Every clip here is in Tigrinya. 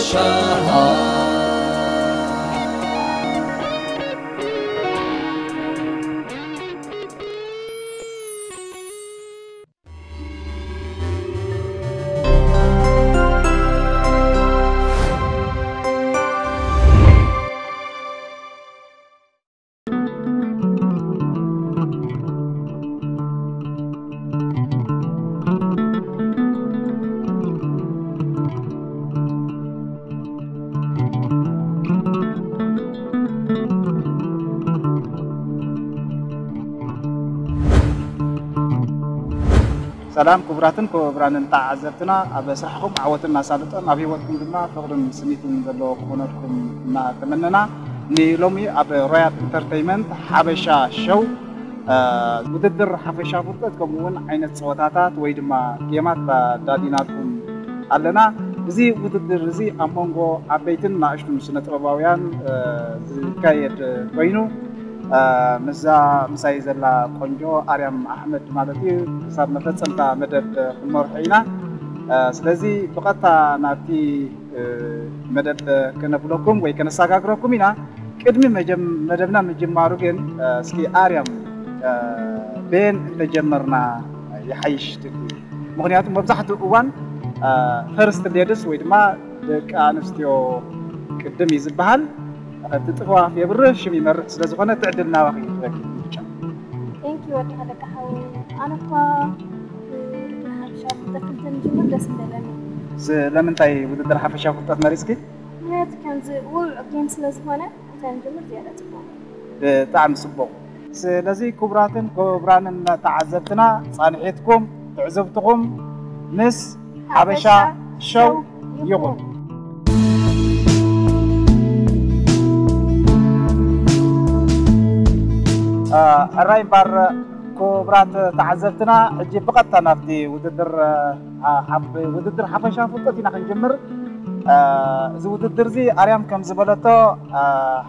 ሸሃ ሰላም ክቡራትን ክቡራንን ተዓዘብትና፣ ኣብ ስራሕኩም ዓወትን እናሳልጦን ኣብ ህይወትኩም ድማ ፍቕርን ስኒትን ዘለዎ ክኾነልኩም እናተመነና፣ ንሎሚ ኣብ ሮያል ኢንተርተይመንት ሓበሻ ሸው፣ እ፣ ውድድር ሓፈሻ ፍልጠት ከምኡ እውን ዓይነት ፀወታታት ወይ ድማ ጌማት ኣዳሊናልኩም ኣለና። እዚ ውድድር እዚ ኣብ መንጎ ዓበይትን ንኣሽቱን ስነ ጥበባውያን፣ እ፣ ዝካየድ ኮይኑ፣ እ፣ ምስዛ ምሳይ ዘላ ቆንጆ ኣርያም ኣሕመድ ማለት እዩ፣ ክሳብ መፈጸምታ መደብ ክንመርሖ ኢና። እ፣ ስለዚ ብቐጥታ ናብቲ፣ እ፣ መደብ ከነብለኩም ወይ ከነሰጋግረኩም ኢና። ቅድሚ መጀም-፣ መደብና ምጅማሩ ግን፣ እ፣ እስኪ ኣርያም፣ እ፣ በየን እንተጀመርና ይሓይሽ ትብሉ? ምኽንያቱ መብዛሕትኡ እዋን፣ እ፣ ፈርስት ሌድስ ወይ ድማ ደቂ ኣንስትዮ ቅድም እዩ ዝበሃል። እቲ ጥፍዋፍ የብርህ ሽም ይመርሕ ስለ ዝኾነ እቲ ዕድል ናባኺ እዩ። ረኪብ ምርጫ። ቴንክ ዩ ወዲ ሃለቃ ሓወይ። ኣነ እኳ ሓፈሻዊ ፍልጠት እንተንጅምር ደስ ምበለኒ። ስለምንታይ ውድድር ሓፈሻዊ ፍልጠት መሪፅኪ? ምክንያቱ ከምዚ ውዕ ጌም ስለ ዝኾነ እንተንጅምር ዝያዳ ፅቡቅ። ብጣዕሚ ፅቡቕ። ስለዚ ክቡራትን ክቡራንን ተዓዘብትና ፃንሒትኩም ትዕዝብትኹም ምስ ሓበሻ ሸው ይኹን። እ፣ ሕራይ እምበር ክቡራት ተዓዘብትና፣ ሕጂ ብቐጥታ ናብቲ ውድድር፣ እ፣ ሓ-፣ ውድድር ሓፈሻ ፍልጠት ኢና ክንጅምር። እ፣ እዚ ውድድር እዚ ኣርያም ከም ዝበለቶ፣ እ፣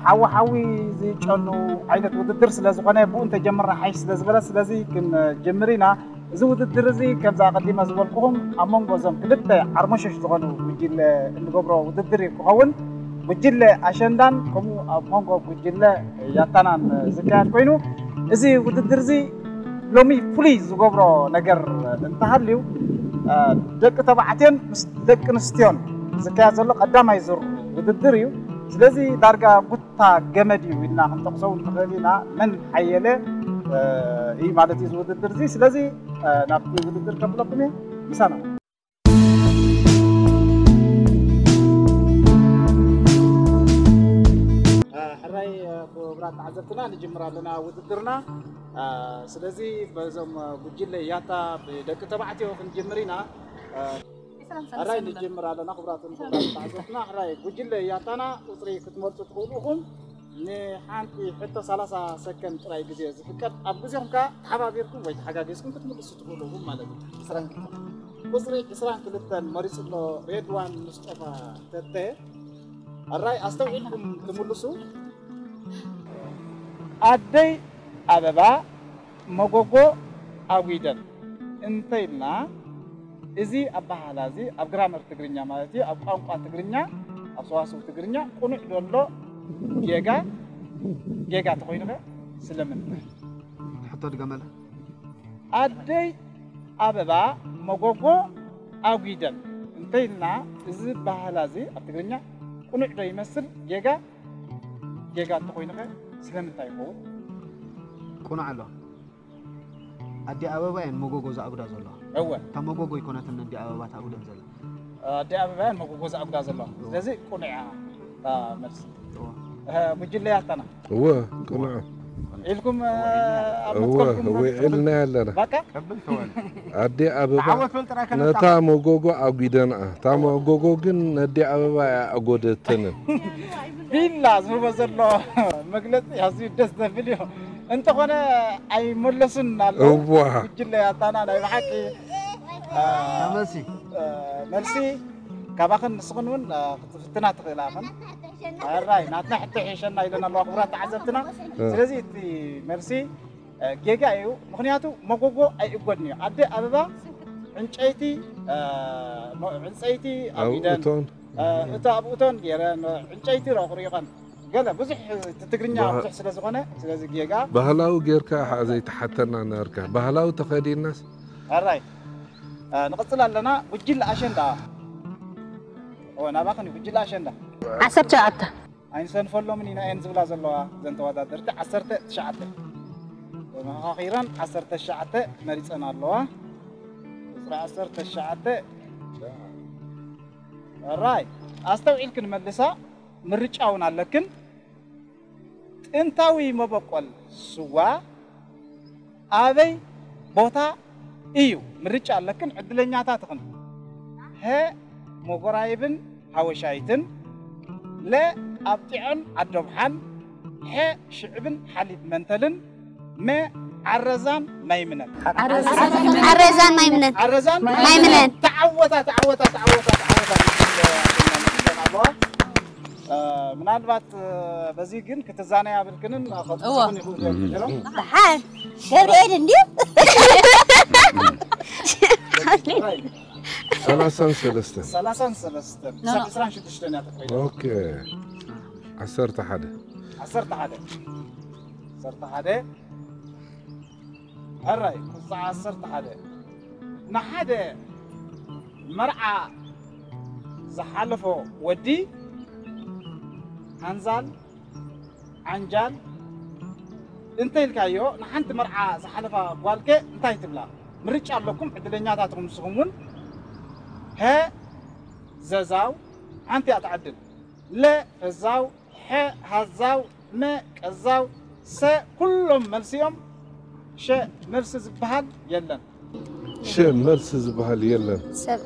ሓዊ ሓዊ ዝጨኑ ዓይነት ውድድር ስለ ዝኾነ ብኡ እንተጀምርና ሓይሽ ስለ ዝበለ፣ ስለዚ ክንጅምር ኢና። እዚ ውድድር እዚ ከምዚ ኣቐዲመ ዝበልኩኹም ኣብ መንጎ እዞም ክልተ ዓርሞሸሽ ዝኾኑ ጉጅለ እንገብሮ ውድድር እዩ ክኸውን። ጉጅለ ኣሸንዳን ከምኡ ኣብ መንጎ ጉጅለ ያታናን ዝካየድ ኮይኑ፣ እዚ ውድድር እዚ ሎሚ ፍሉይ ዝገብሮ ነገር እንተሃልዩ፣ እ፣ ደቂ ተባዕትዮን ምስ ደቂ ኣንስትዮን ዝካየድ ዘሎ ቀዳማይ ዙር ውድድር እዩ። ስለዚ ዳርጋ ቡታ ገመድ እዩ ኢልና ክንጠቕሶ እውን ንኽእል ኢና። መን ሓየለ፣ እ፣ እዩ ማለት እዩ እዚ ውድድር እዚ። ስለዚ፣ እ፣ ናብቲ ውድድር ከብለኩም እየ። ምሳና። ሕራይ ክቡራት ተዓዘብትና፣ ንጅምር ኣለና ውድድርና። ስለዚ በዞም ጉጅለ ያታ ብደቂ ተባዕትዮ ክንጅምር ኢና። ሕራይ ንጅምር ኣለና ክቡራትን ክቡራት ተዓዘብትና። ሕራይ ጉጅለ ያታና ቁፅሪ ክትመርፁ ትኽእሉ ኢኹም። ንሓንቲ ሕቶ ሰላሳ ሰከንድ ጥራይ ግዜ ዝፍቀድ። ኣብ ግዜኹም ከኣ ተሓባቢርኩም ወይ ተሓጋጊዝኩም ክትምልሱ ትኽእሉ ኢኹም ማለት እዩ። ቁፅሪ ዕስራን ክልተን መሪፁ ኣሎ ሬድዋን ሙስጠፋ ተተ። ኣራይ ኣስተውዒልኩም ትምልሱ። ኣደይ ኣበባ መጎጎ ኣጒደን እንተ ኢልና፣ እዚ ኣበሃህላ እዚ ኣብ ግራመር ትግርኛ ማለት እዩ፣ ኣብ ቋንቋ ትግርኛ፣ ኣብ ሰዋስው ትግርኛ ቅኑዕ ዘሎ ጌጋ፣ ጌጋ ተኾይኑ ከ ስለምንታይ? ሕቶ ድገመላ። ኣደይ ኣበባ መጎጎ ኣጒደን እንተ ኢልና፣ እዚ ኣበሃህላ እዚ ኣብ ትግርኛ ቅኑዕ ዶ ይመስል? ጌጋ፣ ጌጋ እንተኾይኑ ከ ስለምንታይ ይኸውን? ቅኑዕ ኣሎ። ኣዲ ኣበባ እየን መጎጎ ዝኣጉዳ ዘለዋ። እወ። እታ መጎጎ ኣይኮነትን ኣዲ ኣበባ ተኣጉደን ዘላ። ኣዲ ኣበባ እየን መጎጎ ዝኣጉዳ ዘለዋ። ስለዚ ቅኑዕ እያ እታ መልሲ። እወ። እህ፣ ጉጅለ ያታና። እወ፣ ቅኑዕ። ኢልኩም፣ እ፣ ኣብ እወ፣ መትከልኩም እወ፣ ኢልና ኣለና። በቃ? ቀብል ተወል። ኣዲ ኣበባ ዓወት በል ጥራይ ከነጣ። ነታ መጎጎ ኣጒደንኣ። እታ መጎጎ ግን ነዲ ኣበባ እያ ኣጎደተንን። ቢላ ዝህቦ ዘሎ መግለጺ ኣዝዩ ደስ ዘብል እዩ። እንተኾነ ኣይመለሱን ኣለዉ። እዋ። ጉጅለ ያታና ናይ ብሓቂ፣ እ፣ መልሲ። እ፣ መልሲ ካባኽን ንስኽን እውን፣ እ፣ ክትፍትና ትኽእላ ኢኽን። ሕራይ፣ ናትና ሕቶ ይሕሸና ኢለን ኣለዋ ክቡራት ተዓዘብትና። እ። ስለዚ እቲ መልሲ፣ እ፣ ጌጋ እዩ። ምኽንያቱ መጎጎ ኣይእጎድን እዩ። ኣደ ኣበባ ዕንጨይቲ፣ እ፣ መ-፣ ዕንፀይቲ ኣብ ኣጉደን እቶን። እቲ ኣብኡተን ገይረን ዕንጨይቲ ረቑሪቐን ገለ ብዙሕ እቲ ትግርኛ ብዙሕ ስለ ዝኾነ ስለዚ ጌጋ ባህላዊ ጌርካ ሓ ዘይተሓተና ነርካ ባህላዊ ተኸዲናስ ኣራይ ንቕፅል ኣለና። ጉጅለ ኣሸንዳ ናባኽን ጉጅለ ኣሸንዳ ዓሰርተ ሸውዓተ ኣይንሰንፈሎምን ኢና እየን ዝብላ ዘለዋ ዘን ተወዳደርቲ ዓሰርተ ትሽዓተ ተመኻኺረን ዓሰርተ ትሽዓተ መሪፀን ኣለዋ። ቁፅሪ ዓሰርተ ትሽዓተ ራይ ኣስተውዒልክን መልሳ ምርጫ እውን ኣለክን። ጥንታዊ መበቆል ስዋ ኣበይ ቦታ እዩ? ምርጫ ኣለክን ዕድለኛታት ኢኽን። ሀ መጎራይብን ሓወሻይትን፣ ለ ኣብጢዖን ዓዶብሓን፣ ሐ ሽዕብን ሓሊብ መንተልን፣ መ ዓረዛን ማይምነን። ዓረዛን ማይምነን ዓረዛን ማይምነን። ተዓወታ ተዓወታ ተዓወታ ተዓወታ። ምናልባት በዚ ግን ክትዛነያ ብልክንን ከጥቅን ይኽእሉ እዮም። ደሓን ገብርኤል እንዲዩ ሰላሳን ሰለስተን ሰላሳን ሰለስተን ክሳብ ዕስራን ሽዱሽተን እያ ተፈቂዳ። ኦኬ ዓሰርተ ሓደ ዓሰርተ ሓደ ዓሰርተ ሓደ ሕራይ ቁፅሪ ዓሰርተ ሓደ ንሓደ መርዓ ዝሓለፎ ወዲ ሓንዛል ዓንጃል እንተ ኢልካዮ ንሓንቲ መርዓ ዝሓለፋ ጓልከ እንታይ ትብላ? ምርጫ ኣለኩም ዕድለኛታት ኢኹም ንስኹም እውን። ሀ ዘዛው ሓንቲ እያ ትዓድል። ለ ፈዛው፣ ሐ ሃዛው፣ መ ቀዛው፣ ሰ ኩሎም መልሲ እዮም። ሸ መልሲ ዝበሃል የለን። ሸ መልሲ ዝበሃል የለን። ሰብ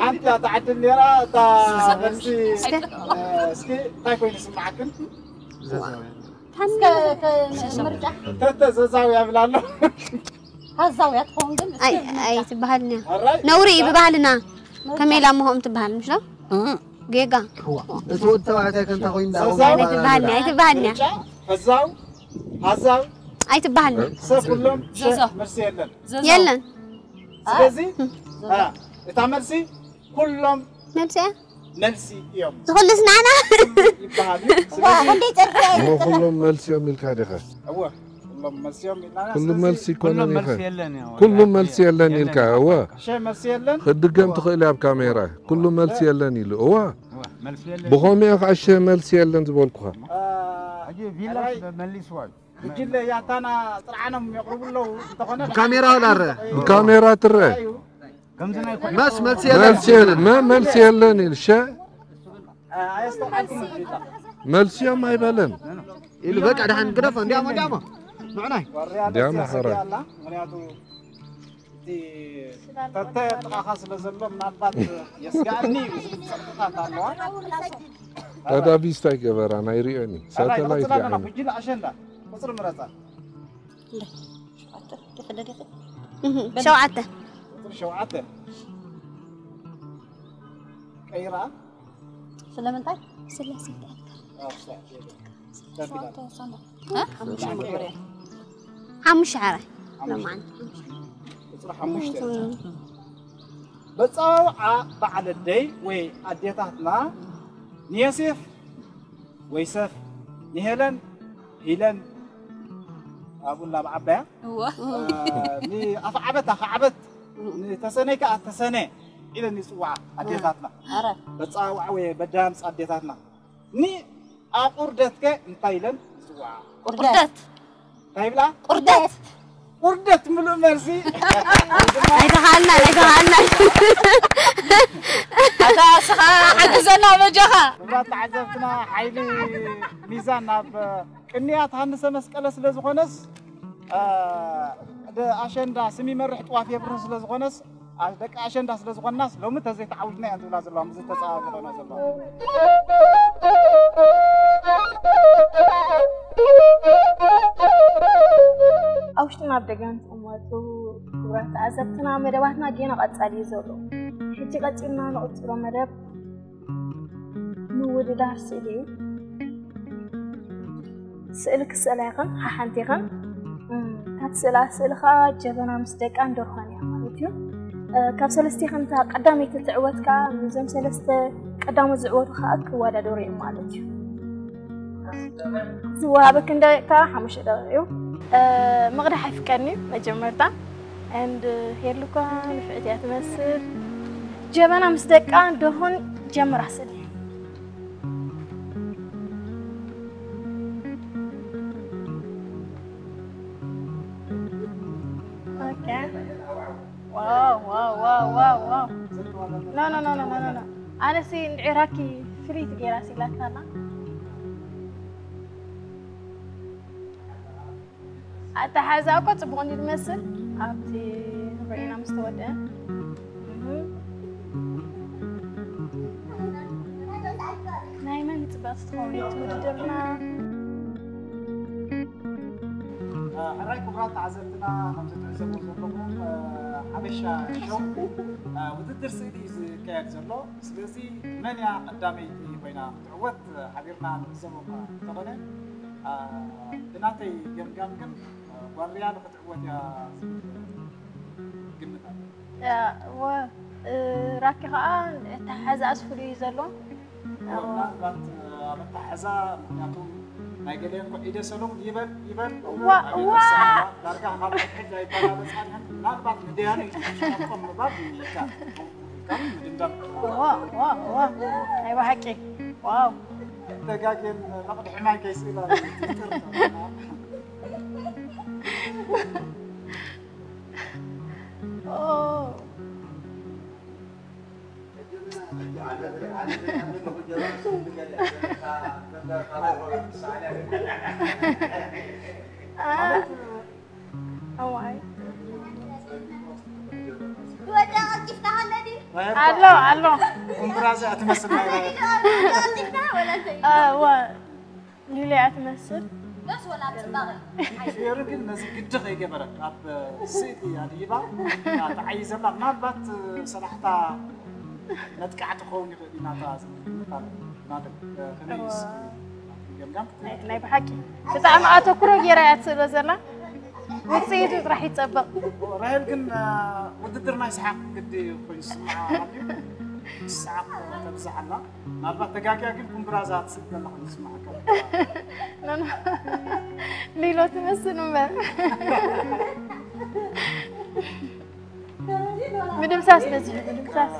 ሓንቲ እያ ትዓድል ነይራ እታ መልሲ። እስኪ እንታይ ኮይኑ ይስምዓክን? ምርጫ ተተ ዘዛው ያብላ ኣሎ። ሃዛውያ ትኸውን ግን ኣይ ኣይትበሃልን እያ። ኣራይ ነውሪ እዩ ብባህልና። ከመይ ኢላ እሞ ከምኡ ትበሃል ምሽ ዶ? ጌጋ እቲ ወዲ ተባዕታይ ከንታ ኮይኑ ዘዛው ኣይትበሃልን እያ ኣይትበሃልን እያ። ምርጫ ፈዛው ሃዛው ኣይትበሃልን እያ። ሰብ ኩሎም ሸ ዘዛው። መልሲ የለን። የለን ስለዚ አ፣ እታ መልሲ ኩሎም መልሲ እያ መልሲ እዮም ዝኹልስ ንዓና ይበሃል እዩ። ስለዚ ክንደይ ጸድፊያ እሞ ኩሎም መልሲ እዮም ኢልካ ዲኻ እወ ኩሎም መልሲ እዮም ኢልና ኩሉ ስለዚ መልሲ ይኮነን ኩሎም ኢኻ መልሲ የለን እዩ። ኩሉ መልሲ የለን ኢልካ እወ ሸ መልሲ የለን ክድገም ትኽእል እያ ኣብ ካሜራ ኩሉ መልሲ የለን ኢሉ እወ እወ፣ መልሲ የለን። ብኸመይ ከዓ ሸ መልሲ የለን ዝበልኩኻ አ፣ ሕጂ ቪላ ሕራይ መሊስዋ እዩ። ጉጅለ ያታና ጥርዓኖም የቕርቡ ኣለዉ እንተኾነ ብካሜራ ወላ ኣረ ብካሜራ ትረ እዩ። ከምዚ ናይ ኮ- መስ መልሲ የለን መልሲ የለን መ- መልሲ የለን ኢሉ ሸ አ፣ ኣየስተውዓልኩም ጌታ መልሲዮም ኣይበለን ኢሉ በቃ ደሓን ግደፎ እንዲያሞ እንዲያሞ ንዕናይ ዋርያ እንዲያሞ ደስ ሕራይ ያሰግያላ። ምክንያቱ እቲ ተተ ጥቓኻ ስለ ዘሎ ምናልባት የስጋእኒ እዩ ዝብል ጸጥታት ኣለዋ። ቀዳቢስ እንታይ ገበራ ናይ ሪኦኒ ሕራይ ሳተላይት ንቕጽል ኣለና። ሪኣኒ ጉጅለ ኣሸንዳ ቁጽሪ ምረጻ። ሸውዓተ ቁጽሪ ሸውዓተ ቀይራ ስለምንታይ ስላሴ ሓሙሽ ዓራይ ለማዓን ቁፅሪ ሓሙሽተ በፃውዓ በዓል ኣደይ ወይ ኣዴታትና ንየሴፍ ወይ ሰፍ ንሄለን ሂለን ኣብኡ እናበዓበያ እወ ንኣፍዓበት ኣኽዓበት ንተሰነይ ከዓ ተሰነ ኢለን ይፅውዓ ኣዴታትና ኣረ በፃውዓ ወይ በዳምፅ ኣዴታትና ንኣቑርደትከ እንታይ ኢለን ይፅውዓ ቁርደት እንታይ ይብላ ቁርደት ቁርደት ምሉእ መልሲ ኣይተኻልና ኣይተኻልና ኣታ ስኻ ሓግዘና በጃኻ ክቡራት ተዓዘብትና ሓይሊ ሚዛን ናብ ቅንያት ሃንሰ መስቀለ ስለ ዝኾነስ እ፣ ደ ኣሸንዳ ስም ይመርሕ ጥዋፍ የብርህ ስለ ዝኾነስ ኣ- ደቂ ኣሸንዳ ስለ ዝኾንናስ ሎሚ ተዘይተዓዊድና እየን ዝብላ ዘለዋ ምስ ዝተፀባበቐና ዘለዋ ኣብ ውሽጥን ኣብ ደገን ትቕመጡ ክቡራት ተዓዘብትና መደባትና ጌና ቀጻሊ እዩ ዘሎ። ሕጂ ቀጺልና ንቕጽሎ መደብ ምውድዳር ስእሊ እዩ። ስእሊ ክስእላ ይኽን ሓሓንቲ ይኽን እም፣ ካብ ስእላ ስእሊ ከዓ ጀበና ምስ ደቃን ደርሆን እያ ማለት እዩ። ካብ ሰለስቲኽን እታ ቀዳመይቲ ትዕወት ከኣ ምስዞም ሰለስተ ቀዳሞት ዝዕወቱ ከኣ ክወዳደሩ እዮም ማለት እዩ። ዝወሃበክን ደቂቕ ከኣ ሓሙሽተ ደቂቕ እዩ። ምቕዳሕ ኣይፍቀድን እዩ መጀመርታ። And ሄሉ እኳ ንፍዕቲ እያ ትመስል። ጀበና ምስ ደቃ ደሆን ጀምራ ስእሊ። Okay. Wow, wow, wow, wow, wow. No, no, no, no, no, no, no. ኣነሲ ንዒራኪ ፍልይቲ ገይራ ሲላታና። ኣተሓዛ እኮ ጽቡቕ እንዲ ዝመስል ኣብቲ ርኢና ምስ ተወደአ። እህ። ናይ መን ጽባቕ ትኸውን እቲ ውድድርና? ሕራይ ክቡራት ተዓዘብትና፣ ከም ትዕዘቡ ዘለኹም ሓበሻ ሾው ውድድር ስእሊ እዩ ዝካየድ ዘሎ። ስለዚ መን እያ ቀዳመይቲ ኮይና ክትዕወት ሓቢርና ንዕዘቦ እኳ እንተኾነ፣ ብናተይ ገምጋም ግን ጓል ሪያል ክትዕወት እያ ዝብል ግምት ኣሎ። ያ፣ እወ፣ እ፣ ራኪ ኸዓ ኣተሓሕዛኣስ ፍሉይ እዩ ዘሎ። እወ፣ ምናልባት ኣብ ኣተሓሕዛ፣ ምክንያቱ ናይ ገሊአን እኮ ኢደ ሰሎም ይበል ይበል ዋ፣ ኣብ ዋ። ኢደ ሰሎም ዳርጋ ካብ ሕድ ኣይበላለጻን እየን። ምናልባት ንደያኑ ይትሽቆም ምባል ይከኣል። ካብ ምድምዳም እዋ፣ እዋ፣ እዋ። ናይ ብሓቂ። ዋው። ተጋግየን መቕድሒ ማይ ከይስእላ ይጥርጠር። ኦ። አ። እዋይ። ወደ ቀልጢፍካ ሃለ ድዩ? ኣሎ፣ ኣሎ። ኩምብራዘ ኣትመስል ናይ ቀልጢፍካ ወላ እንታይ? እ፣ ወ-፣ ሊሊ እያ ትመስል። በስ ወላ ኣብ ጽባቐ። ፊዮሪ ግን ነዚ ግዲ ከይገበረት ኣብ ስእሊ ኣድሂባ እታ ተዓይዘላ ምናልባት ሰላሕታ መጥቃዕቲ ክኸውን ይኽእል እዩ ናታ ዝብል ግምት ኣሎ። ናተይ፣ እ፣ ከመይ እዩ እዋ። ገምጋም? ናይ፣ ናይ ብሓቂ ብጣዕሚ ኣተኩሮ ገይራ እያ ትስእሎ ዘላ። ውጽኢቱ ጥራሕ ይጸበቕ። ራሄል ግን፣ እ፣ ውድድር ናይ ሰሓቕ ግዲ ኮይኑ ዝስምዓ ኣሎ ድዩ? ሰሓቕ ተብዝሕ ኣላ። ምናልባት ተጋግያ ግን ኩምብራዛ ትስእል ዘላ ኮይኑ ዝስምዓካ። ኖ፣ ኖ። ሊሎ ትመስል እምበር። ምድምሳስ በዚሑ፣ ምድምሳስ።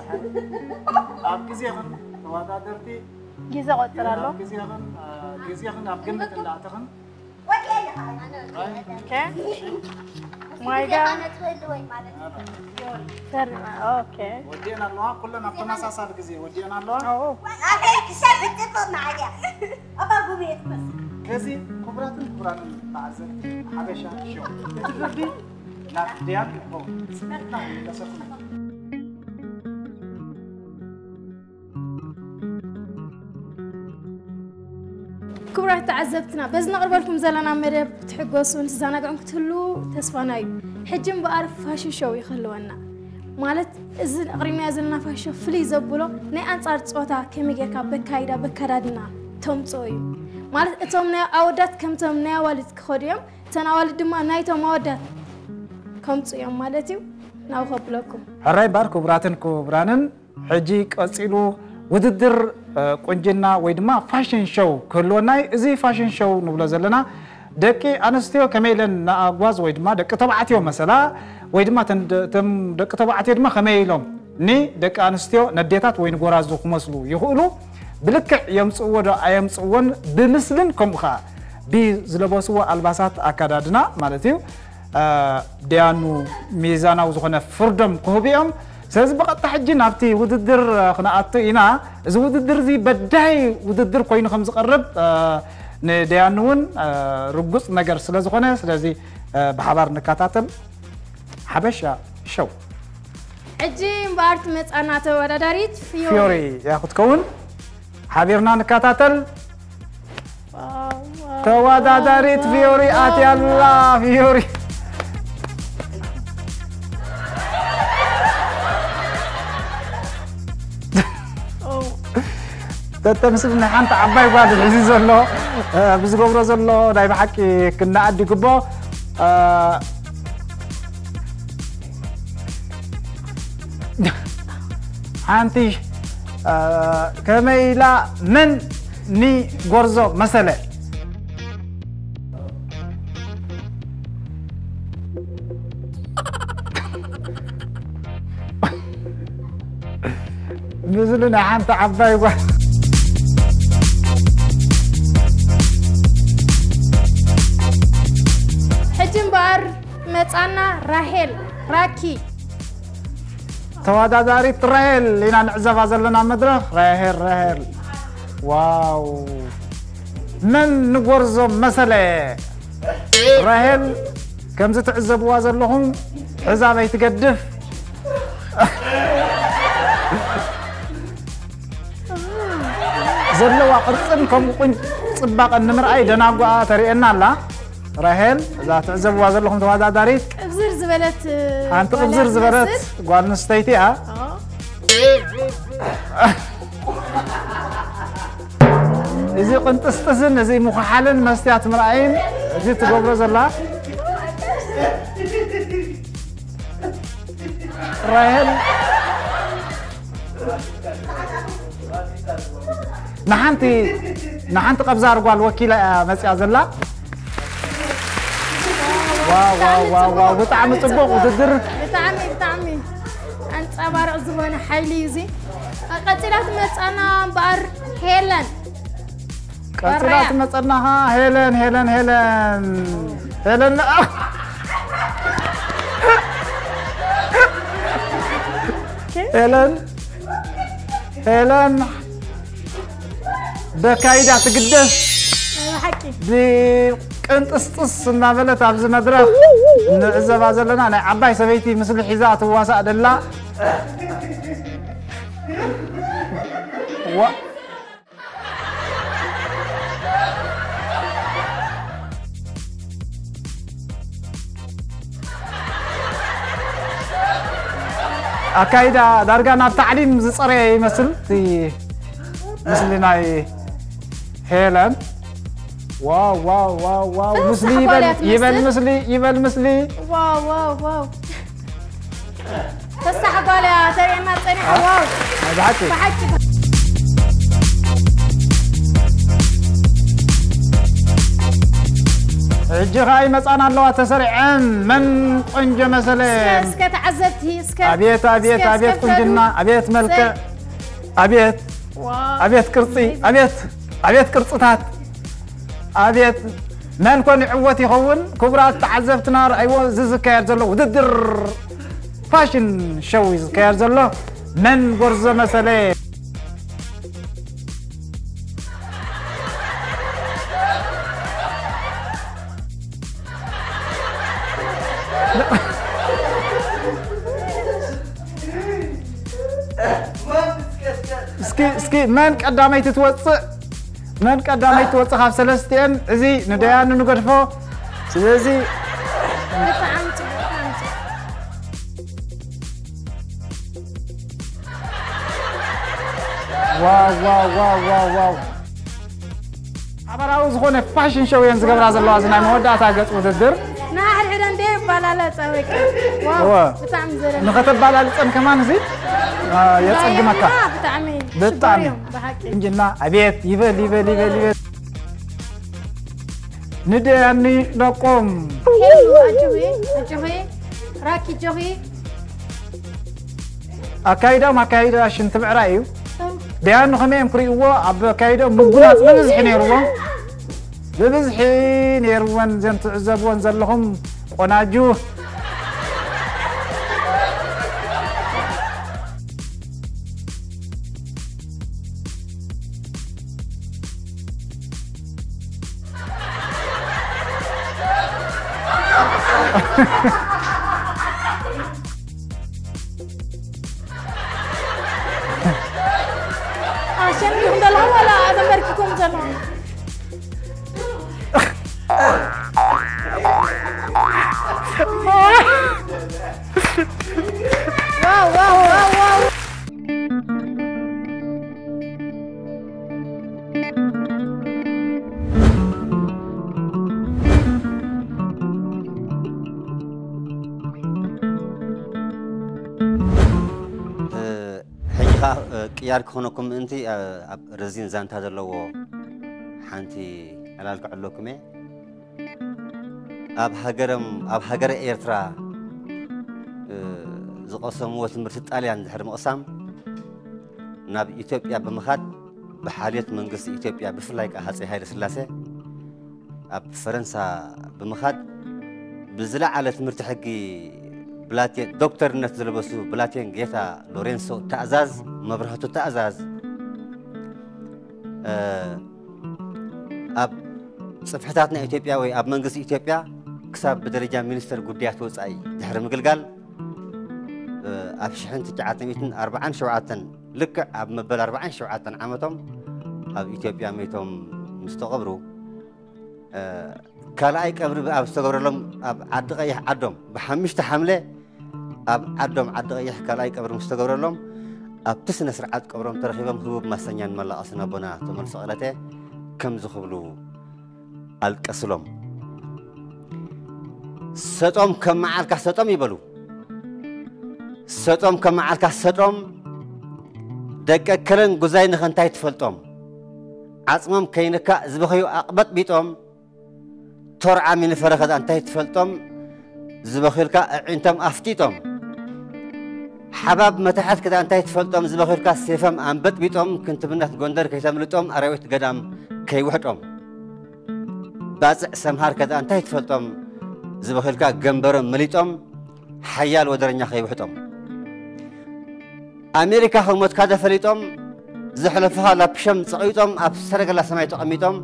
ኣብ ግዜኽን ተወዳደርቲ ግዜ ቆጽር ኣሎ። ኣብ ግዜኽን፣ እ፣ ግዜኽን ኣብ ግምት እንዳእተኽን። ኦኬ። ማይጋ። ፈርማ፣ ኦኬ። ወዲአን ኣለዋ፣ ኩለን ኣብ ተመሳሳሊ ግዜ ወዲአን ኣለዋ። ኦ። ኣበይ ክሰብ ጽቡቕ መዓልያ። ኣባ ጉብኤ ትመስል። ከዚ ክቡራትን ክቡራንን ተዓዘብቲ ሓበሻ ሾው፣ እቲ ፍርዲ ናብ ዲያን ይኸውን። ጽናሕና ይለሰኩም። ክቡራት ተዓዘብትና፣ በዚ ነቕርበልኩም ዘለና መደብ ክትሕጎሱን ትዘናግዑን ክትህሉ ተስፋና እዩ። ሕጂ እምበኣር ፋሽን ሾው እዩ ክህልወና። ማለት፣ እዚ ኣቕሪብናዮ ዘለና ፋሽን ሾው ፍልይ ዘብሎ ናይ ኣንጻር ጾታ ከመይ ጌርካ በካይዳ፣ በካዳድና ተምጽኦ እዩ። ማለት፣ እቶም ናይ ኣወዳት ከምቶም ናይ ኣዋልድ ክኸዱ እዮም፣ እተን ኣዋልድ ድማ ናይቶም ኣወዳት ከምጽኡ እዮም ማለት እዩ። ናብኡ ከብለኩም። ሕራይ እምበኣር ክቡራትን ክቡራንን፣ ሕጂ ቀጺሉ ውድድር፣ እ፣ ቁንጅና ወይ ድማ ፋሽን ሾው ክህልወና እዩ። እዚ ፋሽን ሾው ንብሎ ዘለና ደቂ ኣንስትዮ ከመይ ኢለን ንኣጓዝ ወይ ድማ ደቂ ተባዕትዮ መሰላ ወይ ድማ እተን ደ-፣ እቶም ደቂ ተባዕትዮ ድማ ከመይ ኢሎም ንደቂ ኣንስትዮ ነዴታት ወይ ንጎራዙ ክመስሉ ይኽእሉ፣ ብልክዕ የምጽእዎ ዶ ኣየምጽእዎን ብምስልን ከምኡ ኸኣ ብዝለበስዎ ኣልባሳት ኣከዳድና ማለት እዩ። እ፣ ደያኑ ሚዛናዊ ዝኾነ ፍርዶም ክህቡ እዮም። ስለዚ ብቐጥታ ሕጂ ናብቲ ውድድር፣ እ፣ ክንኣቱ ኢና። እዚ ውድድር እዚ በዳሂ ውድድር ኮይኑ ከም ዝቐርብ፣ እ፣ ንደያኑ እውን፣ እ፣ ርጉጽ ነገር ስለ ዝኾነ፣ ስለዚ፣ እ፣ ብሓባር ንከታተል። ሓበሻ ሾው። ሕጂ እምበኣር ትመጻና ተወዳዳሪት ፊዮሪ። ፊዮሪ እያ ክትከውን። ሓቢርና ንከታተል። ዋው፣ ዋው፣ ተወዳዳሪት ዋው፣ ፊዮሪ ዋው፣ ኣትያ ኣላ። ዋው። ፊዮሪ። ኦ። ተተምስል ናይ ሓንቲ ዓባይ ጓል እዚ ዘሎ፣ እ፣ ብዝገብሮ ዘሎ ናይ ብሓቂ ክነኣድ ይግቦ። እ፣ ሓንቲ እ፣ ከመይ ኢላ መን ንጎርዞ መሰለ? ምስሉ ናይ ሓንቲ ዓባይ ጓል። ሕጂ እምበኣር መጻና ራሄል ራኪ። ተወዳዳሪት ራሄል ኢና ንዕዘባ ዘለና መድረኽ። ራሄል፣ ራሄል። ዋው። መን ንጎርዞ መሰለ? ራሄል ከምዚ ትዕዘብዋ ዘለኹም ሕዛብ ኣይትገድፍ። ዘለዋ ቅርጽን ከምኡ ቁን-፣ ጽባቐን ንምርኣይ ደናጓኣ ተርእየና ኣላ። ራሄል፣ እዛ ትዕዘብዋ ዘለኹም ተወዳዳሪት ቅብዝር ዝበለት፣ ሓንቲ ጓል ቅብዝር ዝበለት ትመስል። ጓል ኣንስተይቲ እያ። ኦ። እዚ ቅንጥስጥስን እዚ ምኹሓልን መስትያት ምርኣይን እዚ ትገብሮ ዘላ ራሄል ንሓንቲ፣ ንሓንቲ ቀብዛር ጓል ወኪላ እያ መጽያ ዘላ። ዋው፣ ዋው፣ ዋው፣ ዋው፣ ብጣዕሚ ጽቡቕ ውድድር። ብጣዕሚ፣ ብጣዕሚ ኣንጸባርቕ ዝኾነ ሓይሊ እዩ እዚ። ቀጺላ ትመጻና እምበኣር ሄለን። ቀጺላ በራያ። ትመጸናኻ ሄለን፣ ሄለን፣ ሄለን። ሄለን፣ ሄለን፣ ሄለን በካይዳ ትግደስ። ናይ ብሓቂ። ብቅንጥስጥስ እናበለት ኣብዚ መድረኽ ንዕዘባ ዘለና ናይ ዓባይ ሰበይቲ ምስሊ ሒዛ ትዋሳእ ደላ። ዋ-፣ ኣካይዳ ዳርጋ ናብ ታዕሊም ዝጸረየ ይመስል እቲ ምስሊ ናይ ሄለን። ዋው፣ ዋው፣ ዋው፣ ዋው፣ ፍስሕ ምስሊ ጓል ይበል፣ እያ ትመስል። ይበል ምስሊ፣ ይበል ምስሊ። ዋው፣ ዋው፣ ዋው። ፍስሕ ጓል እያ ተርእየና ጸኒሓ። ዋው። ናይ ብሓቂ። ብሓቂ። ሕጂ ኸኣ ይመጻና ኣለዋ ተሰሪዐን። መን ቆንጆ መሰለ? እስከ፣ እስከ ተዓዘብቲ፣ እስከ፣ ኣቤት፣ ኣቤት፣ እስከ፣ ኣቤት እስከ ቁንጅና፣ ፍረዱ። ኣቤት መልክዕ፣ እስከ። ኣቤት፣ ዋው። ኣቤት ቅርጺ፣ ኣቤት፣ ኣቤት ቅርጽታት፣ ኣቤት መን ኮን ይዕወት ይኸውን? ክቡራት ተዓዘብትና፣ ርኣይዎ፣ እዚ ዝካየድ ዘሎ ውድድር ፋሽን ሾው እዩ ዝካየድ ዘሎ። መን ጎርዞ መሰለ? እስኪ፣ እስኪ መን ቀዳመይቲ ትወፅእ? መን ቀዳመይቲ ትወፅእ ካብ ሰለስቲኤን? እዚ ንደያኑ ንገድፎ። ስለዚ ብጣዕሚ ጽቡቕ፣ ብጣዕሚ ጽቡቕ። ዋው፣ ዋው፣ ዋው፣ ዋው፣ ዋው። ሓባራዊ ዝኾነ ፋሽን ሾው እየን ዝገብራ ዘለዋ፣ እዚ ናይ መወዳእታ ገጽ ውድድር። ንሓድሕደን ደይ ይባላላ ጸወቂ። ዋው፣ እወ። ብጣዕሚ ዘረን። ንኸተባላልጸን ከማን እዚ፣ አ፣ የጸግመካ። ብጣዕሚ ብጣዕሚ። ሽኮር እዮም፣ ብሓቂ። እንጅና፣ ኣቤት፣ ይበል፣ ይበል፣ ይበል፣ ይበል። ንደያኒ ደቆም። ሄሉ፣ ኣጆኺ፣ ኣጆኺ። ራኪ፣ ኣጆኺ። ኣካይዳኦም ኣካይዳ ሽንቲ ምዕራይ እዩ። ደያኑ ከመይ እዮም ክርእይዎ? ኣብ ኣካይዳኦም ምጉናጽ ብብዝሒ ነይርዎም። ብብዝሒ ነይርወን እዘን ትዕዘብወን ዘለኹም ቆናጁ። ኣሸኒኹም ዘለኹም ዋላ ተንበርኪኹም ዘለኹም? ዋው፣ ዋው፣ ዋው፣ ዋው። ቅያር ክኾነኩም ምእንቲ ኣብ ረዚን ዛንታ ዘለዎ ሓንቲ ዕላል ክዕለኩም እየ። ኣብ ሃገርም ኣብ ሃገረ ኤርትራ ዝቐሰምዎ ትምህርቲ ጣልያን ድሕሪ ምቕሳም ናብ ኢትዮጵያ ብምኻድ ብሓልዮት መንግስቲ ኢትዮጵያ ብፍላይ ከዓ ሃፀይ ሃይለ ስላሴ ኣብ ፈረንሳ ብምኻድ ብዝለዓለ ትምህርቲ ሕጊ ብላቴን ዶክተርነት ዝለበሱ ብላቴን ጌታ ሎሬንሶ ታእዛዝ መብራህቱ ታእዛዝ ኣብ ጽፍሕታት ናይ ኢትዮጵያ ወይ ኣብ መንግስቲ ኢትዮጵያ ክሳብ ብደረጃ ሚኒስተር ጉዳያት ወጻኢ ድሕሪ ምግልጋል ኣብ ሽሕን ትሽዓተ ሚእትን ኣርባዓን ሸውዓተን ልክዕ ኣብ መበል ኣርባዓን ሸውዓተን ዓመቶም ኣብ ኢትዮጵያ መይቶም ምስ ተቐብሩ ካልኣይ ቀብሪ ኣብ ዝተገብረሎም ኣብ ዓዲ ቀይሕ ዓዶም ብሓሙሽተ ሓምለ ኣብ ዓዶም ዓዲ ቀይሕ ካልኣይ ቀብሪ ምስ ተገብረሎም ኣብቲ ስነ ስርዓት ቀብሮም ተረኺቦም ህቡብ ማሰኛን መላቐስን ኣቦና ተመልሶ ቀለተ ከምዚ ክብሉ ኣልቀስሎም። ሰጦም ከም መዓልካ ሰጦም ይበሉ። ሰጦም ከም መዓልካ ሰጦም ደቂ ከለን ጉዛይ ንኸንታይ ትፈልጦም ዓጽሞም ከይንካእ ዝበኸዩ ኣቕበጥቢጦም ቶርዓም ይንፈረ ከዳ እንታይ ትፈልጦም ዝበኺልካ ኣዒንቶም ኣፍጢጦም ሓባብ መታሕት ከዳ እንታይ ትፈልጦም ዝበኺልካ ሴፈም ኣንበጥቢጦም ክንትብነት ጎንደር ከይተምልጦም ኣራዊት ገዳም ከይውሕጦም ባጽዕ ሰምሃር ከዳ እንታይ ትፈልጦም ዝበኺልካ ገንበሮም መሊጦም ሓያል ወደረኛ ከይውሕጦም ኣሜሪካ ከሞትካ ደፈሊጦም ዘሕለፍኻ ላፕሸም ጸቒጦም ኣብ ሰረገላ ሰማይ ተቐሚጦም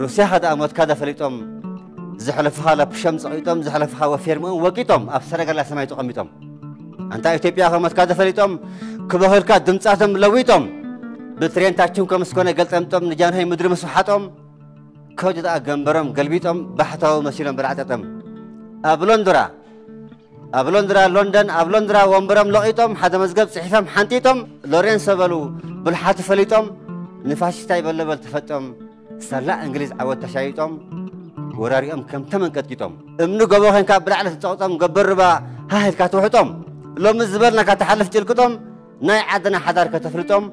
ሩስያ ከደኣ ሞትካ ደፈሊጦም ዘሕለፍኻ ላፕሸም ጸቒጦም ዘሕለፍኻ ወፌርምኦም ወቂጦም ኣብ ሰረገላ ሰማይ ተቐሚጦም ኣንታ ኢትዮጵያ ከሞትካ ደፈሊጦም ክበኽልካ ድምጻቶም ለዊጦም ብትሬንታችን ከምስኮነ ገልጠምጦም ንጃንሆይ ምድሪ ምስሓጦም ከውዲ ደኣ ገንበሮም ገልቢጦም ባሕታዊ መሲሎም በላዕጠጠም ኣብ ሎንድራ ኣብ ሎንድራ ሎንደን ኣብ ሎንድራ ወንበሮም ለቒጦም ሓደ መዝገብ ጽሒፎም ሓንጢጦም ሎሬንሶ በሉ ብልሓቱ ፈሊጦም ንፋሽስታይ በለበል ተፈጦም ሳላ እንግሊዝ ዓወት ተሻይጦም ወራሪኦም ከም ተመን ቀጥቂጦም እምኒ ጎቦ ኸንካ ብላዕሊ ተጸቕጦም ገበር ርባ ሃህ ኢልካ ትውሕጦም ሎሚ ዝበልናካ ተሓልፍ ጭልቅጦም ናይ ዓድና ሓዳር ከተፍልጦም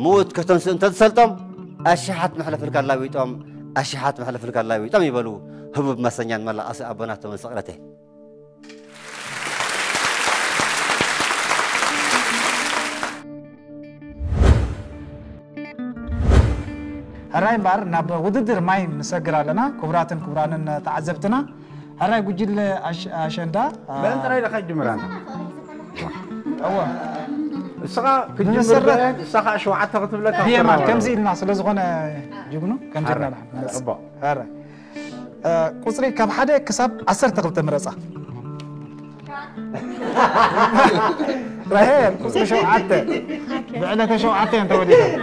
ምዉት ከተንስኡ እንተዝሰልጦም ኣሽሓት መሕለፍልካ ላዊጦም ኣሽሓት መሕለፍልካ ላዊጦም ይበሉ ህቡብ ማሰኛን መላቐሲ ኣቦና ተመን ሰቕረተ ሕራይ እምበኣር ናብ ውድድር ማይ ንሰግር ኣለና። ክቡራትን ክቡራንን ተዓዘብትና ሕራይ ጉጅለ ኣሸንዳ በን ጥራይ ኢኻ ጅምር ኣንተ። እወ እስኻ ክትጅምር ንመሰረት- ንሳ ከዓ ሸውዓተ ክትብለካ ብየማን ክትረባ። ከምዚ ኢልና ስለ ዝኾነ ጅግኑ ከምዚ ኢልና ንሓ- ሕራይ ቁፅሪ ካብ ሓደ ክሳብ ዓሰርተ ክልተ ምረፃ። ራሄል ቁፅሪ ሸውዓተ ብዕለተ ሸውዓተ እየን ተወሊደን።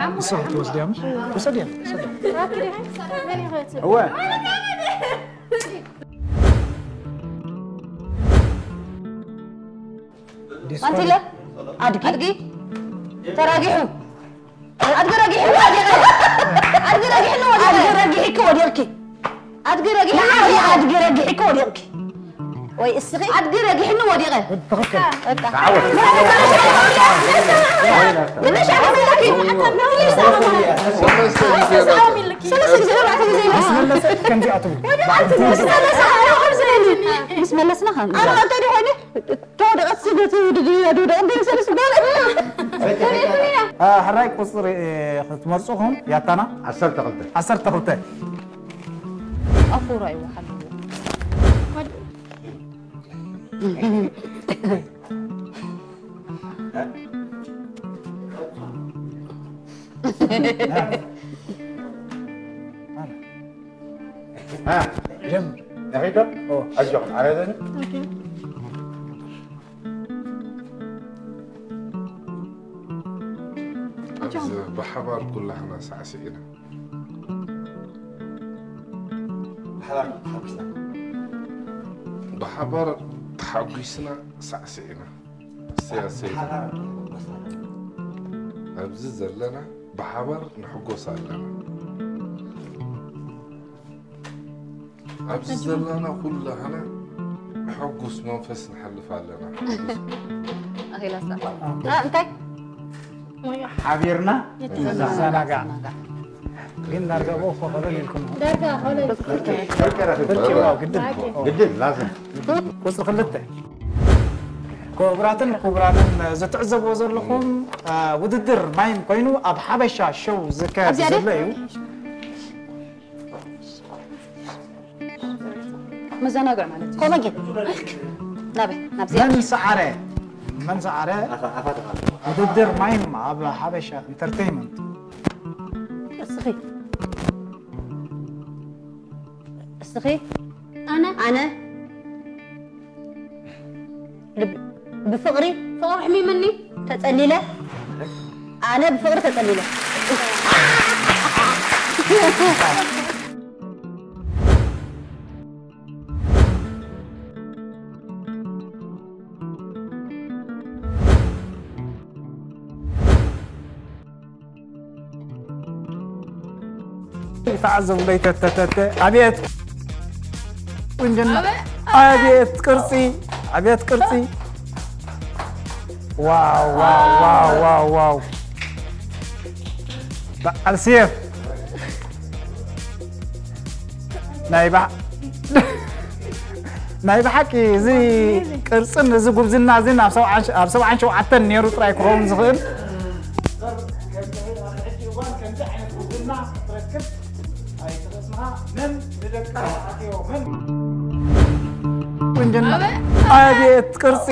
ንስኻ ትወስድያ ምሽ? ውሰድያ፣ ውሰድያ። እወ። ኣንቲለ ኣድጊ ተራጊሑ ኣድጊ ረጊሑ ወዲቐ ኣድጊ ረጊሕኒ ወዲቐ ኣድጊ ረጊሕኪ ወዲቕኪ ኣድጊ ረጊሕኒ ኣድጊ ረጊሕኪ ወዲቕኪ ወይ እስኺ ኣድጊ ረጊሕኒ ወዲቐ ትኽክል ከምዚኣ ትብል ምስ መለስና ከም ተወደቐት ስደት ውድድር እያ ድውደቕ እንደ ሰለስ በለ ሕራይ ቁፅሪ ክትመርፁኹም ያታና ዓሰርተ ክልተ ዓሰርተ ክልተ ኣፉራ ይወሓልዎ ጀምር። ነኺዶ? ኣጆኹም፣ ዓረደኒ። ኣብዚ ብሓባር ኩላህና ሳዕሲዕና ብሓባር ተሓጒስና ሳዕሲዕና ኣብዚ ዘለና ብሓባር ንሕጎስ ኣለና ኣብዚ ዘለና ኩላህና ሕጉስ መንፈስ ንሓልፍ ኣለና። ኣኺላሳ እንታይ ሓቢርና ዘናጋዕ ግን ዳርጋ ብኡ ኮበለል ኢልኩም ዳርጋ ኾለል ግድን ላዝም ቁፅሪ ክልተ ክቡራትን ክቡራንን ዝትዕዘብዎ ዘለኹም ውድድር ማይም ኮይኑ ኣብ ሓበሻ ሸው ዝካየድ ዘሎ እዩ መዘናግዕ ማለት እዩ። ኮመጌ ናበይ ናብዚ መን ሰዓረ መን ሰዓረ ውድድር ማይም ኣብ ሓበሻ ኢንተርቴይንመንት እስኺ እስኺ ኣነ ኣነ ብፍቕሪ ፍቕሪ ሕሚምኒ ተጸሊለ ኣነ ብፍቕሪ ተጸሊለ ተዓዘቡለይ ተተተተ ኣቤት ቁንጅና ኣቤት ቅርፂ ኣቤት ቅርፂ ዋው ዋው ዋው ዋው ዋው በዓል ሴፍ ናይ ባ ናይ ብሓቂ እዚ ቅርፅን እዚ ጉብዝና እዚ ኣብ ሰብዓን ሸውዓተን ነይሩ ጥራይ ክኸውን ዝኽእል ቁንጅና ኣቤት ቅርፂ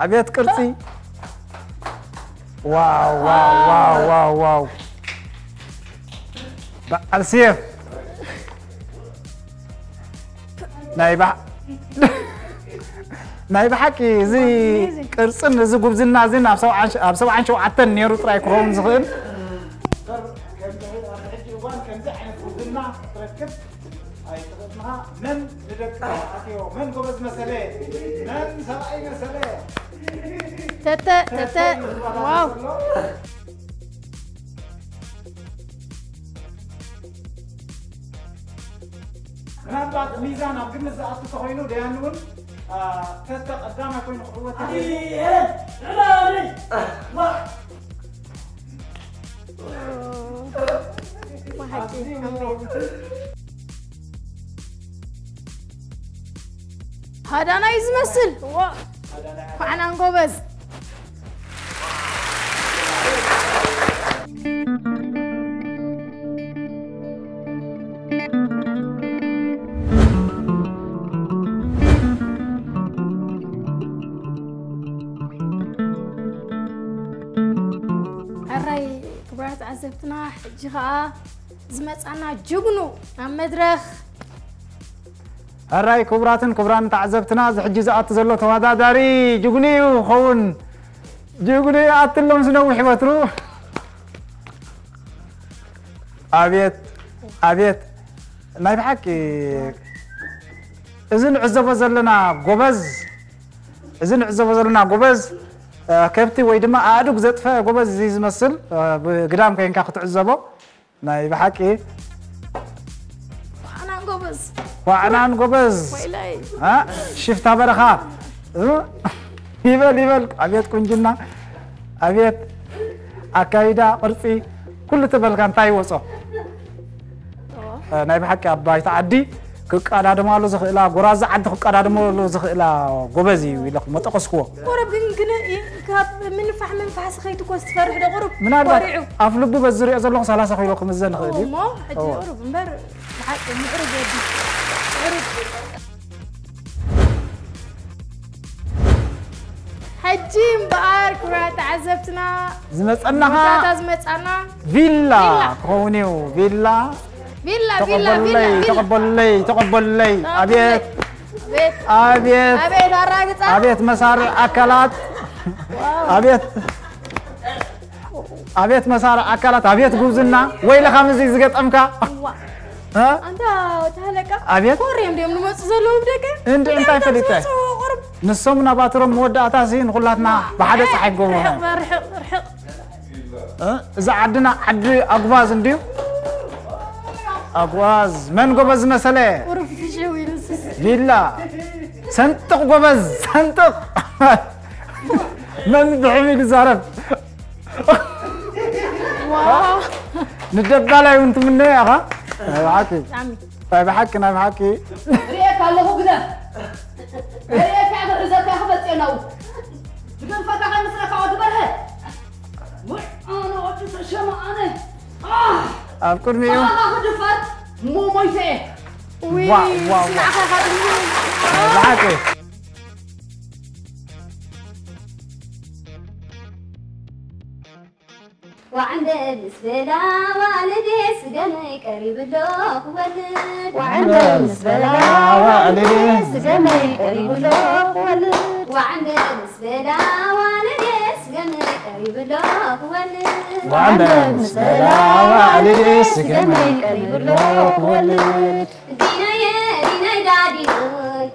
ኣቤት ቅርፂ ዋው ዋው ዋው ዋው ዋው በዓል ሴፍ ናይ ባ ናይ ብሓቂ እዚ ቅርፅን እዚ ጉብዝና እዚ ኣብ ሰብዓን ሸውዓተን ነይሩ ጥራይ ክኸውን ዝኽእል ተተ ተተ ዋው ምናልባት ሚዛን ኣብ ግምት ዝኣቱ ተኾይኑ ደያኑ እውን ተተ ቀዳማይ ኮይኑ ክዕወት ሃዳናይ ዝመስል ኳዕናን ጎበዝ ሕራይ ክቡራት ተዓዘብትና ሕጂ ከዓ ዝመፃና ጅግኑ ናብ መድረኽ ሕራይ ክቡራትን ክቡራን ተዓዘብትና እዚ ሕጂ ዝኣቱ ዘሎ ተወዳዳሪ ጅግኑ እዩ ክኸውን ጅግኑ ይኣቲ ኣሎ ምስ ነዊሕ በትሩ ኣቤት ኣቤት ናይ ብሓቂ እዚ ንዕዘቦ ዘለና ጎበዝ እዚ ንዕዘቦ ዘለና ጎበዝ ከብቲ ወይ ድማ ኣእዱግ ዘጥፈአ ጎበዝ እዚ ዝመስል ብግዳም ከይንካ ክትዕዘቦ ናይ ብሓቂ ዋዕናን ጎበዝ ዋዕናን ጎበዝ ወይለይ ሽፍታ በረኻ ይበል ይበል ኣብየት ቁንጅና ኣብየት ኣካይዳ ቅርፂ ኩሉ ተበልካ እንታይ ይወፆ ናይ ብሓቂ ኣብ ባይታ ዓዲ ክቀዳደማሉ ዝኽእላ ጎራዙ ዓዲ ክቀዳደማሉ ዝኽእላ ጎበዝ እዩ ኢለ መጠቀስክዎ። ቁሩብ ግን ግን ካብ ምንፋሕ ምንፋሕ ስኸይቱ ኮስ ትፈርሕ ዶ ቁሩብ ምናልባት ኮሪዑ። ኣፍ ልቡ በዚ ዝሪኦ ዘለኹ ሰላሳ ኪሎ ክምዘን ይኽእል እዩ። እሞ ሕጂ ቁሩብ እምበር ብሓቂ ምዕሩግ ወዲ ምዕሩግ። ሕጂ እምበኣር ክቡራት ተዓዘብትና ዝመፀናኻ ታታ ዝመፃና ቪላ ክኸውን እዩ ቪላ ቪላ ቪላ ቪላ ተቐበሉለይ ተቐበሉለይ ተቐበሉለይ ኣቤት ኣቤት ኣቤት ኣራግፃ ኣቤት መሳርዕ ኣካላት ኣቤት ኣቤት መሳርዕ ኣካላት ኣቤት ጉብዝና ወይለኻ ምዚ ዝገጠምካ ኣንታ ተሃለቃ ኣቤት ኮር እዮም ድዮም ንመፁ ዘለዉ ብደቀ እንዲ እንታይ ፈሊጠ ንሶም ናባትሮም መወዳእታ ሲ ንኩላትና ብሓደ ፀሓይ ጎቦ ርሕቕ እዛ ዓድና ዓዲ ኣጉባዝ እንድዩ ኣጉባዝ መን ጎበዝ መሰለ ቪላ ሰንጥቕ ጎበዝ፣ ሰንጥቕ። መን ብሕም ይዛረብ? ንደባላይ እውን ትምነዮ ኢኻ። ናይ ብሓቂ፣ ናይ ብሓቂ፣ ናይ ብሓቂ። ርእየካ ኣለኹ ግደፍ። ርእየካ ክሕዘካ ክመጽእ ናው። ብገንፈካ ከይምስለካ ወዲ በርሀ። ውዕ፣ ኣነ ወዲ ተሸመ ኣነ። ኣህ! ኣብ ቅድሚኡ። ኣኻ ክድፈር፣ እሞ ሞይተ እየ። ዋ፣ ዋ፣ ዋ። ንዓኻ ካብ ናይ ብሓቂ። ዋዕንደ ምስ በላ ዋልዴ ስገመይ ቀሪብሎ ክወልድ። ዋዕንደ ምስ በላ ዋልዴ ስገመይ ቀሪብሎ ክወልድ። ዋዕንደ ምስ በላ ዋልዴ ስገመይ ቀሪብሎ ክወልድ። ዋዕንደ ምስ በላ ዋልዴ ስገመይ ቀሪብሎ ክወልድ። ዲናየ፣ ዲናይ ዳዲኖይ።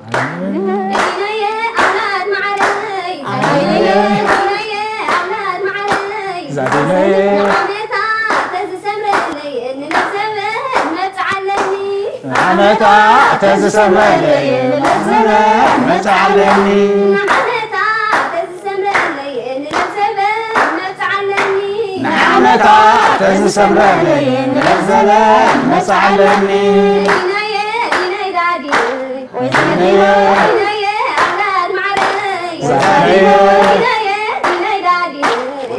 ዲናየ፣ ኣውላድ መዓረይ። ዲናየ፣ ዲናየ፣ ኣውላድ መዓረይ። ዛዲናየ። ንዓመታ ተዝሰምረለይ፣ ንለዘበን መጽዓለኒ። ንዓመታ ተዝሰምረለይ፣ ንለዘበን መጽዓለኒ። ንዓመታ ተዝሰምረለይ፣ ንለዘበን መጽዓለኒ። ንዓመታ ተዝሰምረለይ፣ ንለዘበን መጽዓለኒ። ዲናየ፣ ዲናይ ዳዲ። ዲናየ። ዲናየ፣ ኣውላድ መዓረይ። ዛሬዮ። ዲናየ፣ ዲናይ ዳዲ።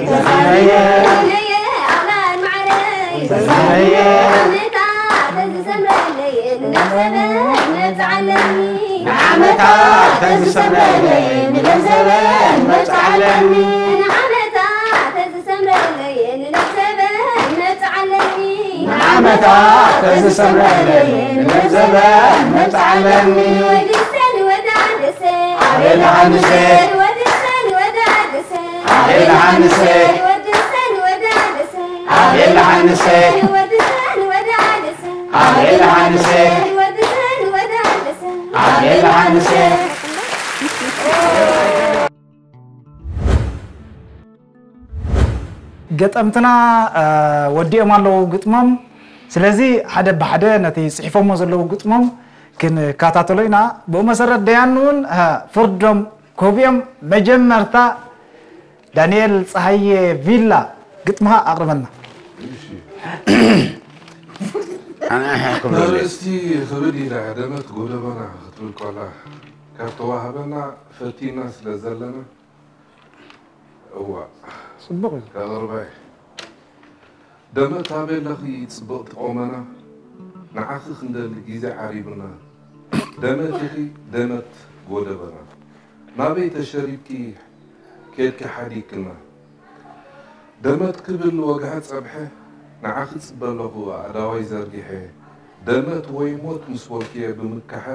ዲናየ። ዲናየ፣ ኣውላድ መዓረይ። ዛሬዮ። ንዓመታ ተዝሰምረለይ፣ ንለዘበን መጽዓለኒ። ንዓመታ ተዝሰምረለይ፣ ንለዘበን መጽዓለኒ። ንዓመታ ተዝሰምረለይ፣ ንለዘበን መጽዓለኒ። ንዓመታ ተዝሰምረለይ፣ ንለዘበን መጽዓለኒ። ወድሰ ንወዳደሰ። ኣቤል ዮሃንሰ። ወድሰ ንወዳደሰ። ኣቤል ዮሃንሰ። ወድሰ ንወዳደሰ። ኣቤል ዮሃንሰ። ወድሰ ንወዳደሰ። ኣቤል ዮሃንሰ። ወድሰ ንወዳደሰ። ኣቤል ዮሃንሰ። ገጠምትና፣ እ፣ ወዲኦም ኣለዉ ግጥሞም። ስለዚ ሓደ ብሓደ ነቲ ጽሒፎሞ ዘለዉ ግጥሞም ክንከታተሎ ኢና። ብኡ መሰረት ደያኑ እውን፣ እ፣ ፍርዶም ኮቢኦም መጀመርታ ዳንኤል ጸሃየ ቪላ ግጥምኻ ኣቕርበልና። እሺ። ኣርእስቲ ክብድ ኢላ ደመት ጎደቦና ክትብል ከላ ካብ ተዋህበና ፈቲና ስለ ዘለና እዋ። ጽቡቕ እዩ። ከቕርባይ። ደመት ኣበይ ኣለኺ ጽብቕቲ ቆመና፣ ንዓኺ ክንደሊ ግዜ ዓሪቡና። ደመት ኢኺ ደመት ጎደበና፣ ናበይ ተሸሪብኪ ኬድኪ ሓዲግክና። ደመት ክብል ወግሐ ጸብሐ፣ ንዓኺ ጽበ ኣለኹ ኣእዳወይ ዘርጊሐ። ደመት ወይ ሞት ምስ በልኩ'የ ብምካሐ፣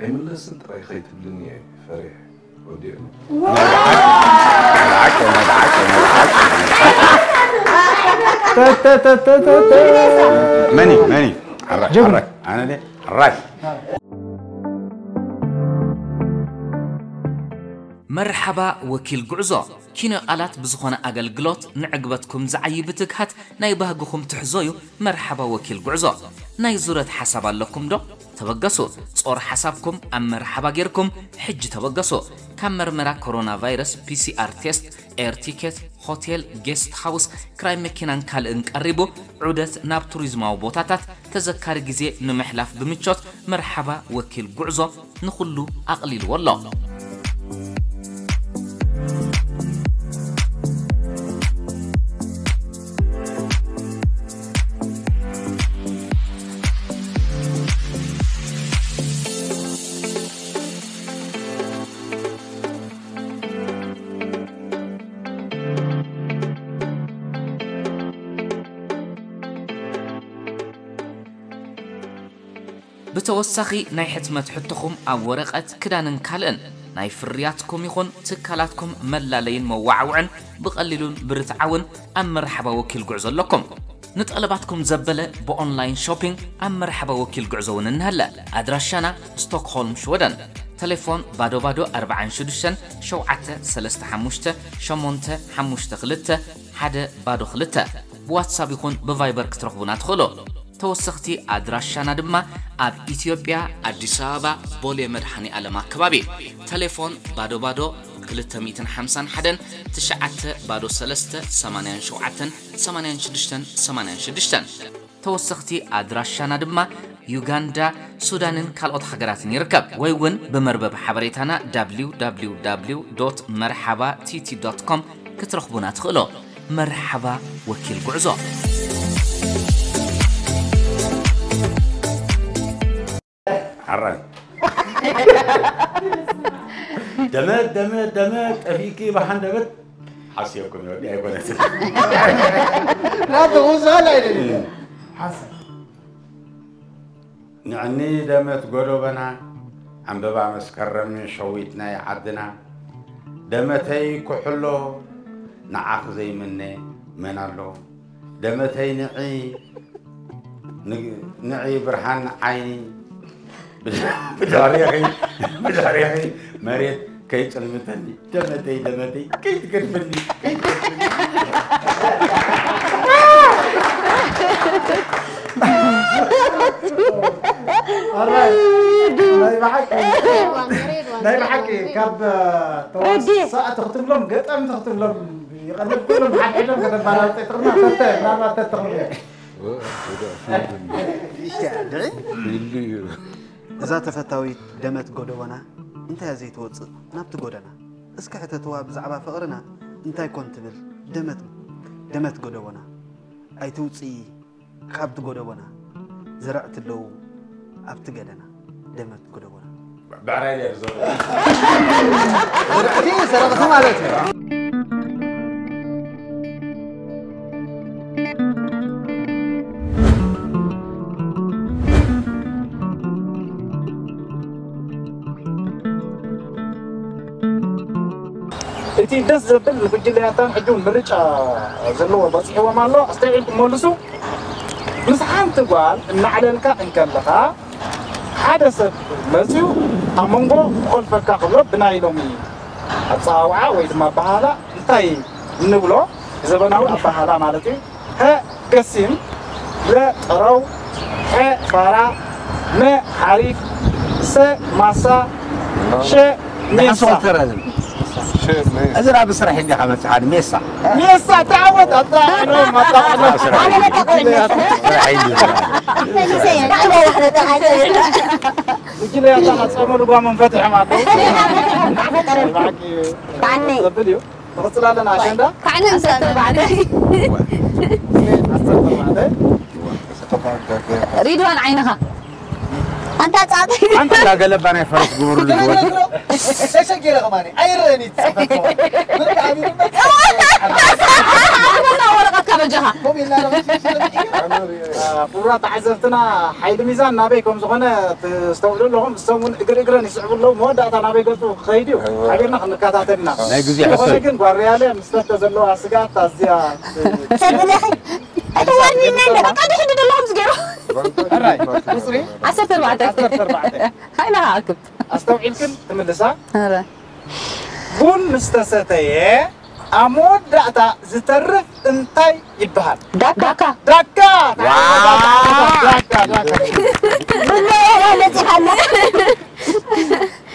ኣይምለስን ጥራይ ከይትብልኒ እየ ፈሪሐ። ወዲኤ። መኒ፣ መኒ? ሓራይ፣ ጀግና። ሓራይ። ኣነ ድየ? ሓራይ። መርሓባ ወኪል ጉዕዞ። ኪነ ቃላት ብዝኾነ ኣገልግሎት ንዕግበትኩም ዝዓዪ ብትግሃት ናይ ባህግኹም ትሕዞ እዩ። መርሓባ ወኪል ጉዕዞ። ናይ ዙረት ሓሳብ ኣለኩም ዶ? ተበገሱ። ጾር ሓሳብኩም ኣብ መርሓባ ጌርኩም ሕጂ ተበገሱ። ካብ መርመራ ኮሮና ቫይረስ፣ ፒ ሲ ኣር ቴስት፣ ኤር ቲኬት፣ ሆቴል፣ ጌስት ሃውስ፣ ክራይ መኪናን ካልእን ቀሪቡ፣ ዑደት ናብ ቱሪዝማዊ ቦታታት፣ ተዘካሪ ግዜ ንምሕላፍ ብምቾት፣ መርሓባ ወኪል ጉዕዞ ንኹሉ ኣቕሊልዎ ኣሎ። ብተወሳኺ ናይ ሕትመት ሕቶኹም ኣብ ወረቐት፣ ክዳንን ካልእን ናይ ፍርያትኩም ይኹን ትካላትኩም መላለይን መዋዓውዕን ብቐሊሉን ብርትዓውን ኣብ መርሓባ ወኪል ጉዕዞ ኣለኩም። ንጠለባትኩም ዘበለ ብኦንላይን ሾፒንግ ኣብ መርሓባ ወኪል ጉዕዞ እውን እንሀለ። ኣድራሻና ስቶክሆልም ሽወደን። ተሌፎን ባዶ ባዶ ኣርባዓን ሽዱሽተን ሸውዓተ ሰለስተ ሓሙሽተ ሸሞንተ ሓሙሽተ ክልተ ሓደ ባዶ ክልተ። ብዋትሳፕ ይኹን ብቫይበር ክትረኽቡና ትኽእሉ። ተወሰኽቲ ኣድራሻና ድማ ኣብ ኢትዮጵያ ኣዲስ ኣበባ ቦሌ መድኃኔ ዓለም ኣከባቢ። ቴሌፎን ባዶ ባዶ ክልተ ሚእትን ሓምሳን ሓደን ትሽዓተ ባዶ ሰለስተ ሰማንያን ሸውዓተን ሰማንያን ሽዱሽተን ሰማንያን ሽዱሽተን። ተወሰኽቲ ኣድራሻና ድማ ዩጋንዳ፣ ሱዳንን ካልኦት ሃገራትን ይርከብ። ወይ እውን ብመርበብ ሓበሬታና www.merhaba.tt.com ክትረኽቡና ትኽእሉ። መርሓባ ወኪል ጉዕዞ። ሓራይ ደመት ደመት ደመት ጠፊእኪ ብሓንደበት ሓስየኩም ይወዲ ኣይኮነትን። ናቱ ውሳል ኣይደለም ሓሰ ንዕኒ ደመት ጎዶበና ዕምበባ መስከረም ሸዊት ናይ ዓድና ደመተይ ኩሕሎ ንዓኽ ዘይምነ መን ኣሎ ደመተይ ንዒ ንዒ ብርሃን ዓይኒ ብድሕሪኺ ብድሕሪኺ መሬት ከይጽልምተኒ ደመተይ ደመተይ ከይትገድፍኒ ከይትገድፍኒ ናይ ብሓቂ ካብ ተዋሳእቲ ክትብሎም ገጣምቲ ክትብሎም ይቐልል ኩሎም ሓድሕዶም ከተባላልጠ ትኽእልና ፈተ ምናልባት ተትኽእሉ እዛ ተፈታዊት ደመት ጎደቦና እንታያ ዘይትወፅእ ናብቲ ጎደና እስኪ ሕተትዋ ብዛዕባ ፍቕርና እንታይ ኮን ትብል ደመት ደመት ጎደቦና ኣይትውፅኢ ካብቲ ጎደቦና ዘረዕቲ ኣለዉ ኣብቲ ገደና ደመት ጎደቦና ብዕራይ ድያ ዝዘሩ ዘረቕቲ ማለት እዩ እቲ ደስ ዘብል ንጉጅለ ያታን ሕጂ እውን ምርጫ ዘለዎ በፂሕዎም ኣሎ ኣስተውዒልኩም መልሱ ምስ ሓንቲ ጓል እናዕለልካ እንከለኻ ሓደ ሰብ መፅዩ ኣብ መንጎ ክኾልፈካ ክብሎ ብናይ ሎሚ ኣፀዋውዓ ወይ ድማ ኣበሃህላ እንታይ እንብሎ ብዘበናዊ ኣበሃህላ ማለት እዩ ሀ ገሲም ለ ጠረው ሐ ፋራ መ ሓሪፍ ሰ ማሳ ሸ ሜሳ እዚ ናብ ስራሕ እንዲኻ መፅሓ ሜሳ ሜሳ ተዓወት ኣታ ኖ ማታ ኖ ጉጅለ ያታ ናፀመ ልጓ መንፈት ይሐማሉ ዘብል እዩ ንቕፅል ኣለና ኣሸንዳ ካዕነ ዓሰርተ ኣርባዕተ ሪድዋን ዓይንኻ ኣንታ ጻዕዳ ሓንቲ እንዳገለባ ናይ ፈረስ ግበሩሉ ዝወዲ ተሸጊረ ከማኒ ኣይረኒ ወረቐትካ በጃኻ ክቡራት ተዓዘብትና ሓይሊ ሚዛን ናበይ ከም ዝኾነ ትስተውዕሉ ኣለኹም እሶም እውን እግሪ እግረን ይስዕቡ ኣለዉ መወዳእታ ናበይ ገፁ ክኸይድ እዩ ሓቢርና ክንከታተል ኢና ናይ ግዜ ዝኾነ ግን ጓርያለ ምስ ተተ ዘለዋ ስጋት ኣዝያ ሰብለኺ ኣይተዋርኒና እንደ በቃ ድሕዲ ደለኹም ዝገይሩ ዓሰርተ ኣርባዕተ ሃይና ኣክብ ኣስተውዒልክን ትምልሳ ቡን ምስ ተሰተየ ኣብ መወዳእታ ዝተርፍ እንታይ ይበሃል? ዳካ። ዳካ። ዳካ። ዳካ። ዳካ። ዳካ።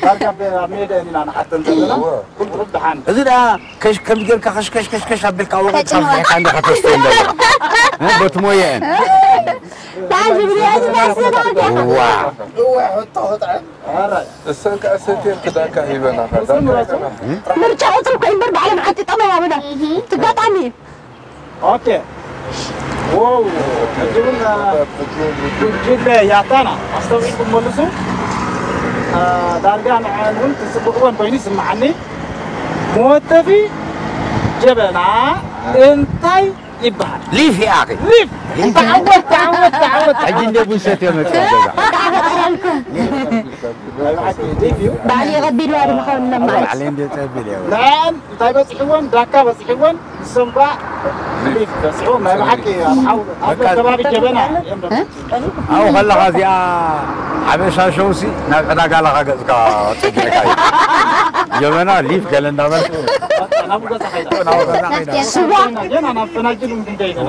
ዳርጋ ኣብ ሜዳ ኢና ንሓተን ዘለና። ኩሉ ደሓን። እዚ ደኣ ከሽ ከም ጌርካ ከሽ ከሽ ከሽ ከሽ ኣቢልካ ወቒ ተጭንዋ። ካፍካ እንደ ከተስተ እንደ በቲ ሞየን። ታጅ ብሪያጅ ናስባ። ዋ እወ ሕቶ ክጥዕም። ኣራይ። እሰን ከኣ ሰትየን ክዳካ ሂበናኻ። ዳካ ሂበናኻ። ምርጫ ቁፅሪ እኮ እምበር ባዕሎም ሓጢጦም እዮም ኣበና ትጋጣሚ ኦኬ። ዎው። ሕጂ እውን ጉጅለ ያታና ኣስተውዒልኩም መልሱ። ዳርጋ ንዐን እውን ትፅብቕወን ኮይኑ ይስምዓኒ። መወተፊ ጀበና እንታይ ይበሃል። ሊፍ ይኣኺ። ሊፍ። ተዓወት ተዓወት ተዓወት። ሕጂ እንደ ቡን ሰትዮ መፅእ ገዛ። ሊፍ እዩ። ባዕሊ የቐቢልዋ ድማ ካብ እነማለት። ባዕሊ እንደ ፀቢል እየ። ንዐን እንታይ በፂሕወን ዳካ በፂሕወን ንሶም ከዓ ሊፍ በፂሕዎም ናይ ብሓቂ ኣብ ሓው ኣብ ከባቢ ጀበና እዮም ኣብኡ ከለኻ እዚኣ ሓበሻ ሸውሲ ናብ ዕዳጋ ለኻ ገፅካ ፀጊዕካ እዩ ጀበና ሊፍ ገለ እንዳበልካ ናብኡ ገዛ ከይዳ ስዋ ገና ናብ ፈናጅል እንድንደይ ገና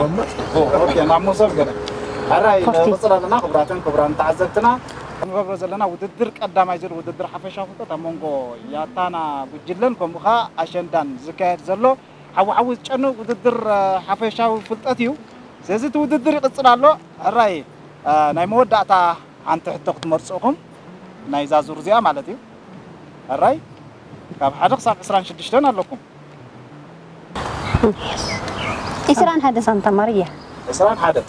ኦኬ ናብ መሶብ ገለ ሕራይ ንቕጽል ኣለና። ክቡራትን ክቡራን ተዓዘብትና፣ ክንገብሮ ዘለና ውድድር ቀዳማይ ዙር ውድድር ሓፈሻዊ ፍልጠት ኣብ መንጎ ያታና ጉጅለን ከምኡ ኸኣ ኣሸንዳን ዝካየድ ዘሎ ሓዊ ሓዊ ዝጨኑ ውድድር ሓፈሻዊ ፍልጠት እዩ። ስለዚ እቲ ውድድር ይቕጽል ኣሎ። ሕራይ ናይ መወዳእታ ሓንቲ ሕቶ ክትመርጹ ኢኹም፣ ናይዛ ዙር እዚኣ ማለት እዩ። ሕራይ ካብ ሓደ ክሳብ ዕስራን ሽዱሽተን ኣለኩም። ዒስራን ሓደን ሳንታ ማርያ። ዕስራን ሓደን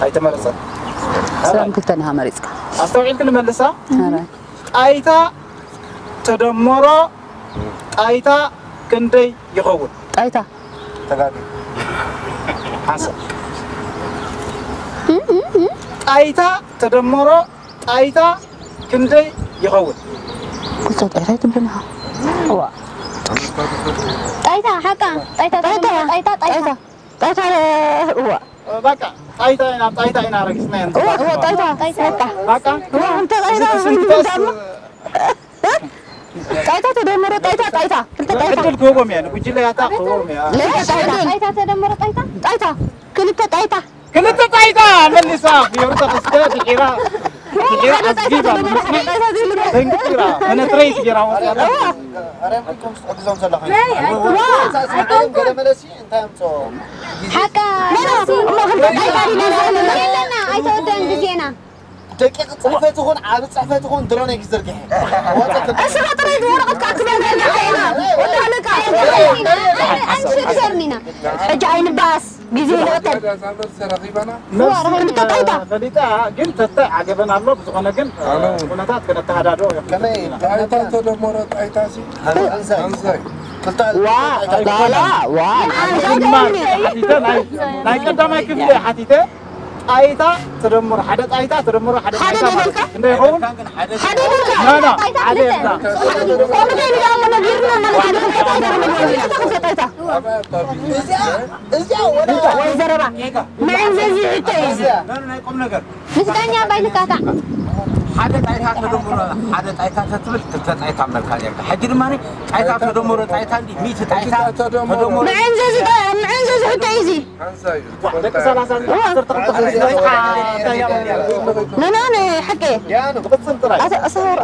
ኣይተመረጸን። ዕስራን ክልተን ኢኻ መሪጽካ። ኣስተውዒልኪ ንመልሳ። ኧረ። ጣይታ ተደመሮ ጣይታ ክንደይ ይኸውን? ጣይታ። ተጋጊ። ሓንሳብ። ጣይታ ተደመሮ ጣይታ ክንደይ ይኸውን? ኩልተ ጣይታ ይትብልና። ዋ። ጣይታ ሓቃ ጣይታ ጣይታ ጣይታ ጣይታ ጣይታ እዋ። በቃ ጣይታ ኢና ጣይታ ኢና ረጊጽና ኢና። እዋ እዋ ጣይታ ጣይታ። በቃ እዋ እንተ ጣይታ ስንተስ ጣይታ ተደመረ ጣይታ ጣይታ ክልተ ጣይታ። ዕድል ክህቦም እየ ንጉጅለ ያታ ክህቦም እየ። ለይታ ጣይታ ጣይታ ተደመረ ጣይታ ጣይታ ክልተ ጣይታ። ክልተ ጣይታ መሊሳ ፊዮሪ ተኸስተ ድሒራ ድሒራ ኣዝጊባ ምስማዕ ደንጊራ ፔነትሬት ገይራ ወፅያ። ኣረም ኢልኩም ክትሕግዞም ዘለኹም። ገለ መለሲ እንታይ ኣምፅኦ? ሓቃ የለና ኣይተወደን ግዜና ደቂቕ ፅሕፈት ይኹን ዓቢ ፅሕፈት ይኹን ድሮን እዩ ክዝርግሐ። እስኻ ጥራይ ወረቐት ክኣክበል ዘለና ኢና። ወዳለካ ኣንሽርሸርኒና ሕጂ ኣይንባኣስ ግዜ ይንቕተል። ተረኺበና ክልተ ጣይታ ፈሊጣ ግን ተተ ዓገበን ኣሎ ብዝኾነ ግን ኩነታት ክነተሃዳዶ ከመይ ጣይታ ተደመሮ ጣይታ ሲ ኣንሳይ ዋ ዳላ ዋ ሓቲተ ናይ ናይ ቀዳማይ ክፍሊ ሓቲተ ጣይታ ተደምሮ ሓደ ጣይታ ተደምሮ ሓደ ሓደ ጣይታ ማለት ደበልካ? እዩ። ክንደይ ይኸውን? ሓደ ይበልካ? ና ና ሓደ የብላ ከምኡ ከይኑ ደኣ እሞ ነጊርና ማለት እዩ። ክልተ ጣይታ ክልተ ጣይታ። እዚኣ እዚኣ ወላ ወይ ዘረባ ምዕንዘዚ ሕቶ እዩ እዚ። ናይ ቁም ነገር ምስ ዳኛ ባይንካታዕ ሓደ ጣይታ ተደምሮ ሓደ ጣይታ ተትብል ክልተ ጣይታ መልካ ነርካ። ሕጂ ድማ ጣይታ ተደምሮ ጣይታ እንዲ ሚእቲ ጣይታ ተደምሮ ምዕንዘዚ ጣ- ምዕንዘዚ ሕቶ እዩ እዚ። ሓንሳይ እዩ። ደቂ ሰላሳ ዓሰርተ ክልተ እንታይ እንታይ ኖ ኖ ኖ ሓቂ ያኑ ብቕጽል ጥራይ ኣተ ኣሰወር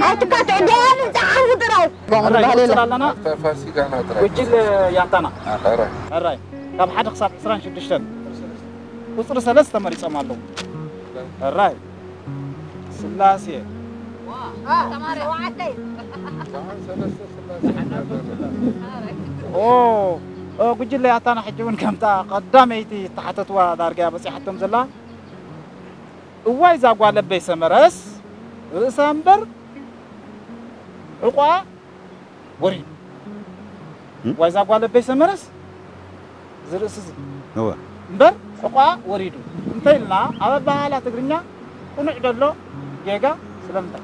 ኣትካትዕ ደያኑ ጣዕሙ ጥራይ። ጎምር ባህል የለ ኣለና ተፋሲጋና ጥራይ። ጉጅል ያታና ኧረ ሕራይ ካብ ሓደ ክሳብ ዕስራን ሽዱሽተን ቁፅሪ ሰለስተ መሪፆም ኣለዉ። ሕራይ ስላሴ ኦ ኦ፣ ጉጅለ ያታና ሕጂ እውን ከምታ ቀዳመይቲ እተሓተትዋ ዳርጋ እያ በፂሓቶም ዘላ። እዋይ እዛ ጓል ኣበይ ሰመረስ ርእሳ እምበር ሕቋ ወሪዱ። እዋይ እዛ ጓል ኣበይ ሰመረስ ዝርእስ እዚ እወ እምበር ሕቋ ወሪዱ እንተ ኢልና ኣብ ኣበሃህላ ትግርኛ ቅኑዕ ደሎ ጌጋ ስለምንታይ?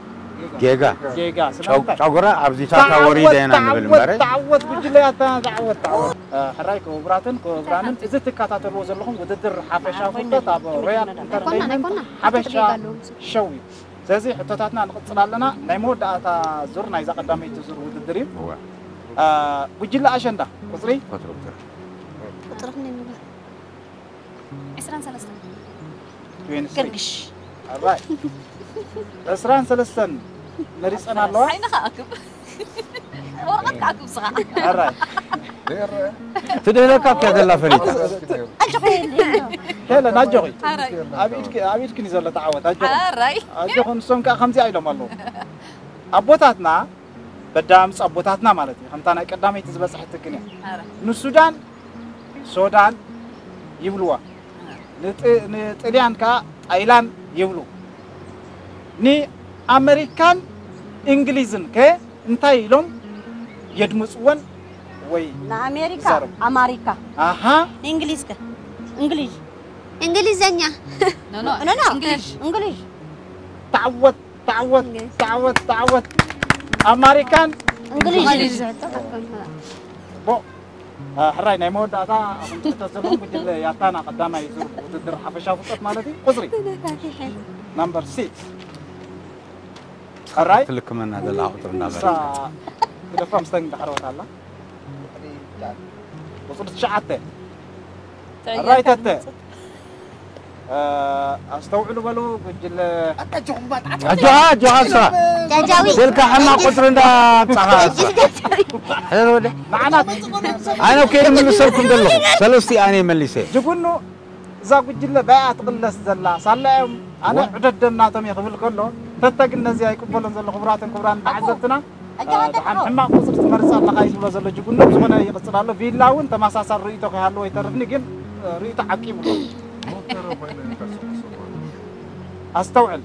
ጌጋ ጌጋ ጨው- ስለምንታይ? ጨጉራ ኣብዚታታ ወሪደ ኢና ንብል እምበር ተዓወት ጉጅለያትና ተዓወት ተዓወት። ሕራይ ክቡራትን ክቡራንን እዚ ትከታተልዎ ዘለኹም ውድድር ሓፈሻዊ ፍልጠት ኣብ ሮያል ኣይኮናን ኣይኮና ሓበሻ ጌጋ ኣለዎም። ሸው እዩ። ስለዚ ሕቶታትና ንቕጽል ኣለና። ናይ መወዳእታ ዙር ናይዛ ቀዳመይቲ ዙር ውድድር እዩ። እወ አ፣ ጉጅለ ኣሸንዳ ቁጽሪ ቁጽሪ ቁጽሪ ቁጽሪ ክንደይ ንብል? ዕስራን ሰለስተን ትዌንቲ ስሪ ገርግሽ ኣራይ ዕስራን ሰለስተን መሪጸን ኣለዋ። ዓይንኻ ኣክብ ወረቐት ከኣክብ ስኻ ኣራይ ትድህለካ እኮ ዘላ ፈሊጣ ኣጆኺ ሄለን ኣጆኺ ኣራይ ኣብ ኢድኪ ኣብ ኢድኪ እዩ ዘሎ ተዓወት ኣጆኺ ኣራይ ኣጆኺ ንሶም ከኣ ከምዚ ኢሎም ኣለዉ ኣቦታትና በዳምፅ ኣቦታትና ማለት እዩ ከምታ ናይ ቀዳመይቲ ዝበፅሐት ትግን እያ ኣራይ ንሱዳን ሶዳን ይብልዋ ንጥ- ንጥልያን ከኣ ጣይላን ይብሉ ንኣመሪካን እንግሊዝን ከ እንታይ ኢሎም የድምፅወን ወይ ንኣሜሪካ ይዛረቡ። ኣማሪካ ኣሃ እንግሊዝ ከ እንግሊዝ እንግሊዘኛ ኖ ኖ ኖ ኖ እንግሊሽ እንግሊዝ ተዓወት ተዓወት ተዓወት ተዓወት ኣማሪካን እንግሊዝ ጽቡቕ አ፣ ሕራይ ናይ መወዳእታ ኣኹም ትሕተት ዘለኹም ጉጅለ ያታና ቀዳማይ ዙር ውድድር ሓፈሻዊ ፍልጠት ማለት እዩ ቁፅሪ ናምበር ሲክስ ሕራይ ትልክመና ዘላ ቁፅሪ ንሳ እናበለ ግደፋ ምስተን እንዳሕረወት ኣላ ቁፅሪ ትሽዓተ ሕራይ ተተ ኣስተውዕሉ በሉ ጉጅለ። ኣጆኻ ኣጆኻ እሳ ጃጃዊ ስልካ ሕማቕ ቁፅሪ እንዳምፃኻ እሳ ሕደር ወደ ንዓና ኣነ ከይድ ምልሰልኩም ዘለኹ ሰለስቲ ኣነ መሊሰ ጅጉኑ እዛ ጉጅለ ባይኣ ትቕለስ ዘላ ሳላ እዮም ኣነ ዕደደም ናቶም እየ ክብል ከሎ ተተ ግን ነዚ ኣይቅበሎን ዘሎ ክቡራትን ክቡራን ተዓዘብትና ደሓን ሕማቕ ቁፅሪ ትመርፅ ኣለኻ እዩ ዝብሎ ዘሎ ጅጉኑ ዝኾነ ይቕፅል ኣሎ ቪላ እውን ተመሳሳል ርእይቶ ከይሃለዎ ይተርፍኒ ግን ርእይቶ ዓቂቡ ኣስተውዕል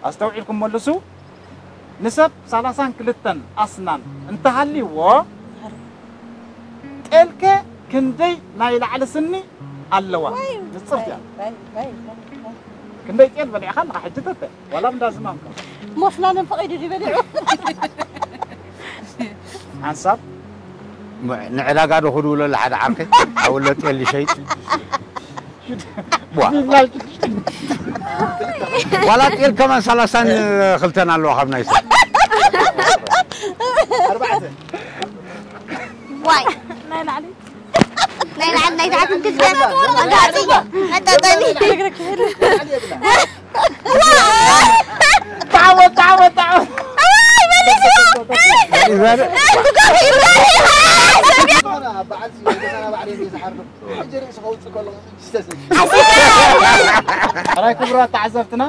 ኣስተውዒልኩም መልሱ ንሰብ ሰላሳን ክልተን ኣስናን እንተሃልይዎ ጤልከ ክንደይ ናይ ላዕሊ ስኒ ኣለዋ ንፅርት እያ ክንደይ ጤል በሊዕኻ ኣለኻ ሕጂ ተተ ዋላ እንዳ ዝማምካ ሞስላለን ፈቒዱ ድዩ በሊዑ ሓንሳብ ንዕዳጋ ዶ ክድውለሉ ሓደ ዓርከይ ኣውለ ጤል ይሸይጥ ዋላ ጤል ከማን ሰላሳን ክልተን ኣለዋ ካብ ናይ ሰብ ዋይ ናይ ላዕሊ ናይ ላዕሊ ናይ ታሕትን ክልተ ኣጋጥሞ መጣጠሚ تعود تعود تعود ሕራይ ክቡራት ተዓዘብትና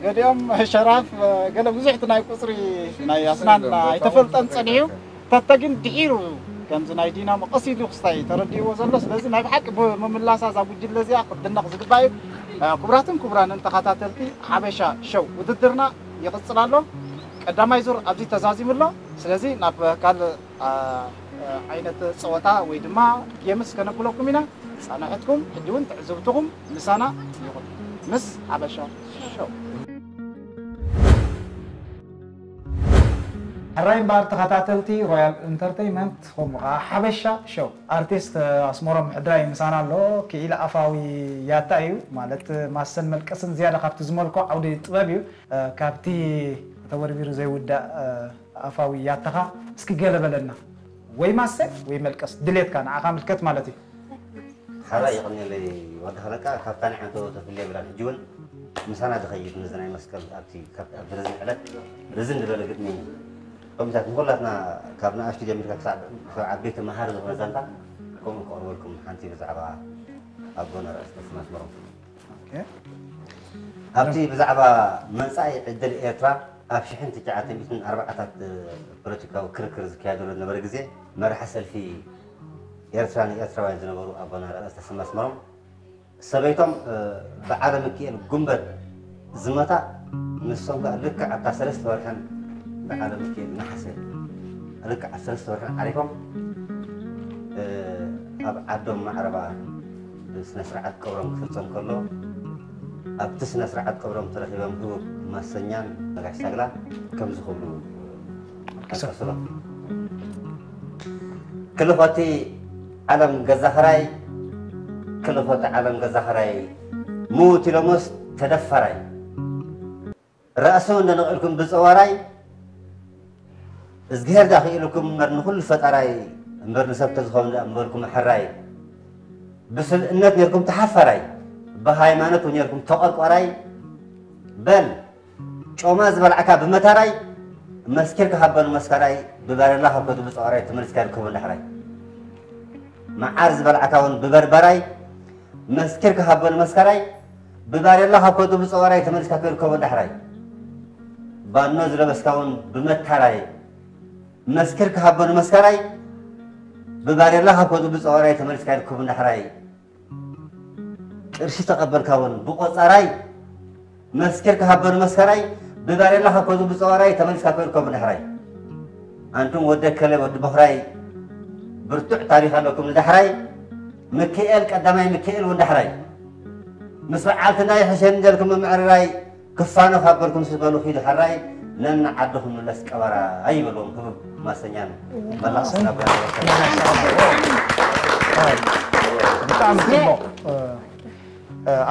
ገዲኦም ሸራፍ ገለ ብዙሕ ናይ ቁፅሪ ናይ ኣስናን ኣይተፈልጠን ፀኒሑ ተተ ግን ድሒሩ ከምዚ ናይ ዲናሞ ቀስ ኢሉ ክስታይ ተረዲእዎ ዘሎ ስለዚ ናይ ብሓቂ ብምምላሳ እዛ ጉጅለ እዚኣ ክትድነቕ ዝግባእ እዩ ክቡራትን ክቡራንን ተኸታተልቲ ሓበሻ ሸው ውድድርና ይቕፅል ኣሎ ቀዳማይ ዙር ኣብዚ ተዛዚሙ ኣሎ ስለዚ ናብ ካልእ ዓይነት ፀወታ ወይ ድማ ጌምስ ከነብለኩም ኢና ፃንሕትኩም ሕጂ እውን ትዕዝብትኹም ምሳና ይኹን ምስ ሓበሻ ሸው ሕራይ እምበኣር ተኸታተልቲ ሮያል ኢንተርተይመንት ከምኡ ከዓ ሓበሻ ሸው ኣርቲስት ኣስመሮም ሕድራይ ምሳና ኣሎ ክኢል ኣፋዊ ያታ እዩ ማለት ማሰን መልቀስን ዝያዳ ካብቲ ዝመልኮ ዓውዲ ጥበብ እዩ ካብቲ ተወርቢሩ ዘይውዳእ ኣፋዊ ያታኻ እስኪ ገለ በለና ወይ ማሰ ወይ መልቀስ ድሌትካ ንዓኻ ምልከት ማለት እዩ ሓራይ ይቕንየለይ ወዲ ሃለቃ ካብታ ንዓንተ ተፍልየ ብላን ሕጂ እውን ምሳና ዝኸይድ ነዚ ናይ መስቀል ኣብቲ ኣብቲ ረዝን ዕለት ረዝን ዝበለ ግጥሚ ከምታት ንኩላትና ካብ ንኣሽቱ ጀሚርካ ክሳብ ዓበይቲ መሃሪ ዝኾነ ዛንታ ከምኡ ክቕርበልኩም ሓንቲ ብዛዕባ ኣቦና ርእስ ተስማስመሮም ኣብቲ ብዛዕባ መጻኢ ዕድል ኤርትራ ኣብ ሽሕን ትሽዓተ ሚእትን ኣርባዓታት ፖለቲካዊ ክርክር ዝካየደሉ ዝነበረ ግዜ መራሒ ሰልፊ ኤርትራ ንኤርትራውያን ዝነበሩ ኣቦና ርእስ ተስማስመሮም ሰበይቶም በዓለ ምክኤል ጉንበት ዝመታ ንሶም ከዓ ልክዕ ኣብታ ሰለስተ ወርሕን በዓለ ምክኤል ነሓሰ ልክዕ ኣብ ሰለስተ ወርሕን ዓሪፎም ኣብ ዓዶም ማዕረባ ስነ ስርዓት ቀብሮም ክፍፀም ከሎ ኣብቲ ስነ ስርዓት ቀብሮም ተረኺቦም ህቡብ ማሰኛን ነጋሽ ሳግላ ከምዚ ክብሉ ኣቀስሎም ክልፎቲ ዓለም ገዛኽራይ ክልፎቲ ዓለም ገዛኽራይ ምውት ኢሎሞስ ተደፈራይ ራእሱ እንደነቕልኩም ብፀዋራይ እዝግሄር ዳኽኢልኩም እምበር ንኹሉ ፈጣራይ እምበር ንሰብ ተዝኸውን ደኣ እምበልኩም ሕራይ ብስልእነት ኔርኩም ተሓፈራይ ብሃይማኖት እውን ኔርኩም ተቐርቋራይ በል ጮማ ዝበልዓካ ብመታራይ መስኪር ክሃበኑ መስካራይ ብባረላ ካብ ከቱ ብፀዋራይ ተመልስካ ይርከቡ እንዳሕራይ መዓር ዝበልዓካ እውን ብበርበራይ መስኪር ክሃበኑ መስካራይ ብባሬላ ካብ ከቱ ብፀዋራይ ተመሊስካ ክርከቦ ዳሕራይ ባኖ ዝለበስካ እውን ብመታራይ መስኪር ክሃበኑ መስካራይ ብባሬላ ካብ ከቱ ብፀዋራይ ተመሊስካ ይርከቡ ዳሕራይ ቅርሺ ተቐበልካ እውን ብቆፃራይ መስኪር ክሃበኑ መስካራይ ብባሬላ ካብ ከቱ ብፀዋራይ ተመሊስካ ክርከቡ ዳሕራይ ኣንቱም ወደ ከለ ወዲ በኽራይ ብርቱዕ ታሪኽ ኣለኩም ንዳሕራይ ምክኤል ቀዳማይ ምክኤል እውን ዳሕራይ ምስ በዓልትና ይሕሸኒ ደልኩም ምምዕርራይ ክፋኖ ካብ በልኩም ስበሉ ኪዱ ሕራይ ነንዓድኹም ምለስ ቀበራ ኣይበልዎም ህቡብ ማሰኛን መላእ ስናብራ ብጣዕሚ ፅቡቕ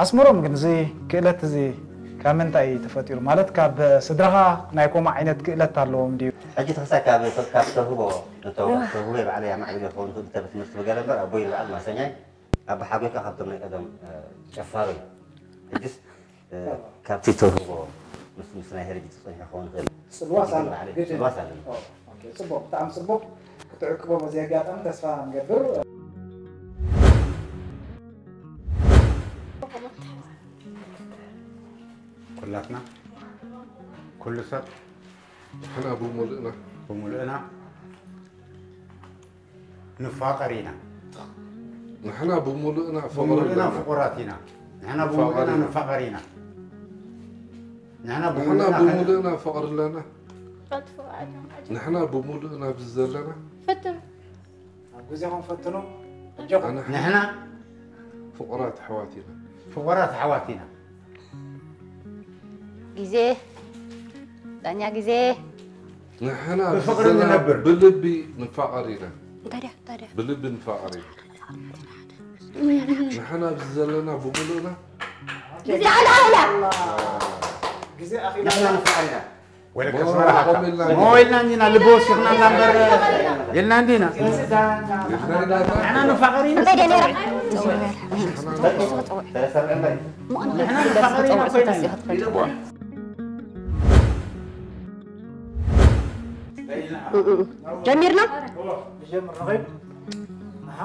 ኣስመሮም ግን እዚ ክእለት እዚ ካብ ምንታይ እዩ ተፈጢሩ ማለት ካብ ስድራኻ ናይ ኮማ ዓይነት ክእለት ኣለዎም ድዩ ሕጂ ተኸሳይ ካብ ካብ ተውህቦ ተውህቦ ባዕለይ ኣማዕቢለ ክኸውን ትብል ትምህርቲ ብገለ እምበር ኣቦይ ዝበዓል ማሰኛይ ኣባ ሓጎይካ ካብቶም ናይ ቀደም ጨፋሩ እዩ። ሕጅስ ካብቲ ተውህቦ ምስ ምስ ናይ ሄሪዲቲ ጸኒሑ ክኸውን ይኽእል። ጽልዋስ ኣሎ፣ ግድን። ጽልዋስ ኣለና። ኦኬ፣ ጽቡቕ፣ ብጣዕሚ ጽቡቕ። ክትዕቅቦ በዚ ኣጋጣሚ ተስፋ ንገብር። ኩላትና፣ ኩሉ ሰብ፣ ንሕና ብምሉእና፣ ብምሉእና ንፋቐር ኢና። ንሕና ብምሉእና ፍቕሪ ብምሉእና ኣለና። ፍቑራት ኢና። ንሕና ንፋቐር ብምሉእና ኢና። ንፋቐር ኢና። ንሕና ንሕና ብምሉእና ከ- ብምሉእና ፍቕሪ ኣለና። ንሕና ብምሉእና ኣብዚ ዘለና ፈትኑ። ኣብ ግዜኹም ፈትኑ። ኣጆኹም። ኣነ ንሕና ፍቑራት ኣሕዋት ኢና። ፍቑራት ኣሕዋት ኢና። ግዜ፣ ዳኛ ግዜ። ንሕና ብፍቕሪ ዘለና ንነብር። ብልቢ ንፋቐር ኢና። እንታይ ድያ? እንታይ ድያ? ብልቢ ንፋቐር ኢና። ንሕና ኣብዚ ዘለና ብምሉእና ግዜ ኣልኣላ። ግዜ ኣኺላ። ንሕና ንፋቐር ኢና። ወለከ ሞ-፣ ስመራ ሃብታ። ቆም ኢልና ሞ ኢልና እንዲና፣ ልቢ ወሲኽና እንዳ እምበር ኢልና እንዲና። ንሕና ንፋቐር ኢና። እንታይ ድያ ነይራ? ንሕና ንፋቐር ኢና ኮይና። ጀሚርና? ንጀምር፣ ንኸይድ። ኣሃ።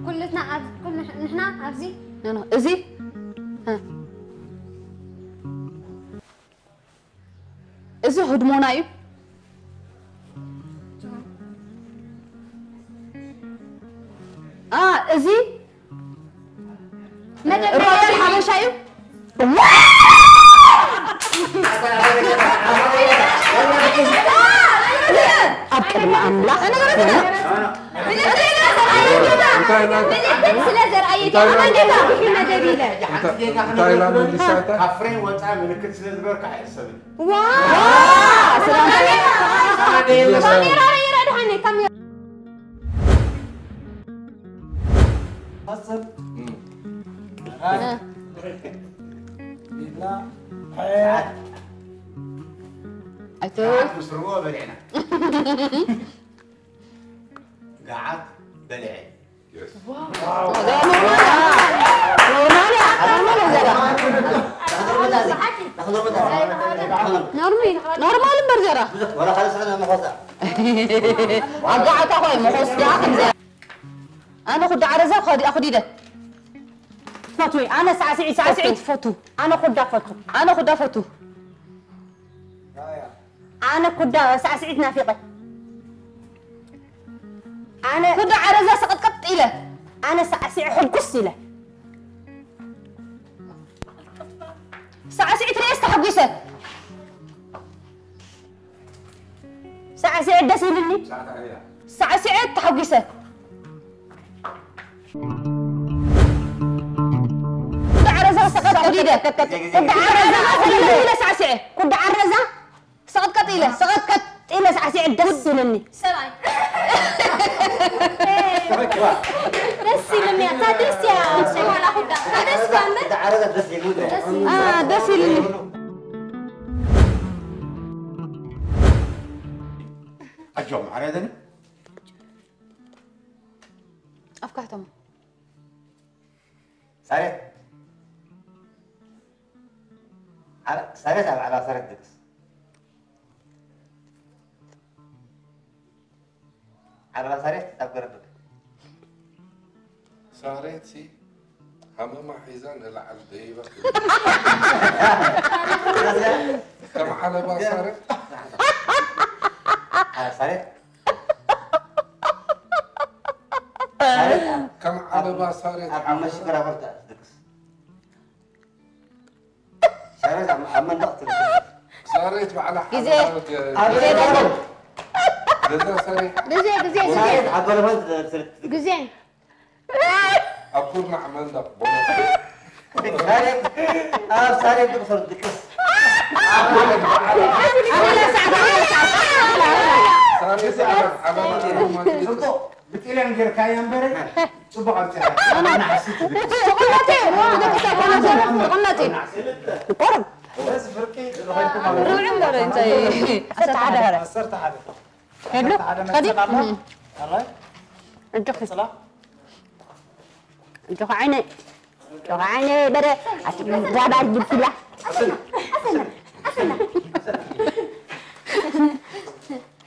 ኩልትና ኣብ-፣ ኩል-፣ ንሕና ኣብዚ። ኖ፣ ኖ፣ እዚ? እ። እዚ ህድሞና እዩ። አ፣ እዚ መደብ ሮያል ሓበሻ እዩ። ኣብ ቅድሚ ኣምላኽ ምልክት ስለ ዘርኣየት እያ። እንታይ ኢላ መደብ ኢለ። እንታይ፣ እንታይ ኢላ መሊሳታ? ካብ ፍሬም ወጻኢ ምልክት ስለ ዝበርካ ኣይሕሰብን። ዋው! ሰላም። ካሜራ ረይራ ድሓን ካሜራ። ቀጽል። እም። ኢድና። ሰዓት። ኣይተ- ሰዓት ምስ ርብኦ በሊዕና። ገዓት በሊዐ። የስ። ኖርማል እያ፣ ኖርማል እያ ዘራ። ኖርሚ-፣ ኖርማል እምበር ዘራ። ወላ ካልእ ስዕል መኾሳ። ኣጋዓታ ኾይ መኾስ ደኣ ከምዚ። ኣነ ኩዳ ዓረዛ ኸዲ-፣ ኣኹዲደ። ትፈትዊ፣ ኣነ ሳዕስዒት፣ ሳዕስዒት ትፈቱ። ኣነ ኩዳ ፈቱ። ኣነ ኩዳ ፈቱ። ኣነ ኩዳ ሳዕስዒት ናፊቐ። ኣነ ኩዳ ዓረዛ ሰቐጥቀጥ ኢለ። ኣነ ሳዕስዒ ሕጉስ ኢለ። ሳዕስዒት ርእየስ ተሓጒሰ። ሳዕስዒት ደስ ኢልኒ። ሳዕስዒት ተሓጒሰ። ኩዳ ዓረዛ ሰቐጥቀጥ ኢለ። ኩዳ ዓረዛ ሰቐጥቀጥ ኢለ ሳዕስዒ። ኩዳ ዓረዛ ሰቐጥቀጥ ኢለ፣ ሰቐጥቀጥ ኢለ ሳዕሲዐ ደስ ኢልኒ። ሰብኣይ። ደስ ኢልኒ፣ እታ ደስ እያ፣ ሸኳላ ኩዳ። እታ ደስ እያ እምበር። እታ ዓረዛ ደስ ኢልኒ። ደስ ኢልኒ። አ፣ ደስ ኢልኒ። ኣጆም፣ ዓረዘኒ። ኣፍካሕቶም። ሳሬት። ዓረ-፣ ሳሬት ኣብ ዓለባ ሳሬት ድቅስ። ዓለባ ሳሬት ኣብ ገረብ ድቅስ። ሳሬት ሲ ሃመማ ሒዛ ንላዕሊ ደይባ። ከም ዓለባ ሳሬት። ዓ-፣ ሳሬት። ሳሬት። ከም ዓለባ ሳሬት ኣብ ዓለባ። መሽገራ በርታ ድቅስ። ሳሬት ኣብ፣ ኣብ መንደቕ ትርከብ። ሳሬት ባዕላ ግዜ። ሓላል ገ-፣ ኣብ ግዜ ገ-፣ ገዛ ሰሪሓ። ግዜ፣ ግዜ፣ ግዜ። ሳሬት ኣብ በረኸት ትርከብ። ግዜ። ኣብ ኩርናዕ መንደቕ ቦሎት። ሳሬት፣ ኣብ ሳሬት ትቕሰር ድቅስ። ሳሬት ባዕላ ሓላል ጽቡቕ። ብጥልያን ጌርካያ እምበር ጽቡቕ ኣምጺኣ። ኣና ሓሲት ትብል። ትቕነቲ፣ ንደቂ ሰብ ኮነ ሰብ ትቕነቲ። ቆርብ። በዚ ፍርቂ ዝኸድኩም ኣለኹም። ርብዒ እምበር እንታይ? ዓሰርተ ሓደ ሀረ። ዓሰርተ ሓደ። ሄሎ፣ ዓሰርተ ሓደ ከዲ? መጽእ ኣሎ። እም። ኣራይ? እጆኺ። እጆኺ ዓይነ። እጆኺ ዓይነ በረ። ኣቲ ዳባር ግብትላ።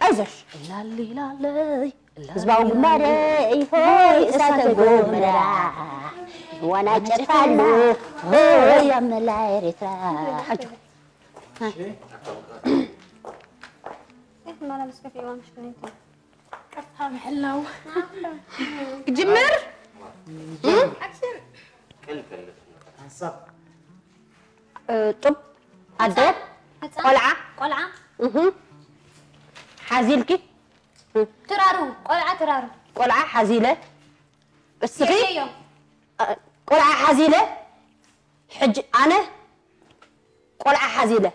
ኣይዞሽ። ላሊ ላለይ። ህዝባዊ ግንባር ሆይ እሳተ ጎመራ። ዋና ጨርፋሉ ሆይ ኣብ መላ ኤርትራ። ሓጆ። إيه، ما لابس كفي وامشي كنتي. ቀጥታ ምሕላው። ክጅምር? ሓንሳብ። እ፣ ጡብ፣ ኣደ፣ ህፃን፣ ቆልዓ። ቆልዓ። እህ። ሓዚልኪ? ትራሩ፣ ቆልዓ ትራሩ። ቆልዓ ሓዚለ። እስኺ? የዮ። እ፣ ቆልዓ ሓዚለ። ሕጂ ኣነ ቆልዓ ሓዚለ።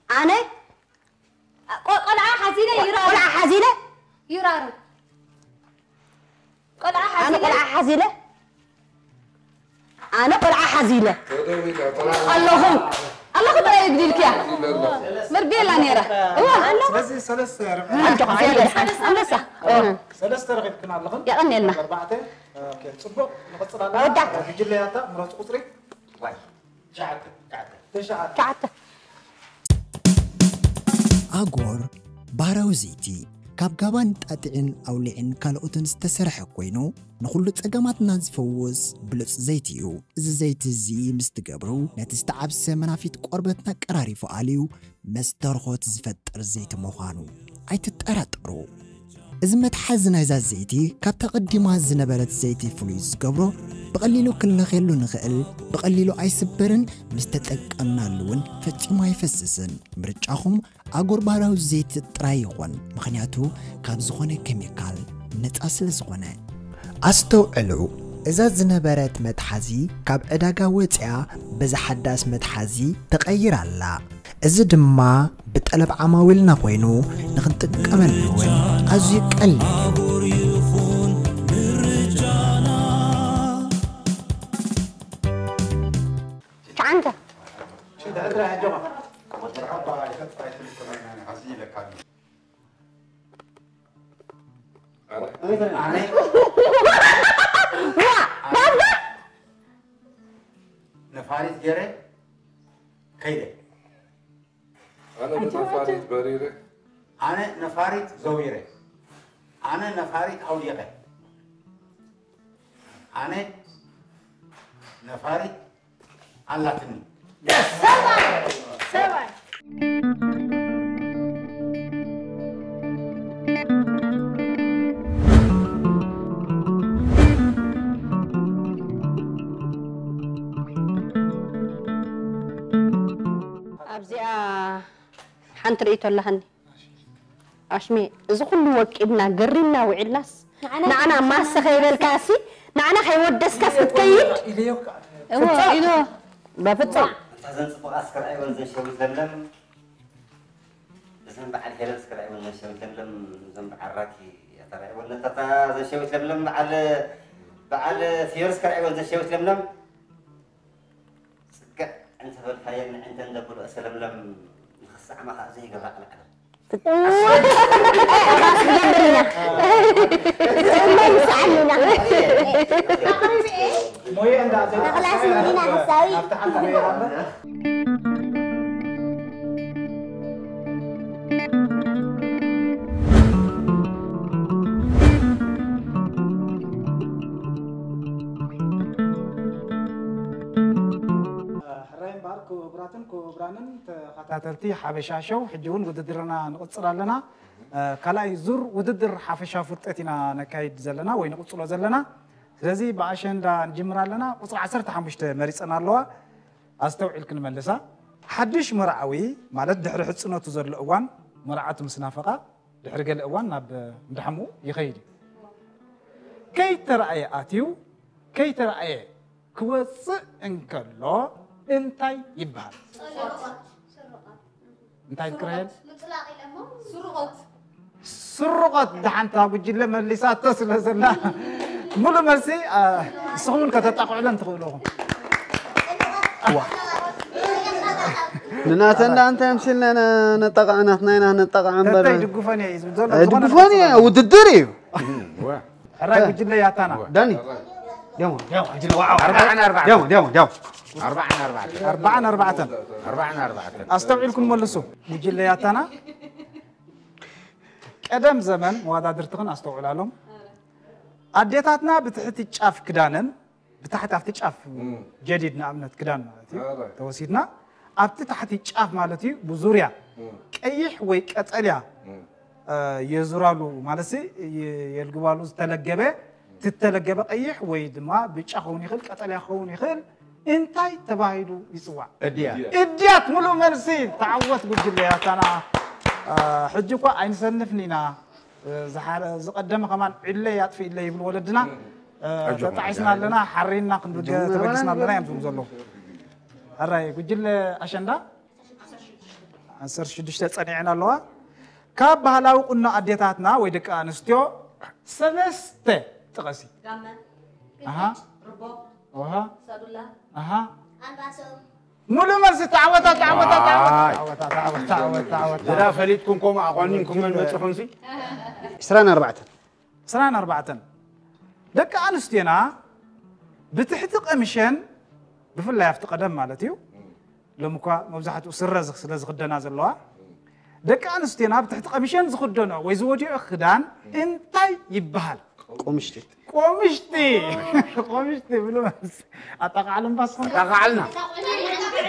ኣነ ቆ-፣ ቆልዓ ሓዚለ ይራሩ። ቆልዓ ሓዚለ ይራሩ። ቆልዓ ኣነ ሓዚለ ቆልዓ ሓዚለ ኣነ ቆልዓ ሓዚለ ኣለኹ። ኣለኹ ጥራይ ግዲልክያ። መርቤላ ነይራ። እዋ። ስለዚ ሰለስተ ርብዒ። ኣጆኻ፣ ሰለስተ። ኣነሳ። ሰለስተ ረኺብክን ኣለኽን። የቐንየልና። ኣርባዕተ። ኦኬ፣ ጽቡቕ። ንቐጽል ኣለና። ወዳት። ጉጅለያታ ምረጹ ቁጽሪ። ዋይ። ትሽዓተ። ትሽዓተ። ትሽዓተ። ኣጎር ባህራዊ ዘይቲ ካብ ጋባን ጣጢዕን ኣውሊዕን ካልኦትን ዝተሰርሐ ኮይኑ፣ ንኹሉ ጸገማትና ዝፈውስ ብሉጽ ዘይቲ እዩ። እዚ ዘይቲ እዚ ምስ ትገብሩ፣ ነቲ ዝተዓብሰ መናፊት ቆርበትና ቀራሪፉ ኣልዩ፣ መስተርኾት ዝፈጥር ዘይቲ ምዃኑ ኣይትጠራጠሩ። እዚ መትሓዚ ናይዛ ዘይቲ ካብታ ቀዲማ ዝነበረት ዘይቲ ፍሉይ ዝገብሮ፣ ብቐሊሉ ክንለኽየሉ ንኽእል፣ ብቐሊሉ ኣይስበርን፣ ምስ ተጠቀምናሉ እውን ፈጺሙ ኣይፈስስን። ምርጫኹም ኣጎር ባህራዊ ዘይቲ ጥራይ ይኹን፣ ምኽንያቱ ካብ ዝኾነ ኬሚካል ነጻ ስለ ዝኾነ። ኣስተውዕሉ፣ እዛ ዝነበረት መትሓዚ ካብ ዕዳጋ ወጺኣ በዛ ሓዳስ መትሓዚ ተቐይራ ኣላ። እዚ ድማ ብጠለብ ዓማዊልና ኮይኑ ንኽንጥቀመሉ እውን ኣዝዩ ቀሊል እዩ። ትሽዓተ። ሽንተ ዕድራ ኣጆኻ። መርሓባ፣ ይኸጥፋ ኣይትልከመና፣ ሓዚ ይለካ። ኣነ ነፋሪት ገይረ ከይደ። ኣነ ብነፋሪት በሪረ። ኣነ ነፋሪት ዘዊረ። ኣነ ነፋሪት ኣውዲቐ። ኣነ ነፋሪት ኣላትኒ። ሰብኣይ! ሰብኣይ! ኣብዚኣ ሓንቲ ርእይቶ ኣለሃኒ። ኣሽሜ፣ እዚ ኩሉ ወቂብና፣ ገሪምና ውዒልናስ፣ ንዓና ንዓና ማሰ ከይበልካሲ፣ ንዓና ከይወደስካስ ክትከይድ? እወ፣ ኢሉ። በፍጹም። እታ ዘን ጽቡቓት እስከ ረኣይወን ዘን ሸዊት ለምለም፣ እዘን በዓል ሄለን እስከ ረኣይወን ዘን ሸዊት ለምለም፣ እዘን በዓል ራኪ እታ ረኣይወን ነታ፣ እታ ዘን ሸዊት ለምለም፣ በዓል፣ በዓል ፍዮሪ እስከ ረኣይወን ዘን ሸዊት ለምለም። ጽግዕ እንተበልካየን ንዕንተን ዘብሎ እሰ ለምለም ንኽስዕማ ኸኣ ዘይገብራ ቃል ዓለም። ሞየ እንዳ ተኽላስ ሚና ሓሳዊ። ናብቲ ሓንቲ ሞየ እምበር። ሕራይ እምበኣር ክቡራትን ክቡራንን ተኸታተልቲ ሓበሻ ሾው፣ ሕጂ እውን ውድድርና ንቕጽል ኣለና። እ፣ ካልኣይ ዙር ውድድር ሓፈሻ ፍልጠት ኢና ነካይድ ዘለና ወይ ንቕጽሎ ዘለና። ስለዚ ብኣሸንዳ ንጅምር ኣለና። ቁጽሪ ዓሰርተ ሓሙሽተ መሪጸን ኣለዋ። ኣስተውዒልክን መልሳ። ሓድሽ መርዓዊ ማለት ድሕሪ ሕጽኖቱ ዘሎ እዋን መርዓቱ ምስ ናፈቓ ድሕሪ ገለ እዋን ናብ እንዳ ሓሙኡ ይኸይድ እዩ። ከይተራእየ ኣትዩ፣ ከይተራእየ ክወጽእ እንከሎ እንታይ ይበሃል? እንታይ ትክረየል? ምጥላቕ ኢለሞ። ስርቆት። ስርቆት፣ ደሓንታ ጉጅለ መሊሳቶ ስለ ዘላ፣ ሙሉ መልሲ፣ አ፣ ንስኹም እውን ከተጣቕዑለን ትኽእሉ ኢኹም። እዋ። ንናተን ደኣ እንታይ ኣምሲልና ኢና ነጣቕዓ? ናትና ኢና ነጣቕዓ እምበር። ተተይ ድጉፈን እየ እዩ ዝብል ዘሎ። ኣይ፣ ዝኾነ ድጉፈን እየ፣ ውድድር እዩ። ሕራይ ጉጅለ ያታና። ዳኒ ዲያሞ ዲያሞ ኣጅለ ዋው ኣርባዓን ኣርባዕተን ዲያሞ ዲያሞ ዲያሞ ኣርባዓን ኣርባዕተን ኣርባዓን ኣርባዕተን ኣርባዓን ኣርባዕተን ኣስተውዒልኩም መልሱ። ጉጅለ ያታና ቀደም ዘመን መዋዳድርትኽን ኣስተውዕላሎም። ኣዴታትና ብትሕቲ ጫፍ ክዳነን ብታሕቲ ኣብቲ ጫፍ ጀዲድ ንኣብነት ክዳን ማለት እዩ ተወሲድና ኣብቲ ታሕቲ ጫፍ ማለት እዩ ብዙርያ ቀይሕ ወይ ቀጠልያ የዙራሉ ማለት የልግባሉ ዝተለገበ ትተለገበ ቀይሕ ወይ ድማ ብጫ ክኸውን ይኽእል ቀጠልያ ክኸውን ይኽእል እንታይ ተባሂሉ ይፅዋዕ? እድያ እድያት ሙሉእ መልሲ ተዓወት ጉጅለ ያታና ሕጂ እኳ ኣይንሰንፍን ኢና ዝቀደመ ከማን ዕለይ ኣጥፍእለይ ይብሉ ወለድና ተጣዒስና ኣለና ሓሪና ክንብገ ተበጊስና ኣለና እዮም ዝብሉ ዘለዉ ሕራይ ጉጅለ ኣሸንዳ ዓሰርተ ሽዱሽተ ጸኒዐን ኣለዋ ካብ ባህላዊ ቁኖ ኣዴታትና ወይ ደቂ ኣንስትዮ ሰለስተ ጥቐሲ ጋመ፣ ኣሃ ርቦ፣ ውሃ ሰዱላ፣ ኣሃ ኣልባሶ፣ ሙሉእ መልሲ ተዓወታ ተዓወታ ዝዳ ፈሊጥኩም ከምኡ ኣቋኒንኩም መን መፅኹም ሲ ዕስራን ኣርባዕተን ዕስራን ኣርባዕተን ደቂ ኣንስትዮና ብትሕቲ ቀምሸን ብፍላይ ኣብቲ ቀደም ማለት እዩ ሎም እኳ መብዛሕትኡ ስረ ስለ ዝኽደና ዘለዋ ደቂ ኣንስትዮና ብትሕቲ ቀምሸን ዝኽደኖ ወይ ዝወዲኦ ክዳን እንታይ ይበሃል? ቆምሽቲ ቆምሽቲ ቆምሽቲ ብሉ ኣጠቃዕሉ እምባስኹም ተቃዓልና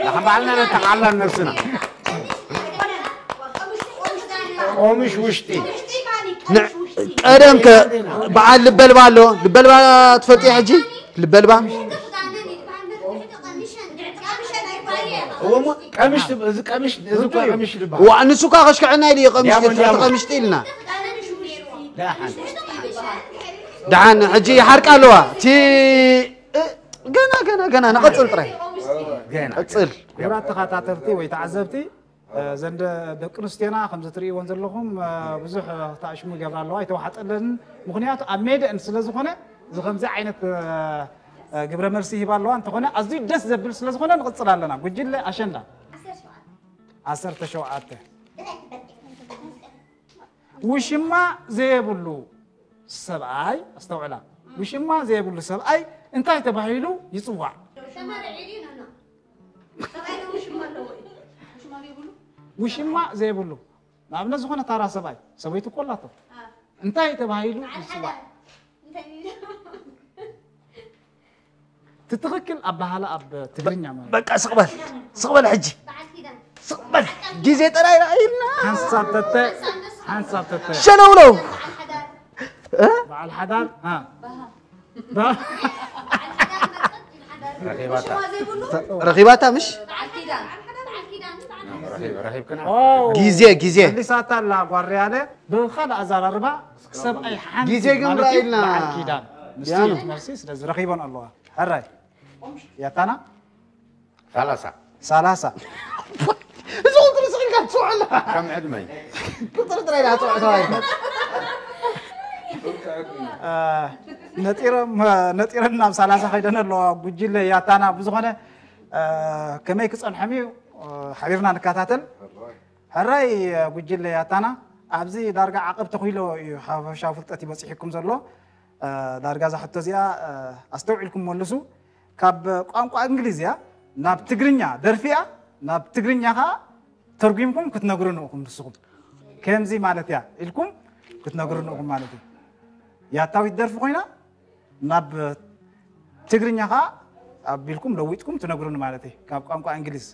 ንሕን ባዕልና ነተቃዕላ ነብስና ቆምሽ ውሽጢ ቀደም ከ በዓል ልበልባ ኣሎ ልበልባ ትፈልጥያ ሕጂ ልበልባ እወሞ ቀምሽ ትብ- እዚ ቀምሽ እዚ እኮ ቀምሽ ልባ ዋ ንሱ ካ ከሽክዐና ኢሉ እዩ ቀምሽ ያሞ፣ ትሕቲ ያሞ። ቀምሽቲ ኢልና ደሓን ሕጂ ይሓርቅ ኣለዋ እቲ እ፣ ገና ገና ገና ንቐፅል ጥራይ ገና ቀፅል ክቡራት ተኸታተልቲ ወይ ተዓዘብቲ ዘንደ ደቂ ኣንስትዮና ከምዚ ትርእይዎን ዘለኹም ብዙሕ ተኣሽሙ ይገብራ ኣለዋ ኣይተዋሓጠለንን ምክንያቱ ኣብ ሜደአን ስለ ዝኾነ እዚ ከምዚ ዓይነት ግብረ መልሲ ይህባ ኣለዋ እንተኾነ ኣዝዩ ደስ ዘብል ስለ ዝኾነ ንቕፅል ኣለና ጉጅለ ኣሸንዳ ዓሰርተ ሸውዓተ ውሽማ ዘየብሉ ሰብኣይ ኣስተውዕላ ውሽማ ዘየብሉ ሰብኣይ እንታይ ተባሂሉ ይፅዋዕ ውሽማ ዘይብሉ ንኣብነት ዝኾነ ታራ ሰብኣይ ሰበይቱ እኮ ኣላቶ እንታይ ተባሂሉ ይፅዋዕ ትትኽክል ኣባሃላ ኣብ ትግርኛ ማለት በቃ ስቕበል ስቕበል ሕጂ ስቕበል ግዜ ጥራይ ረኣይልና ሓንሳብ ተተ ሓንሳብ ተተ ሸነውለው በዓል ሓዳር ረኺባታ ረኺባታ ምሽ ረኺብ- ረኺብክና ግዜ ግዜ መሊሳታ ኣላ ጓርያለ ብኻልእ ኣዘራርባ ሰብኣይ ሓንቲ ግዜ ግን ማለት እዩ፣ ራኢልና። በዓል ኪዳን ንሱ ያኑ። እዩ መልሲ ስለዚ ረኺቦን ኣለዋ ሕራይ ያታና ሰላሳ ሰላሳ እዚ ቁፅሪ ስቕ ኢልካ ትፅውዕ ኣለኻ ከም ዕድመይ ቁፅሪ ጥራይ ዳ ትፅውዕ ተባሂልካ ነጢሮም ነጢረን ናብ ሰላሳ ከይደን ኣለዋ ጉጅለ ያታና ብዝኾነ ከመይ ክፀንሖም እዩ ሓቢርና ንከታተል ሕራይ ጉጅለ ያታና ኣብዚ ዳርጋ ዓቐብ ተኺሎ እዩ ሓፈሻዊ ፍልጠት ይበፂሕኩም ዘሎ ዳርጋ እዛ ሕቶ እዚኣ ኣስተውዒልኩም መልሱ ካብ ቋንቋ እንግሊዝ እያ ናብ ትግርኛ ደርፊ እያ ናብ ትግርኛ ከዓ ተርጉምኩም ክትነግሩን ኢኹም ንስኹም ከምዚ ማለት እያ ኢልኩም ክትነግሩን ኢኹም ማለት እዩ ያታዊት ደርፊ ኮይና ናብ ትግርኛ ከዓ ኣቢልኩም ለዊጥኩም ትነግሩን ማለት እዩ ካብ ቋንቋ እንግሊዝ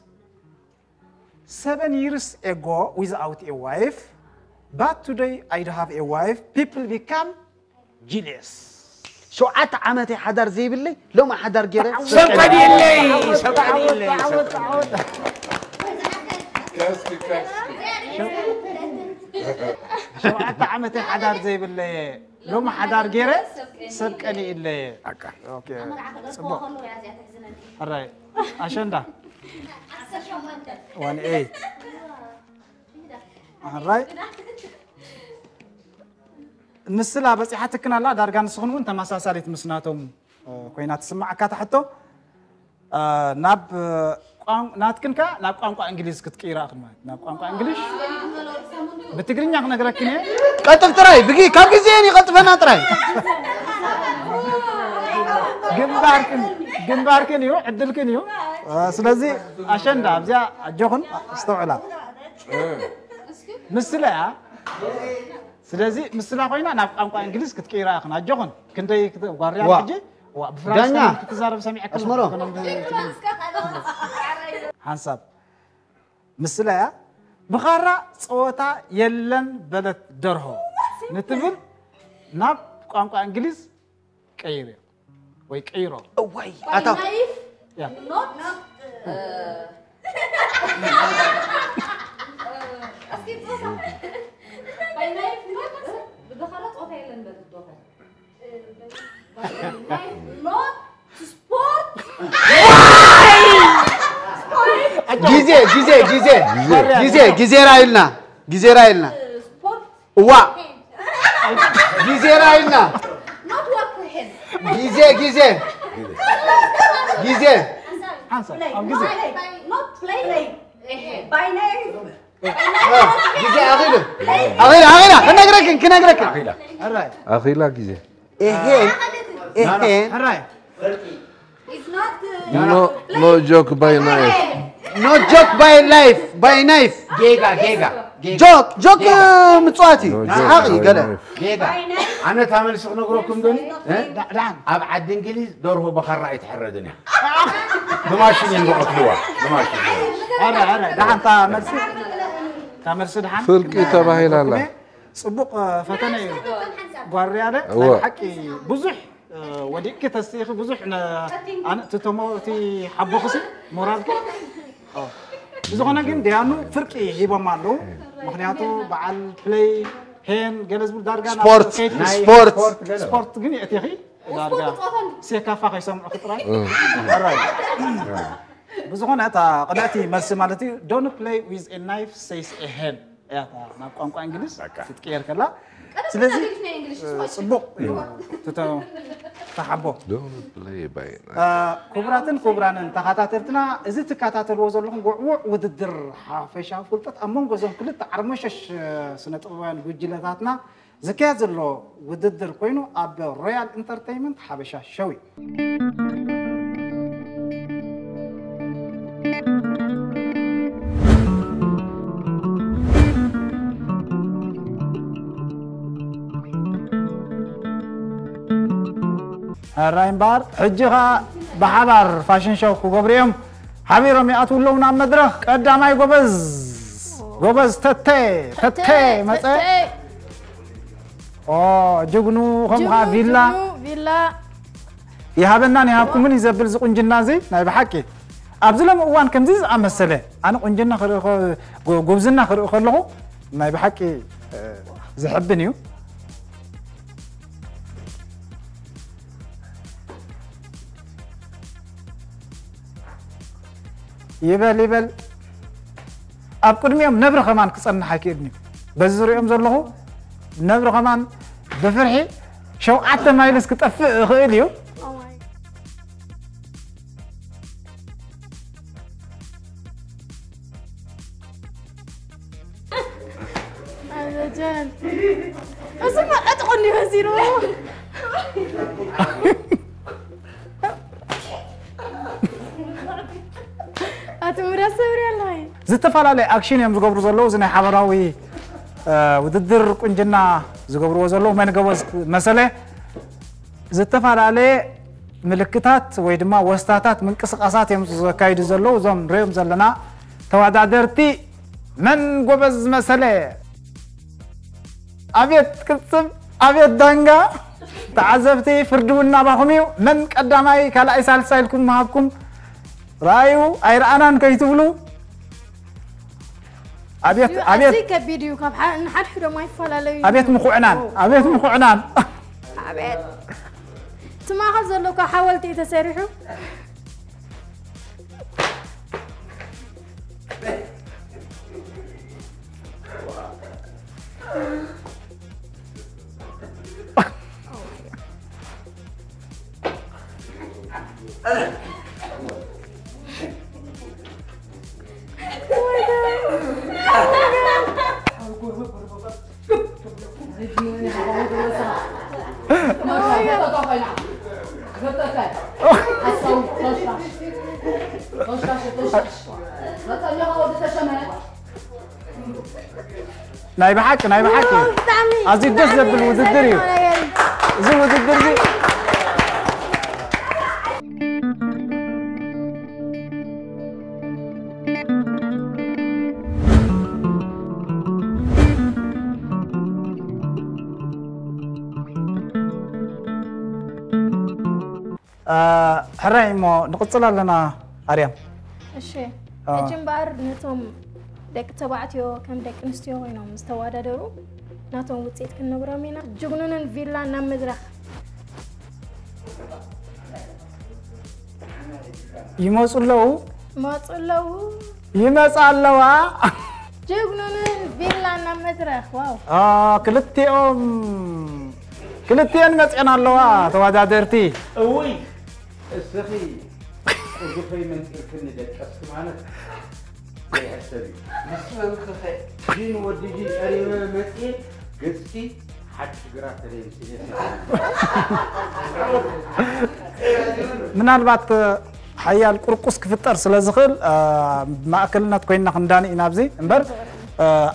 Seven years ago without a wife, but today I do have a wife. People become jealous. ሸውዓተ ዓመተይ ሓዳር ዘይብለይ ሎም ሓዳር ገይረ ሰብ ቀዲለይ ሰብ ቀዲለይ ሸውዓተ ዓመተይ ሓዳር ዘይብለየ ሎም ሓዳር ገይረ ሰብ ቀኒእለየ በቃ ኦኬ፣ ጽቡቕ ሕራይ ኣሸንዳ ዋን ኤይት ሕራይ ምስላ በፂሓትክን ኣላ ዳርጋ ንስኽን እውን ተመሳሳሊት ምስ ናቶም ኮይና ትስማዓካ እታ ሕቶ ናብ ቋን- ናትክን ከ ናብ ቋንቋ እንግሊዝ ክትቅይራ ኢኽን ማለት ናብ ቋንቋ እንግሊዝ ብትግርኛ ክነግረክን እየ። ቀጥፍ ጥራይ ብጊ ካብ ግዜ ይቐጥፈና ጥራይ። ግንባርክን ግንባርክን እዩ ዕድልክን እዩ። ስለዚ ኣሸንዳ ኣብዚኣ ኣጆኹን ኣስተውዕላ። ምስላ እያ። ስለዚ ምስላ ኮይና ናብ ቋንቋ እንግሊዝ ክትቅይራ ኢኽን ኣጆኹን። ክንደይ ክተ- ጓርያ ዋ። ሕጂ ዋ ብፍራንስ ዳኛ። ከመይ ክትዛረብ ሰሚዐካ ኣስመሮ። ሓንሳብ ምስላ እያ። ብኻራ ጸወታ የለን በለት ደርሆ ንትብል ናብ ቋንቋ እንግሊዝ ቀይር ወይ ቀይሮ። እዋይ ኣታ ናይፍ ያ ኖት ብኻራ ጾታ የለን በትዶኸ ኖት ስፖርት ግዜ ግዜ ግዜ ግዜ ራይልና ግዜ ራይልና ስፖርት እዋ ግዜ ራይልና ኖት ወርክ ሄድ ግዜ ግዜ ግዜ ሓንሳብ ኣብ ግዜ ኖት ፕሌይ ባይ ናይፍ ግዜ ኣኺሉ ኣኺሉ ኣኺሉ ክነግረክን ክነግረክን ኣኺላ ሕራይ ኣኺላ ግዜ ኤሄን ኤሄን ሕራይ It's not No, no joke by knife. No joke by life by knife ጌጋ ጌጋ ጌጋ ጆክ ጆክ ምጽዋት እዩ No joke ሰሓቕ እዩ by ገለ knife. ጌጋ ኣነ እታ መልሲ ክነግረኩም ዶ ዳዕዳን ኣብ ዓዲ እንግሊዝ ደርሆ በኻራ ኣይትሕረድን እያ ብማሽን እዮም ዝቐትልዋ ብማሽን ሕራይ ሕራይ ደሓን እታ መልሲ እታ መልሲ ደሓን ፍርቂ ተባሂላ ኣላ። ጽቡቕ ፈተነ እዩ ጓርያለ እወ። ናይ ሓቂ ብዙሕ ወዲቅኪ ተስኢኺ ብዙሕ ነ- ኣነ እቲ ተሞ እቲ ሓቦኽሲ ሞራልኪ ኦ። ብዝኾነ ግን ደያኑ ፍርቂ ሂቦም ኣለዉ ምክንያቱ በዓል ፕለይ ሄን ገለ ዝብል ዳርጋ ናብ ስፖርት ከይድኪ ስፖርት ስፖርት ግን የእቲኺ ዳርጋ ሴካፋ ከይሰምዑ ክጥራይ ብዝኾነ እታ ቅድዕቲ መልሲ ማለት እዩ don't play with a knife says a hen እያ እታ ናብ ቋንቋ እንግሊዝ ክትቅየር ከላ ስለዚ ጽቡቕ እዩ ትተ- ተሓቦ Don't play by night. ክቡራትን ክቡራንን ተኸታተልትና እዚ ትከታተልዎ ዘለኹም ውዕውዕ ውድድር ሓፈሻዊ ፍልጠት ኣብ መንጎ እዞም ክልተ ዓርሞሸሽ ስነ ጥበባውያን ጉጅለታትና ዝካየድ ዘሎ ውድድር ኮይኑ ኣብ ሮያል ኢንተርቴይመንት ሓበሻ ሸው እዩ። ሕራይ እምበኣር ሕጂ ኸኣ ብሓባር ፋሽን ሾው ክገብሩ እዮም ሓቢሮም ይኣትዉ ኣለዉ ናብ መድረኽ ቀዳማይ ጎበዝ ጎበዝ ተተ ተተ መጸ ኦ ጅግኑ ከም ኸዓ ቪላ ቪላ ይሃበናን ይሃብኩምን እዩ ዘብል እዚ ቁንጅና እዚ ናይ ብሓቂ ኣብዚ ሎም እዋን ከምዚ ዝኣመሰለ ኣነ ቁንጅና ክርኢ ከ- ጎ- ጉብዝና ክርኢ ከለኹ ናይ ብሓቂ እ፣ ዝሕብን እዩ ይበል ይበል ኣብ ቅድሚኦም ነብሪ ከማን ክጸንሕ ኣይክእልን እዩ በዚ ዝሪኦም ዘለኹ ነብሪ ከማን ብፍርሒ ሸውዓተ ማይልስ ክጠፍእ ይኽእል እዩ ኣበጃን እዚማ ዕጥቑ እንዲወሲድዎ ኣቲ ሙዳ ሰብሪ ኣለይ ዝተፈላለየ ኣክሽን እዮም ዝገብሩ ዘለዉ እዚ ናይ ሓበራዊ እ፣ ውድድር ቁንጅና ዝገብርዎ ዘለዉ መን ጎበዝ መሰለ ዝተፈላለየ ምልክታት ወይ ድማ ወስታታት ምንቅስቃሳት እዮም ዘካይዱ ዘለዉ እዞም ንሪኦም ዘለና ተወዳደርቲ መን ጎበዝ መሰለ ኣብየት ቅልፅም ኣብየት ዳንጋ ተዓዘብቲ ፍርዲ እውን ናባኹም እዩ መን ቀዳማይ ካልኣይ ሳልሳይ ኢልኩም ምሃብኩም ራእዩ ኣይረኣናን ከይትብሉ ኣብየት ኣብየት ኣዝዩ ከቢድ እዩ ካብ ሓ- ንሓድሕዶም ኣይፈላለዩ ኣብየት ምኩዕናን ኣብየት ምኩዕናን ኣብየት እቲ ማእኸል ዘሎ እኮ ሓወልቲ እዩ ተሰሪሑ ናይ ብሓቂ ናይ ብሓቂ ኣዝዩ ደስ ዘብል ውድድር እዩ። እዚ ውድድር እዚ ሕራይ እሞ ንቕጽል ኣለና። ኣርያም። እሺ። ሕጂ እምበኣር ነቶም ደቂ ተባዕትዮ ከም ደቂ ኣንስትዮ ኮይኖም ዝተወዳደሩ ናቶም ውፅኢት ክንነግሮም ኢና። ጅግኑንን ቪላን ናብ መድረኽ። ይመፁ ኣለዉ። መፁ ኣለዉ። ይመፃ ኣለዋ። ጅግኑንን ቪላን ናብ መድረኽ። ዋው። ክልቲኦም ክልቲኤን መፅኤን ኣለዋ ተወዳደርቲ። እውይ እስኺ ቁዱፈይ መንጢርክኒ ደቀስኪ ማለት ዘይሕሰብ እዩ። ምስ መንክኸ ግን ወዲ ጂ ጠሪመ መፅኤ ገፅኪ ሓቂ ግራት ተለይምስሌት ምናልባት ሓያል ቁርቁስ ክፍጠር ስለ ዝኽእል ማእከልነት ኮይንና ክንዳኒ ኢና ኣብዚ እምበር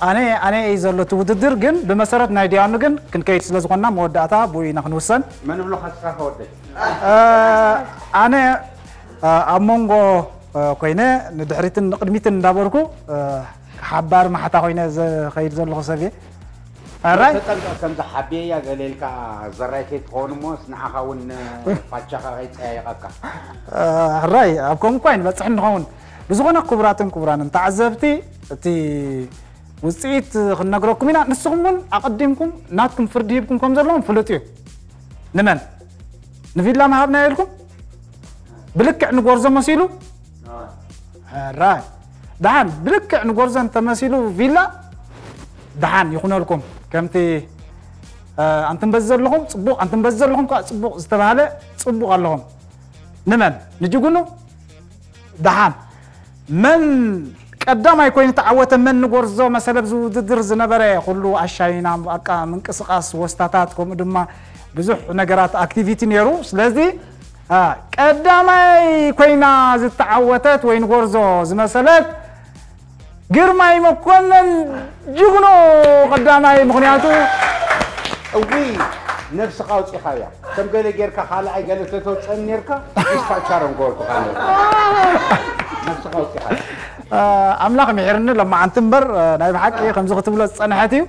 ኣነ ኣነ እዩ ዘሎ እቲ ውድድር ግን ብመሰረት ናይ ዲያኑ ግን ክንከይድ ስለ ዝኾንና መወዳእታ ብኡ ኢና ክንውሰን። መን ብሎኻ ንስኻ ከወደይ? ኣነ ኣብ መንጎ ኮይነ ንድሕሪትን ንቕድሚትን እንዳበርኩ ሓባር ማሕታ ኮይነ ዝኸይድ ዘለኹ ሰብ እየ። ሕራይ ተጠንቀቕ፣ ከምዚ ሓብየያ ገለ ኢልካ ዘራይ ከይትኸውን እሞ ንዓኻ እውን ፋቻኻ ከይፀያየቐካ። ሕራይ ኣብ ከምኡ እኳ ኣይንበፅሕ ንኸውን። ብዝኾነ ክቡራትን ክቡራንን ተዓዘብቲ እቲ ውፅኢት ክንነግረኩም ኢና። ንስኹም እውን ኣቐዲምኩም ናትኩም ፍርዲ ሂብኩም ከም ዘለኹም ፍሉጥ እዩ። ንመን ንቪላ ምሃብናዮ ኢልኩም ብልክዕ ንጎርዞ መሲሉ ሕራይ ደሓን ብልክዕ ንጎርዞ እንተመሲሉ ቪላ ደሓን ይኹነልኩም። ከምቲ ኣንትም በዚ ዘለኹም ፅቡቕ ኣንትም በዚ ዘለኹም ከዓ ፅቡቕ ዝተባሃለ ፅቡቕ ኣለኹም። ንመን ንጅጉኑ ደሓን መን ቀዳማይ ኮይኑ ተዓወተ መን ንጎርዞ መሰለ ኣብዚ ውድድር ዝነበረ ኩሉ ኣሻይና በቃ ምንቅስቃስ ወስታታት ከምኡ ድማ ብዙሕ ነገራት ኣክቲቪቲ ነይሩ። ስለዚ ቀዳማይ ኮይና ዝተዓወተት ወይ ንጎርዞ ዝመሰለት ግርማይ መኮነን ጅግኖ ቀዳማይ ምኽንያቱ እውይ ነብስኻ ኣውፂኻያ ከም ገለ ጌርካ ካልኣይ ገለ ተተውፀኒ ኔርካ ኢስፋቻረን ጎርኩኻ ነብስኻ ኣውፂኻያ ኣምላኽ ምሒርኒ ለማዓንቲ እምበር ናይ ብሓቂ ከምዚ ክትብሎ ዝፀንሐት እዩ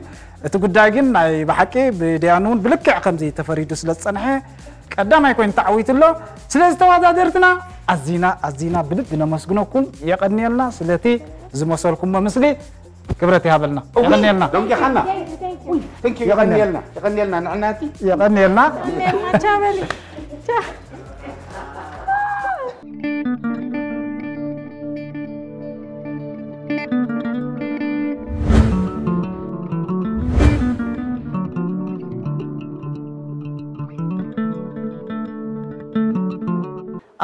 እቲ ጉዳይ ግን ናይ ብሓቂ ብደያኑ እውን ብልክዕ ከምዚ ተፈሪዱ ስለ ዝፀንሐ ቀዳማይ ኮይኑ ተዓዊቱ ኣሎ። ስለዚ ተወዳደርትና ኣዚና ኣዚና ብልቢ ነመስግነኩም። የቐንየልና ስለቲ ዝመሰልኩሞ ምስሊ ክብረት ይሃበልና። የቐንየልና። ደንጊኻና። Thank you የቐንየልና። የቐንየልና ንዕናቲ። የቐንየልና። ቻበሊ።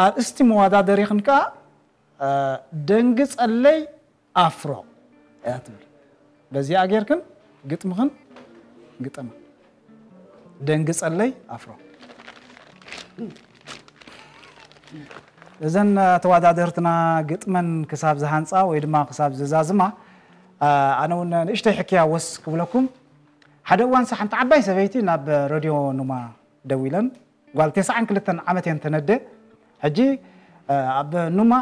ኣርእስቲ መወዳደሪኽን ከኣ ደንግጸለይ ኣፍሮ እያ ትብል። በዚኣ ጌርክን ግጥምኽን ግጠማ። ደንግጸለይ ኣፍሮ። እዘን ተወዳደርትና ግጥመን ክሳብ ዝሃንጻ ወይ ድማ ክሳብ ዝዛዝማ ኣነ እውን ንእሽተይ ሕክያ ወስ ክብለኩም። ሓደ እዋንስ ሓንቲ ዓባይ ሰበይቲ ናብ ረድዮ ኑማ ደዊለን ጓል ተስዓን ክልተን ዓመት እየን ተነደ። ሕጂ ኣብ ኑማ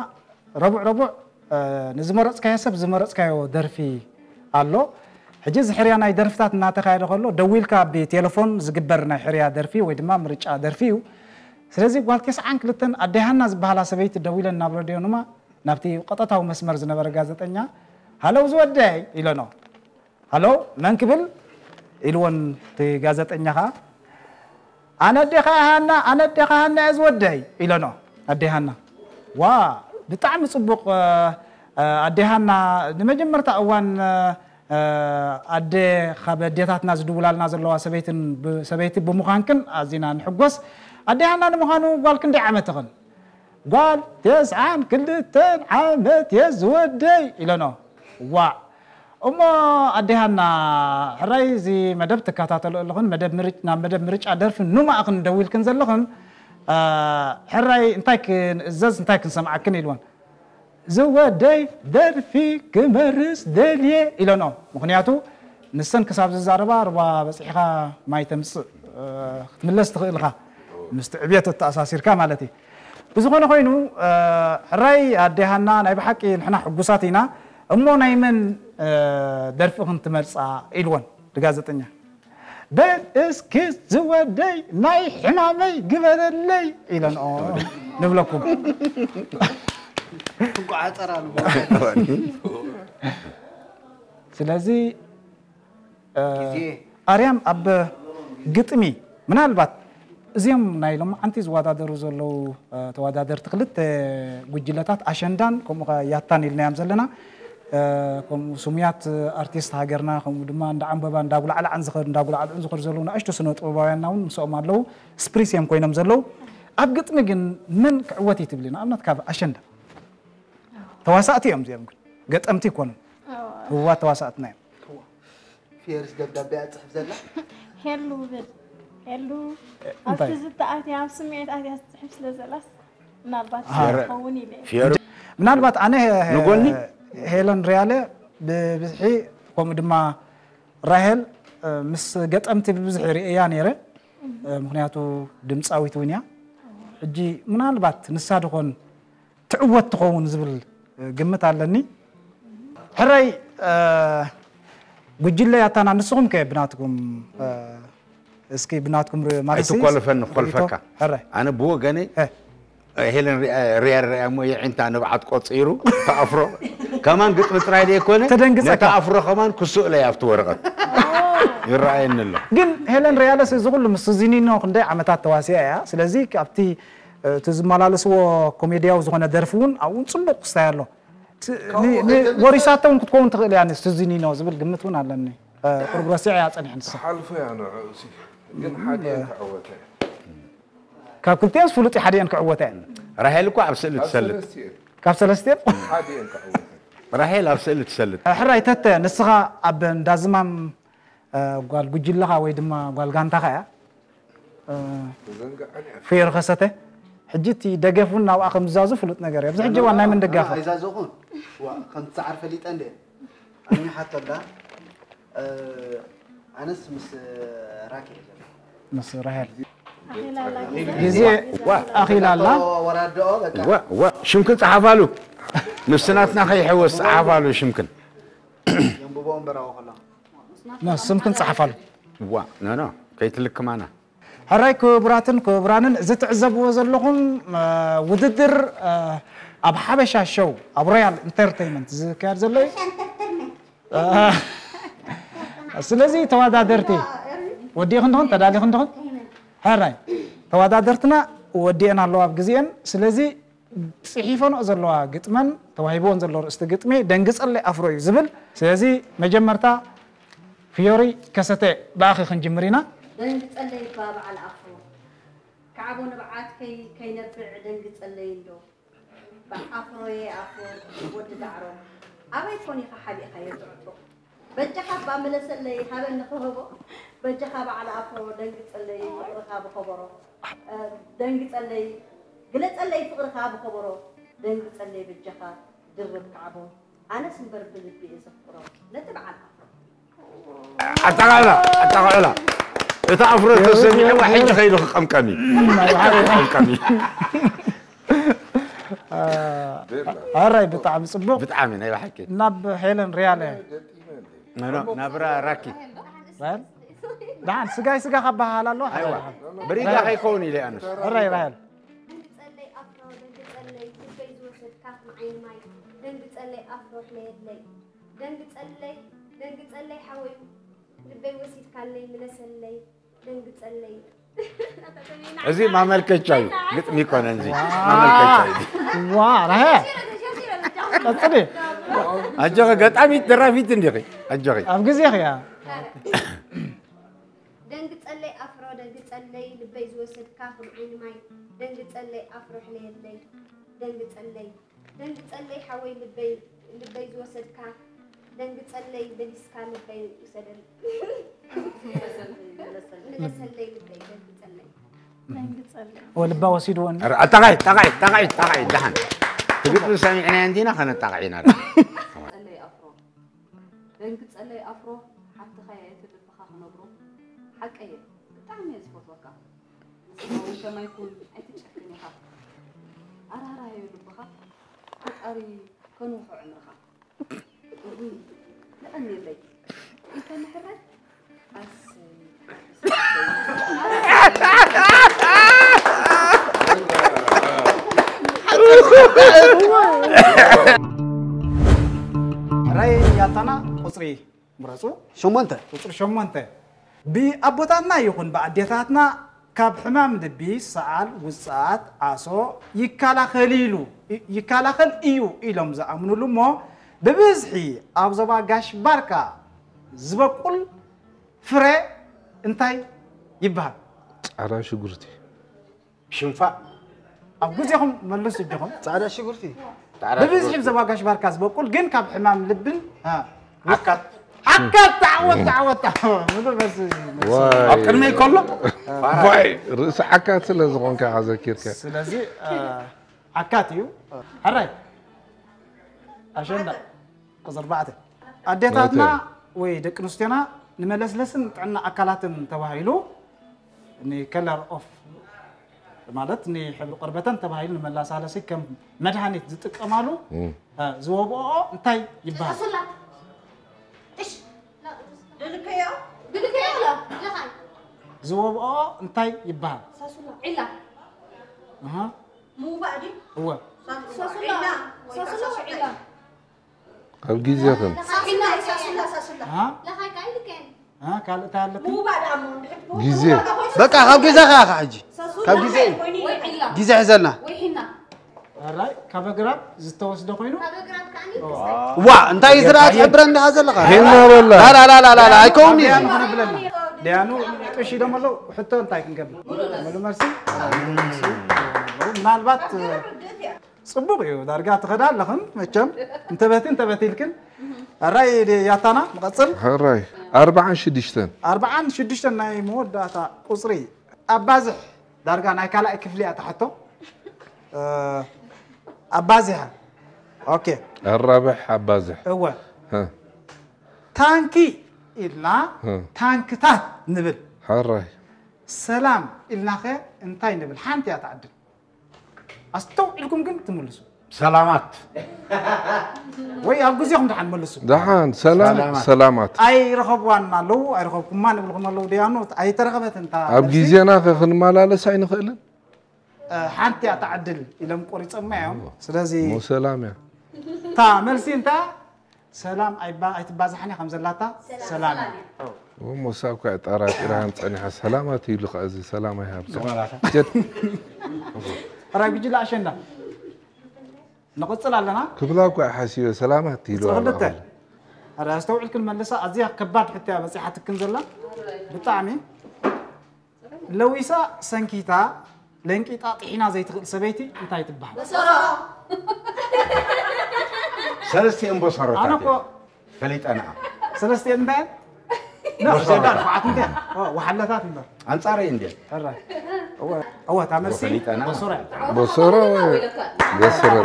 ረቡዕ ረቡዕ ንዝመረፅካዮ ሰብ ዝመረፅካዮ ደርፊ ኣሎ። ሕጂ እዚ ሕርያ ናይ ደርፍታት እናተኻየደ ከሎ ደዊልካ ብቴሌፎን ዝግበር ናይ ሕርያ ደርፊ ወይ ድማ ምርጫ ደርፊ እዩ። ስለዚ ጓል ተስዓን ክልተን ኣደይ ሃና ዝበሃላ ሰበይቲ ደዊለን ናብ ረድዮ ኑማ ናብቲ ቀጠታዊ መስመር ዝነበረ ጋዜጠኛ ሃለው ዝወደይ ኢለኖ። ሃሎ መን ክብል ኢልዎን እቲ ጋዜጠኛ ኸዓ ኣነ ኣዴኻ ሃና ኣነ ኣዴኻ ሃና እየ ዝወደይ ኢለኖ ኣዴ ሃና ዋ ብጣዕሚ ፅቡቕ ኣዴ ሃና ንመጀመርታ እዋን ኣደ ካብ ኣዴታትና ዝድውላልና ዘለዋ ሰበይቲ ብምዃንክን ኣዚና ንሕጎስ ኣዴ ሃና ንምዃኑ ጓል ክንደይ ዓመትኽን ጓል ተስዓን ክልተን ዓመት እየ ዝወደይ ኢለኖ ዋዕ እሞ ኣዴ ሃና ሕራይ እዚ መደብ ትከታተሎ ኣለኹን መደብ ምርጭ ናብ መደብ ምርጫ ደርፊ ኑማእኽን ደዊልክን ዘለኽን ሕራይ እንታይ ክንእዘዝ እንታይ ክንሰምዓክን ኢልወን ዝወደይ ደርፊ ክመርስ ደልየ ኢለንኦ። ምኽንያቱ ንሰን ክሳብ ዝዛረባ ርባ በፂሕኻ ማይ ተምፅእ ክትምለስ ትኽእል ኢኻ ምስቲ ዕብየት እተኣሳሲርካ ማለት እዩ። ብዝኾነ ኮይኑ ሕራይ ኣዴ ሃና ናይ ብሓቂ ንሕና ሕጉሳት ኢና። እሞ ናይ መን ደርፊ ክንትመርፃ ኢልወን ንጋዜጠኛ። በል እስኪ ዝወደይ ናይ ሕማመይ ግበረለይ ኢለንኦ ንብለኩም። እንቋዓፀር ኣሉ ስለዚ ኣርያም ኣብ ግጥሚ ምናልባት እዚኦም ናይ ሎማዓንቲ ዝወዳደሩ ዘለዉ ተወዳደርቲ ክልተ ጉጅለታት ኣሸንዳን ከምኡ ከ ያታን ኢልናዮም ዘለና ከምኡ ስሙያት ኣርቲስት ሃገርና ከምኡ ድማ እንዳ ዓንበባ እንዳ ጉላዕላዕን ዝኸዱ እንዳ ጉላዕልዑን ዝኸዱ ዘለዉ ንኣሽቱ ስነ ጥበባውያንና እውን ምስኦም ኣለዉ ስፕሪስ እዮም ኮይኖም ዘለዉ ኣብ ግጥሚ ግን መን ክዕወት እዩ ትብሊ ንኣብነት ካብ ኣሸንዳ ተዋሳእቲ እዮም እዚኦም ግን ገጠምቲ ይኮኑ ህዋ ተዋሳእትና እዮም ፌርስ ደብዳቤ ኣጽሕፍ ዘላ ሄሉ ብል ሄሉ ኣብቲ ዝተኣትያ ኣብ ስምዒት ኣትያ ትጽሕፍ ስለ ዘላስ ምናልባት ዝኸውን ኢለ ምናልባት ኣነ ንጎኒ ሄለን ሪያለ ብብዝሒ ከምኡ ድማ ራሄል ምስ ገጠምቲ ብብዝሒ ርእያ ነይረ ምክንያቱ ድምፃዊት እውን እያ ሕጂ ምናልባት ንሳ ድኾን ትዕወት ትኸውን ዝብል ግምት ኣለኒ ሕራይ ጉጅለ ያታና ንስኹም ከ ብናትኩም እስኪ ብናትኩም ማለት ኣይትኮልፈንኾልፈካ ሕራይ ኣነ ብወገነይ ሄለን ሪያ ሪያ እሞ የዒንታ ንብዓት ቆፂሩ ተኣፍሮ ከማን ግጥሚ ጥራይ ዘይኮነ ተደንግጸካ። ነታ ኣፍሮ ከማን ክስእለይ ኣብቲ ወረቐት ይረኣየኒ ኣሎ ግን ሄለን ሪያለስ እዚ ኩሉ ምስ ዚኒኖ ክንደይ ዓመታት ተዋሲያ እያ ስለዚ ኣብቲ እቲ ዝመላለስዎ ኮሜድያዊ ዝኾነ ደርፊ እውን ኣብኡ እውን ፅቡቅ ክስታይ ኣሎ ት- ን- ን- ወሪሳቶ እውን ክትከውን ትኽእል እያ ንስቲ ዚኒኖ ዝብል ግምት እውን ኣለኒ ቁርብ ረሲዐ እያ ፀኒሐ ንሳ ሓልፎ እያ ንዕኡ ሲ ግን ሓዲአን ክዕወተ ካብ ክልቲኦንስ ፍሉጥ እዩ ሓዲአን ክዕወተ እየን ራሄል እኮ ኣብ ስእሊ ትሰልጥ ሰለስቲኤን ካብ ሰለስቲኦን ሓዲአን ክዕወተ ራሄል ኣብ ስእሊ ትሰልጥ ሕራይ ተተ ንስኻ ኣብ እንዳዝማም ጓል ጉጅለኻ ወይ ድማ ጓል ጋንታኻ እያ ፍዮሪ ከሰተ ሕጂ እቲ ደገፍ እውን ናብኣ ከም ዝዛዙ ፍሉጥ ነገር እዩ ኣብዚ ሕጂ እዋን ናይ መን ደጋፊ ኣይዛዘኹን ከምቲ ሰዓር ፈሊጠ እንደ ኣሚሓቶ ኣላ ኣነስ ምስ ራኪ እየ ዘሎ ምስ ራሄል ግዜ ኣኺላ ኣላ ወራድኦ በቃ ሽምክን ፀሓፋሉ ምስቲ ናትና ከይሕወስ ፀሓፋሉ ሽምክን የንብቦ እምበራዎ ከሎ ስምክን ፀሓፋሉ ዋ ኖ ኖ ከይትልክማና ሕራይ ክቡራትን ክቡራንን እዚ ትዕዘብዎ ዘለኹም ውድድር ኣብ ሓበሻ ሾው ኣብ ሮያል ኢንተርቴይመንት ዝካየድ ዘሎ እዩ ስለዚ ተወዳደርቲ ወዲእኽን ድኹን ተዳሊኽን ድኹን ሕራይ ተወዳደርትና ወዲአን ኣለዋ ኣብ ግዜአን ስለዚ ፅሒፈንኦ ዘለዋ ግጥመን ተዋሂብወን ዘሎ ርእስቲ ግጥሚ ደንግፀለይ ኣፍሮ እዩ ዝብል ስለዚ መጀመርታ ፍዮሪ ከሰተ ብኣኺ ክንጅምር ኢና ደንግፀለይ እባ በዓል ኣፍሮ ካዕቦ ንብዓት ከይነብዕ ደንግፀለይ እንዶ ኣፍሮየ ኣፍሮ ወዲ ዳዕሮ ኣበይ ኮን ኢኻ ሓቢእኻዮ ትዕጥሮ በጃኻ እባ ምለሰለይ ሃበኒ ክህቦ በጃኻ በዓል ኣፍሮ ደንግፀለይ ፍቕርኻ ብኸበሮ ደንግፀለይ ግለፀለይ ፍቕርኻ ብኸበሮ ደንግፀለይ በጃኻ ድርብ ካዕቦ ኣነስ እምበር ብልቢ እየ ዘፍቅሮ ነቲ በዓል ኣፍሮ ኣጣቃዕላ ኣጣቃዕላ እታ ኣፍሮ ተሰሚዕዋ ሕጂ ከይዱ ክቀምቀሚ ክቀምቀሚ ኣራይ ብጣዕሚ ፅቡቅ ብጣዕሚ ናይ ብሓቂ ናብ ሄለን ሪያለ ናብራ ራኪ ደሓን ስጋይ ስጋ ካብ በሃል ኣሎ ኣይዋ ብሪጋ ከይከውን ኢለ ኣነስ ሕራይ ራሄል ደንግፀለይ ኣፍሮ ደንግፀለይ ልበይ ዝወሰድካ ከም ዓይኒ ማይ ደንግፀለይ ኣፍሮ ሕለየለይ ደንግፀለይ ደንግፀለይ ሓወዩ ልበይ ወሲድካለይ ምለሰለይ ደንግፀለይ እዚ ማመልከቻ እዩ ግጥሚ ይኮነ እዚ ማመልከቻ እዩ ዋ ራሄ ቀፅሊ ኣጆኺ ገጣሚት ደራፊት እንዲኺ ኣጆኺ ኣብ ግዜኺ እያ ደንግፀለይ ኣፍሮ ደንግፀለይ ልበይ ዝወሰድካ ከም ዓይኒ ማይ ደንግፀለይ ኣፍሮ ሕለየለይ ደንግፀለይ ደንግፀለይ ሓወይ ልበይ ልበይ ዝወሰድካ ደንግፀለይ በሊስካ ልበይ ውሰደል ምለሰለይ ልበይ ደንግፀለይ ወልባ ወሲድወን ጠቃይ ጠቃይ ጠቃይ ጠቃይ ደሓን ግጥሚ ሰሚዕናዮ እንዲና ከነጣቕዕ ኢና። ጸለይ ኣፍሮ ደንግጸለይ ኣፍሮ ሓብትኻ እየ እቲ ልብኻ ክነግሮ ሓቀየ ብጣዕሚ እየ ዝፈትወካ ንስኻ እውን ከማይ ኩን ኣይትጨክን ኢኻ ኣራራዮ ልብኻ ፈጣሪ ከንውሖ ዕምርኻ እውይ የቐንየለይ እንተ ንሕረድ ኣሰይ ራይ ያታና ቁፅሪ ምረፁ። ሸሞንተ። ቁፅሪ ሸሞንተ። ብኣቦታትና ይኹን ብኣዴታትና ካብ ሕማም ልቢ፣ ሰዓል፣ ውፅኣት፣ ዓሶ ይከላኸል ኢሉ ይከላኸል እዩ ኢሎም ዝኣምኑሉ እሞ ብብዝሒ ኣብ ዞባ ጋሽ ባርካ ዝበቁል ፍረ እንታይ ይበሃል? ፃዕዳ ሽጉርቲ። ሽንፋእ። ኣብ ግዜኹም መልሱ እጆኹም። ፃዕዳ ሽጉርቲ። ብብዝሒ ብዘባ ጋሽ ባርካ ዝበቁል ግን ካብ ሕማም ልብን ዓካት። ዓካት ተዓወት ተዓወት ተዓወት። ምሉእ መልሲ መልሲ። ዋይ። ኣብ ቅድመይ ከሎ ዋይ ርእሲ ዓካት ስለ ዝኾንካ ኢኻ ዘኪርካ። ስለዚ እ፣ ዓካት እዩ። ሕራይ ኣሸንዳ ቁፅሪ ኣርባዕተ ኣዴታትና ወይ ደቂ ኣንስትዮና ንመለስለስን ጥዕና ኣካላትን ተባሂሉ ንከለር ኦፍ ማለት ንሕብሪ ቆርበተን ተባሂሉ ንመላሳለሲ ከም መድሃኒት ዝጥቀማሉ ዝወብኦ እንታይ ይበሃል? ሳሱላ። እሽ። ድልከዮ። ድልከዮ። ለኻይ። ዝወብኦ እንታይ ይበሃል? ሳሱላ። ዒላ። እህ። ምውባእ ድዩ? እወ። ሳሱላ። ሳሱላ። ሳሱላ። ዒላ። ኣብ ግዜኽን ካልእ እንታይ ኣለካ? ግዜ በቃ ካብ ግዜኻ ኢኻ ሕጂ ካብ ግዜ ግዜ ሕዘልና። ራይ ካብ ኣግራብ ዝተወስደ ኮይኑ ዋ እንታይ ዝረኣ ትሕብረ እንዲኻ ዘለኻ ሄና በላ ላላላላላ ኣይከውን እዩ ደያኑ ቅሽ ኢሎም ኣለዉ ሕቶ እንታይ ክንገብር ምሉ መልሲ ምናልባት ፅቡቕ እዩ ዳርጋ ትኸዳ ኣለኽን መቸም እንተበቲ እንተበቲ ኢልክን ኣራይ ያታና ንቐፅል ሕራይ ኣርባዓን ሽዱሽተን ኣርባዓን ሽዱሽተን ናይ መወዳእታ ቁፅሪ ኣባዝሕ ዳርጋ ናይ ካልኣይ ክፍሊ እያ ትሓቶ ኣባዚሓ ኦኬ ኣራብሕ ኣባዝሕ እወ ታንኪ ኢልና ታንክታት ንብል ሕራይ ሰላም ኢልናኸ እንታይ ንብል ሓንቲ እያ ትዓድል ኣስተውዒልኩም ግን ትምልሱ። ሰላማት ወይ ኣብ ግዜኹም ደሓን መልሱ። ደሓን ሰላም ሰላማት። ኣይረኸብዋን ኣለዉ ኣይረኸብኩማን ይብልኹም ኣለዉ ደያኑ ኣይተረኸበትን እታ ኣብ ግዜና ከ ክንመላለስ ኣይንኽእልን። ሓንቲ እያ ትዓድል ኢሎም ቆሪፀማ እዮም። ስለዚ እሞ ሰላም እያ። እታ መልሲ እንታይ እያ? ሰላም ኣይባ ኣይትባዛሕን እያ ከም ዘላታ ሰላም እያ። እሞ እሳ እኳ ጠራጢራን ፀኒሓ ሰላማት ኢሉ ከዓ እዚ ሰላም ኣይሃብካ። ጀድ ሕራይ ጉጅለ ኣሸንዳ ንቕፅል ኣለና። ክብላ እኳ ሓሲበ ሰላማት ኢሉ ክልተ ሕራይ ኣስተውዒልክን መልሳ ኣዝያ ከባድ ሕቶ እያ በፂሓትክን ዘላ ብጣዕሚ ለዊሳ ሰንኪታ ለንቂጣ ጥሒና ዘይትኽእል ሰበይቲ እንታይ ትበሃል? በሰሮ። ሰለስቲኤን ቦሰሮታት እየን። ፈሊጠንኣ። ሰለስቲኤን እንታይ እየን? ኖ፣ በሰሮታት። ዘንዳ ርፍዓት እንታይ እየን? ኦ፣ ወሓለታት እምበር። ኣንጻረይ እንድየን። ሕራይ። እወ፣ እወ፣ እታ መልሲ ፈሊጠንኣ። በሰሮ እያ። በሰሮ ወይ በሰሮ።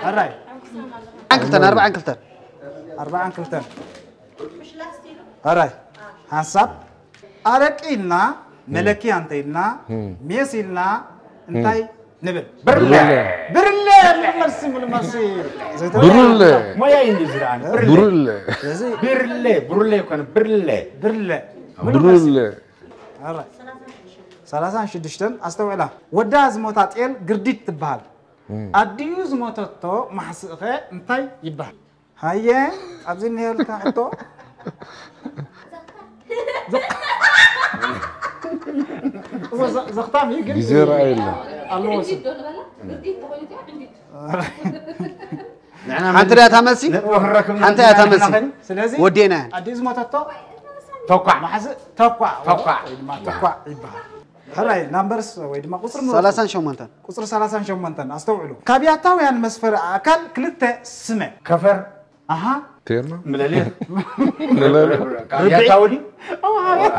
ሕራይ። ኣርባዓን ክልተን፣ ኣርባዓን ክልተን። ኣርባዓን ክልተን። ሕራይ። ሓንሳብ ኣረቂ ኢልና መለክያ እንተ ኢልና ሜስ ኢልና እንታይ ንብል? ብርለ። ብርለ። ብርለ። ምሉእ መልሲ፣ ምሉእ መልሲ። ዘይተረፈ ብርለ። ሞያ እዩ እንዲ ዝረኣኒ። ብርለ። ብርለ። ስለዚ ብርለ፣ ብርለ ይኮነ፣ ብርለ። ብርለ። ምሉእ መልሲ። ብርለ። ኣራይ። ሰላሳን ሽዱሽተን ኣስተውዕላ። ወዳ ዝሞታ ጤል ግርዲት ትበሃል። ኣዲኡ ዝሞተቶ ማሕስእኸ እንታይ ይበሃል? ሃየ ኣብዚ እኒሀልካ ሕቶ ዘኽታም እዩ ግን ግዜ ረኣየላ ኣለዎ ስም ሓንቲ ዳታ መልሲ ሓንቲ ዳታ መልሲ ስለዚ ወዴና ኣዲኡ ዝሞተቶ ተኳዕ ማሕዚ ተኳዕ ተኳዕ ወይ ድማ ተኳዕ ይበሃል ሕራይ ናምበርስ ወይ ድማ ቁፅሪ ንረኽቦ። ሰላሳን ሸሞንተን። ቁፅሪ ሰላሳን ሸሞንተን ኣስተውዕሉ። ካብ ያታውያን መስፈሪ ኣእካል ክልተ ስመ። ከፈር። ኣሃ። ቴርኖ። ምለሊኽ። ካብ ያታው ድዩ?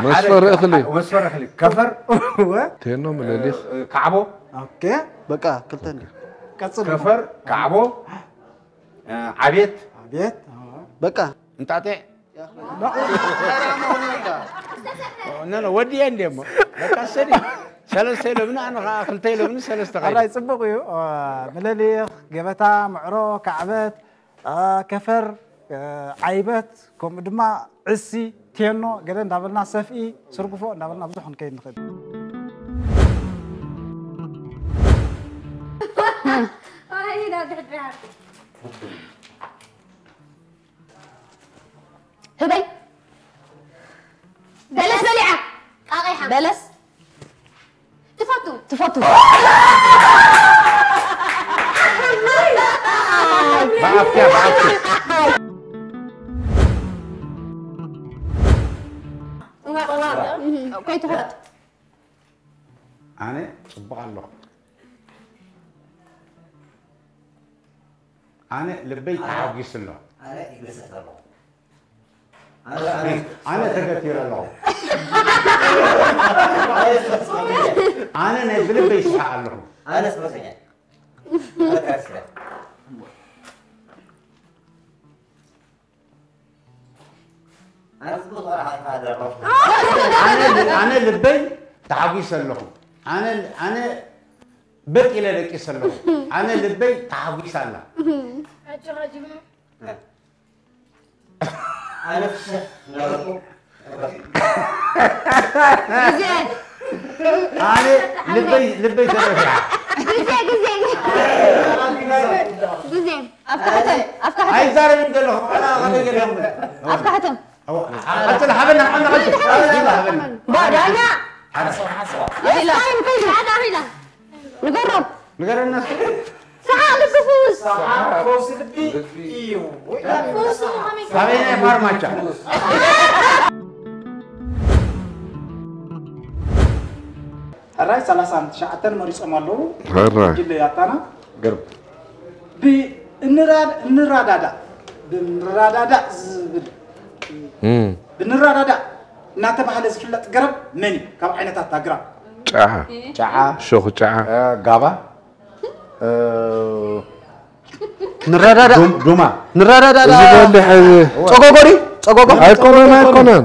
መስፈሪ እኽሊ። መስፈሪ እኽሊ። ከፈር። እወ። ቴርኖ ምለሊኽ። ካዕቦ። ኦኬ። በቃ ክልተ እንዲ። ቀጽል። ከፈር፣ ካዕቦ፣ እ፣ ዓቤት። ዓቤት፣ አዎ። በቃ። እንጣጤዕ። ኖ፣ ኖ፣ ወዲኤ እንዴ እሞ። በቃ ሰዲ። ሰለስተ ኢሎምኒ፣ ኣነ ኸዓ ክልተ ኢሎምኒ፣ ሰለስተ ኸይደ። ኣራይ፣ ጽቡቕ እዩ። እ፣ ምልሊኽ፣ ገበታ፣ ምዕሮ፣ ካዕበት፣ እ፣ ከፈር፣ እ፣ ዓይበት፣ ከምኡ ድማ ዕሲ፣ ቴኖ፣ ገለ እንዳበልና ሰፍኢ፣ ስርጉፎ እንዳበልና ብዙሕ ክንከይድ ንኽእል። ኣይ፣ ናብ ድሕድሪ ሃር። ህበይ። በለስ በሊዓ። ቃቒሓ። በለስ። ትፈቱ። ትፈቱ። ብኣፍኪያ፣ ብኣፍኪ። ከይትኾት። ኣነ ጽቡቕ ኣለኹ። ኣነ ልበይ ተሓጒሱ ኣሎ። ኣነ ይግሰት ኣለኹ። ኣነ፣ ኣነ፣ ኣነ ተገቲረ ኣለኹ። ኣነ ናይ ብልበይ ይስሓቕ ኣለኹ። ኣነ ስፖርተኛ። ኣነ ክርስቲያን። ኣነ ጽቡቕ ተቆራሓ ኣለኹ። ኣነ፣ ኣነ ልበይ ተሓጒሰ ኣለኹ። ኣነ፣ ኣነ በጥ ኢለ ደቂሰ ኣለኹ። ኣነ ልበይ ተሓጒሳ ኣላ። ኣነ ፍሽኽ እናበልኩ ግዜ። ኣነ ልበይ፣ ልበይ ተደፊዓ። ግዜ፣ ግዜ። ግዜ። ኣፍታሕተን፣ ኣፍታሕተን። ኣይዛረብን ዘለኹ፣ ኣነ ከመይ ገለ ይኹን። ኣፍታሕተን። ኣዎ፣ ኣ-፣ ቀጽል፣ ሃበና፣ ሃበና፣ ቀጽል። ሃበና፣ ሃበና። ባ-፣ ዳኛ። ሓንሳብ፣ ሓንሳብ። ኢላ። ኢላ፣ ኢላ። ንገሮም። ንገረና እስኪ። ሰሓቕ ልቢ ፍውስ። ሰሓቕ ፈውሲ ልቢ እዩ። ፈውሲ ከመይ? ኣበየናይ ፋርማቻ? ሕራይ ሰላሳን ትሽዓተን መሪጾም ኣለዉ። ሕራይ። ጉጅለ ያታና። ግርም። ብ-፣ እንራ-፣ እንራዳዳእ፣ ብንራዳዳእ ዝብል፣ እም። ብንራዳዳእ እናተባህለ ዝፍለጥ ገረብ መን እዩ? ካብ ዓይነታት ኣግራብ። ጨዓ። ጨዓ። ሸኹ ጨዓ። እ፣ ጋባ። እ፣ ንረዳዳእ። ዱም-፣ ዱማ። ንረዳዳእ። እዚ በልሕ፣ ጸጎጎ ድዩ? ጸጎጎ? ኣይኮነን፣ ኣይኮነን።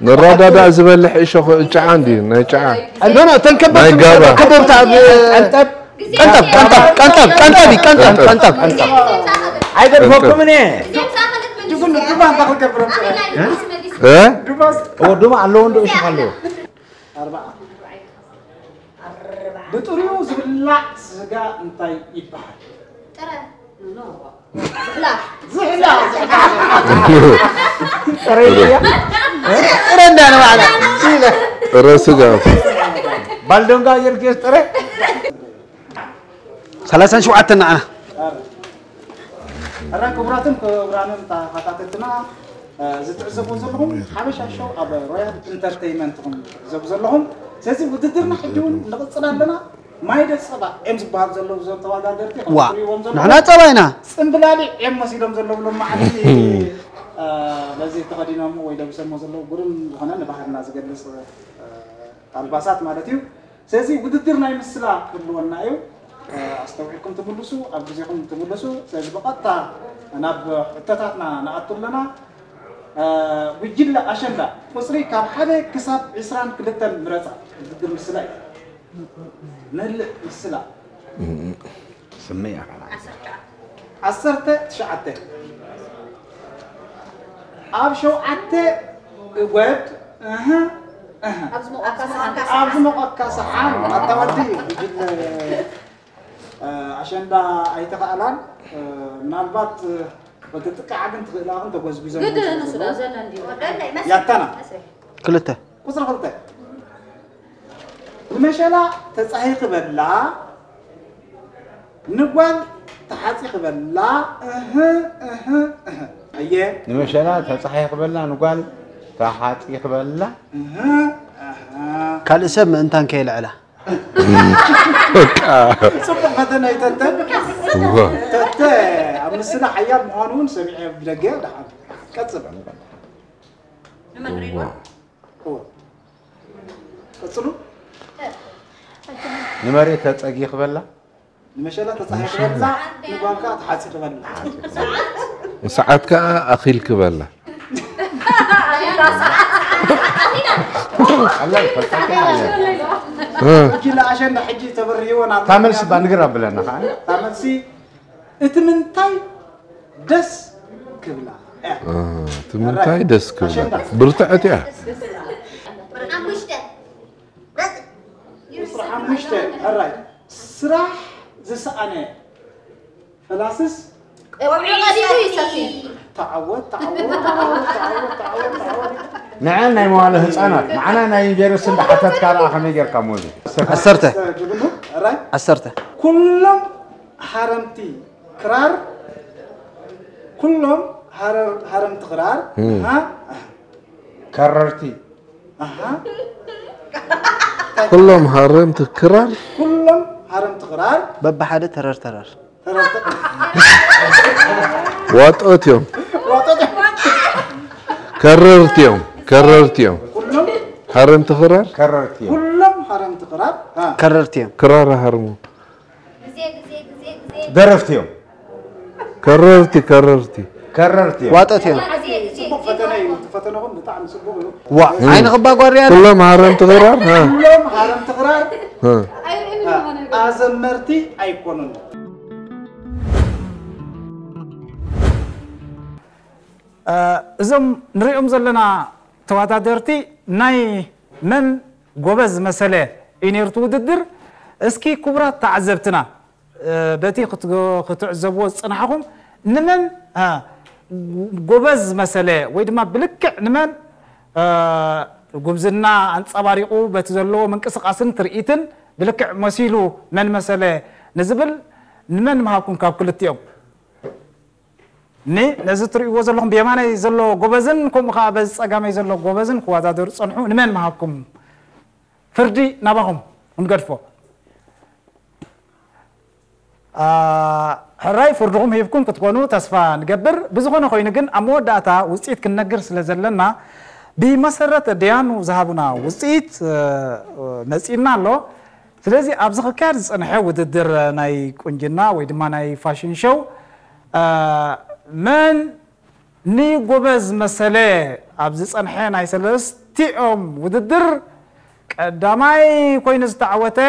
ንረዳዳእ ዝበልሕ እሾኽ ጨዓ እንድዩ፣ ናይ ጨዓ። ኖ፣ ኖ፣ እተን ከበብቲ ናይ ጋባ። ከበብቲ ኣብ ቀንጠብ። ቀንጠብ፣ ቀንጠብ፣ ቀንጠብ፣ ቀንጠብ እዩ፣ ቀንጠብ፣ ቀንጠብ። ቀንጠብ። ኣይገድፈኩምን እየ። ጅጉን ዱባ እንታይ ክገብሮም? እ? ዱባስ? ኦ፣ ዱባ ኣለዎ፣ እንዶ እሾኽ ኣለዎ። ኣርባዓ። ብጥሪኡ ዝብላዕ ስጋ እንታይ ይበሃል? ጥረ። ዝሕላ። ዝሕላ፣ ዝሕላ። ጥረ ድያ? ጥረ እንዳለ ባዕላ። ጥረ ስጋ። ባልዶንጋ ጊዮርጊስ ጥረ? ሰላሳን ሸውዓተን ንዓና። ሕራይ ክቡራትን ክቡራንን ተኸታተልትና፣ እ፣ ዝትዕዘቡ ዘለኹም ሓበሻ ሾው ኣብ ሮያል ኢንተርቴይመንት ኢኹም ትዕዘቡ ዘለኹም። ስለዚ ውድድርና ሕጂ እውን ንቕጽል ኣለና። ማይደ ጸባ እዮም ዝበሃሉ ዘለዉ እዞም ተወዳደርቲ፣ ከምቲ ዋ፣ ትሪእዎም ዘለኹም ንሕና ጸባ ኢና። ጽምብላሊዕ እዮም መሲሎም ዘለዉ ሎማዓንቲ፣ እ፣ በዚ ተኸዲኖም ወይ ለቢሶሞ ዘለዉ ግሩም ዝኾነ ንባህልና ዝገልጽ፣ እ፣ ኣልባሳት ማለት እዩ። ስለዚ ውድድር ናይ ምስላ ክህልወና እዩ። እ፣ ኣስተውዒልኩም ትምልሱ፣ ኣብ ግዜኹም ትምልሱ። ስለዚ ብቐጥታ ናብ ሕቶታትና ንኣቱ ኣለና። እ፣ ጉጅለ ኣሸንዳ ቁጽሪ ካብ ሓደ ክሳብ ዕስራን ክልተን ምረጻ። ውድድር ምስላ እዩ። መልእ ምስላ። ስመይ ኣኻላ። ዓሰርተ ትሽዓተ። ኣብ ሸውዓተ እጎድ፣ እህ፣ እህ። ኣብ ዝሞቐካ ሰሓን። ኣብ ዝሞቐካ ሰሓን። ኣታ ወዲ፣ ጉጅለ፣ እ፣ ኣሸንዳ ኣይተኻእላን። እ፣ ምናልባት፣ እ፣ ወዲ ጥቃዓ ግን ትኽእላ ግን ተጎዝጉዘን ግድ ተጎዝጉዘን ንሱ ዶ ዘሎ እንዲሁ። ያታና። ክልተ። ቁጽሪ ክልተ። ንመሸላ ተጻሂ ክበላ፣ ንጓል ተሓጺ ክበላ፣ እህ፣ እህ፣ እህ። ኣየ። ንመሸላ ተጻሂ ክበላ፣ ንጓል ተሓጺ ክበላ። እህ፣ እህ። ካልእ ሰብ ምእንታን ከየልዕላ። በቃ። ጽቡቕ ፈተነ እዩ ተተ። እዋ። ተተ፣ ኣብ ምስላ ሓያል ምዃኑ እውን ሰሚዐ ብደገ። ደሓን። ቀጽል። እዋ። እዎ። ቀጽሉ። ንመሬት ተጸጊ ክበላ። ንመሸላ ተጻሒፍክበላ ንጓልካ ተሓጺኽበላ። ሰዓት ከዓ ኣኺልክበላ። ሕጂ ለኣሸንዳ ሕጂ ተበርህዎ ናብ ታመልሲ ባንግር ኣብለና ከዓ ታመልሲ እቲ ምንታይ ደስ ክብላ ትምንታይ ደስ ክብላ ብርትዐት እያ። ስራሕ ዝሰኣነ ፈላስስ ተዓወት ተዓወት ተዓወት ተዓወት ተዓወት ተዓወት ንዐ ናይ መዋለ ህፃናት ንዓና ናይ ዩኒቨርሲቲ እንዳሓተትካ ደኣ ከመይ ጌርካ ሞዚ ዓሰርተ ጅግኑ ራይ ዓሰርተ ኩሎም ሃረምቲ ክራር ኩሎም ሃረ- ሃረምቲ ክራር ሃ ከረርቲ ኣሃ ኩሎም ሃረምቲ ክራር ኩሎም ሃረምቲ ክራር በብሓደ ተረር ተረር ተረርተ ዋጦት እዮም። ከረርቲ እዮም። ከረርቲ እዮም። ኩሎም ሃረምቲ ክራር ከረርቲ እዮም ኩሎም ሃረምቲ ክራር ሃ ከረርቲ እዮም ክራር ሃርሙ ደረፍቲ እዮም ከረርቲ ከረርቲ ከረርቲ እዮም ዋጦት እዮም ጽቡቕ ፈተነ እዩ። እቲ ፈተነኹም ብጣዕሚ ጽቡቕ እዩ። ዋ ዓይንኺ ባጓርያ ኩሎም ሃረምቲ ክራር ሃ ኩሎም ሃረምቲ ክራር ሃ ኣዘመርቲ ኣይኮኑን። እዞም ንሪኦም ዘለና ተወዳደርቲ ናይ መን ጎበዝ መሰለ እዩ ነይሩ እቲ ውድድር። እስኪ ክቡራት ተዓዘብትና በቲ ክትዕዘብዎ ዝፅናሕኹም ንመን ጎበዝ መሰለ ወይ ድማ ብልክዕ ንመን ጉብዝና ኣንፀባሪቑ በቲ ዘለዎ ምንቅስቓስን ትርኢትን ብልክዕ መሲሉ መን መሰለ ንዝብል ንመን ምሃብኩም ካብ ክልቲኦም? ኒ ነዚ ትርእይዎ ዘለኹም ብየማናይ ዘሎ ጎበዝን ከምኡ ከዓ በዚ ፀጋመይ ዘሎ ጎበዝን ክወዳደሩ ፀንሑ ንመን ምሃብኩም? ፍርዲ ናባኹም ክንገድፎ። ሕራይ ፍርድኹም ሂብኩም ክትኮኑ ተስፋ ንገብር። ብዝኾነ ኮይኑ ግን ኣብ መወዳእታ ውፅኢት ክንነግር ስለ ዘለና ብመሰረት ደያኑ ዝሃቡና ውፅኢት መፂእና ኣሎ። ስለዚ ኣብዚ ክካየድ ዝፀንሐ ውድድር ናይ ቁንጅና ወይ ድማ ናይ ፋሽን ሾው መን ንጎበዝ መሰለ ኣብ ዝፀንሐ ናይ ሰለስቲኦም ውድድር ቀዳማይ ኮይኑ ዝተዓወተ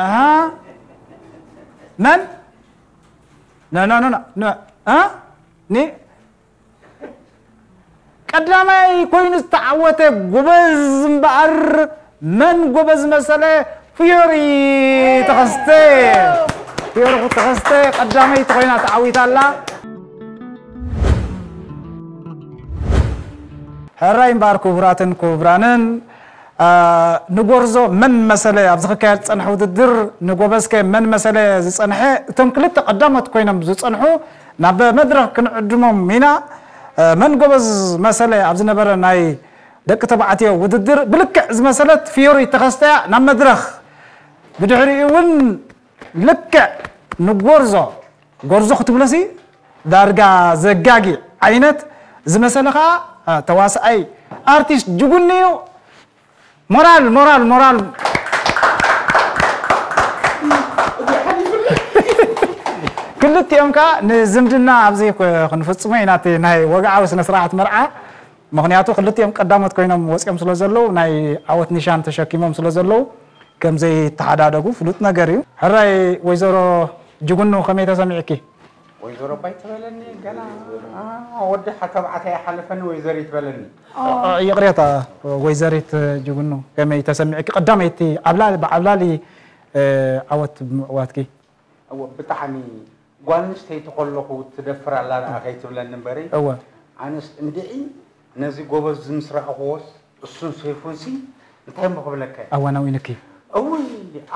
ኣሃ መን ኖ ኖ ኖ ኖ እ ኒ ቀዳማይ ኮይኑ ዝተዓወተ ጎበዝ እምበኣር መን ጎበዝ መሰለ ፍዮሪ ተኸስተ ፍዮሪ ተኸስተ ቀዳመይቲ ኮይና ተዓዊታ ኣላ። ሕራይ እምበኣር ክቡራትን ክቡራንን ንጎርዞ መን መሰለ ኣብዚ ክካየድ ዝፀንሐ ውድድር ንጎበዝከ መን መሰለ ዝፀንሐ እቶም ክልተ ቀዳሞት ኮይኖም ዝፀንሑ ናብ መድረኽ ክንዕድሞም ኢና። መን ጎበዝ መሰለ ኣብ ዝነበረ ናይ ደቂ ተባዕትዮ ውድድር ብልክዕ ዝመሰለት ፍዮሪ ተኸስተያ ናብ መድረኽ ብድሕሪኡ እውን ልክዕ ንጎርዞ ጎርዞ ክትብለሲ ዳርጋ ዘጋጊ ዓይነት ዝመሰለ ከዓ ተዋስኣይ ኣርቲስት ጅጉኒ እዩ። ሞራል ሞራል ሞራል ክልቲኦም ከዓ ንዝምድና ኣብዚ ክንፍፅሞ ኢና እቲ ናይ ወግዓዊ ስነ ስርዓት መርዓ። ምክንያቱ ክልቲኦም ቀዳሞት ኮይኖም ወፂኦም ስለ ዘለዉ ናይ ዓወት ኒሻን ተሸኪሞም ስለ ዘለዉ ከም ዘይተሓዳደጉ ፍሉጥ ነገር እዩ። ሕራይ ወይዘሮ ጅጉኑ ከመይ ተሰሚዕኪ? ወይዘሮ ባይ ትበለኒ ገና ወዲ ተባዕታይ ሓለፈኒ ወይዘሪት በለኒ። ይቕሬታ ወይዘሪት ጅጉኑ ከመይ ተሰሚዕኪ? ቀዳመይቲ ዓብላሊ ብዓብላሊ ዓወት ብምዕዋትኪ። ብጣዕሚ ጓል ኣንስተይቲ ከለኹ ትደፍር ኣላ ደኣ ከይትብለኒ እምበሪ እወ ኣነስ እንድዒ ነዚ ጎበዝ ምስ ረኣኽዎስ እሱን ሰይፉንሲ እንታይ እሞ ክብለካ እየ? ኣዋናዊንኪ እውይ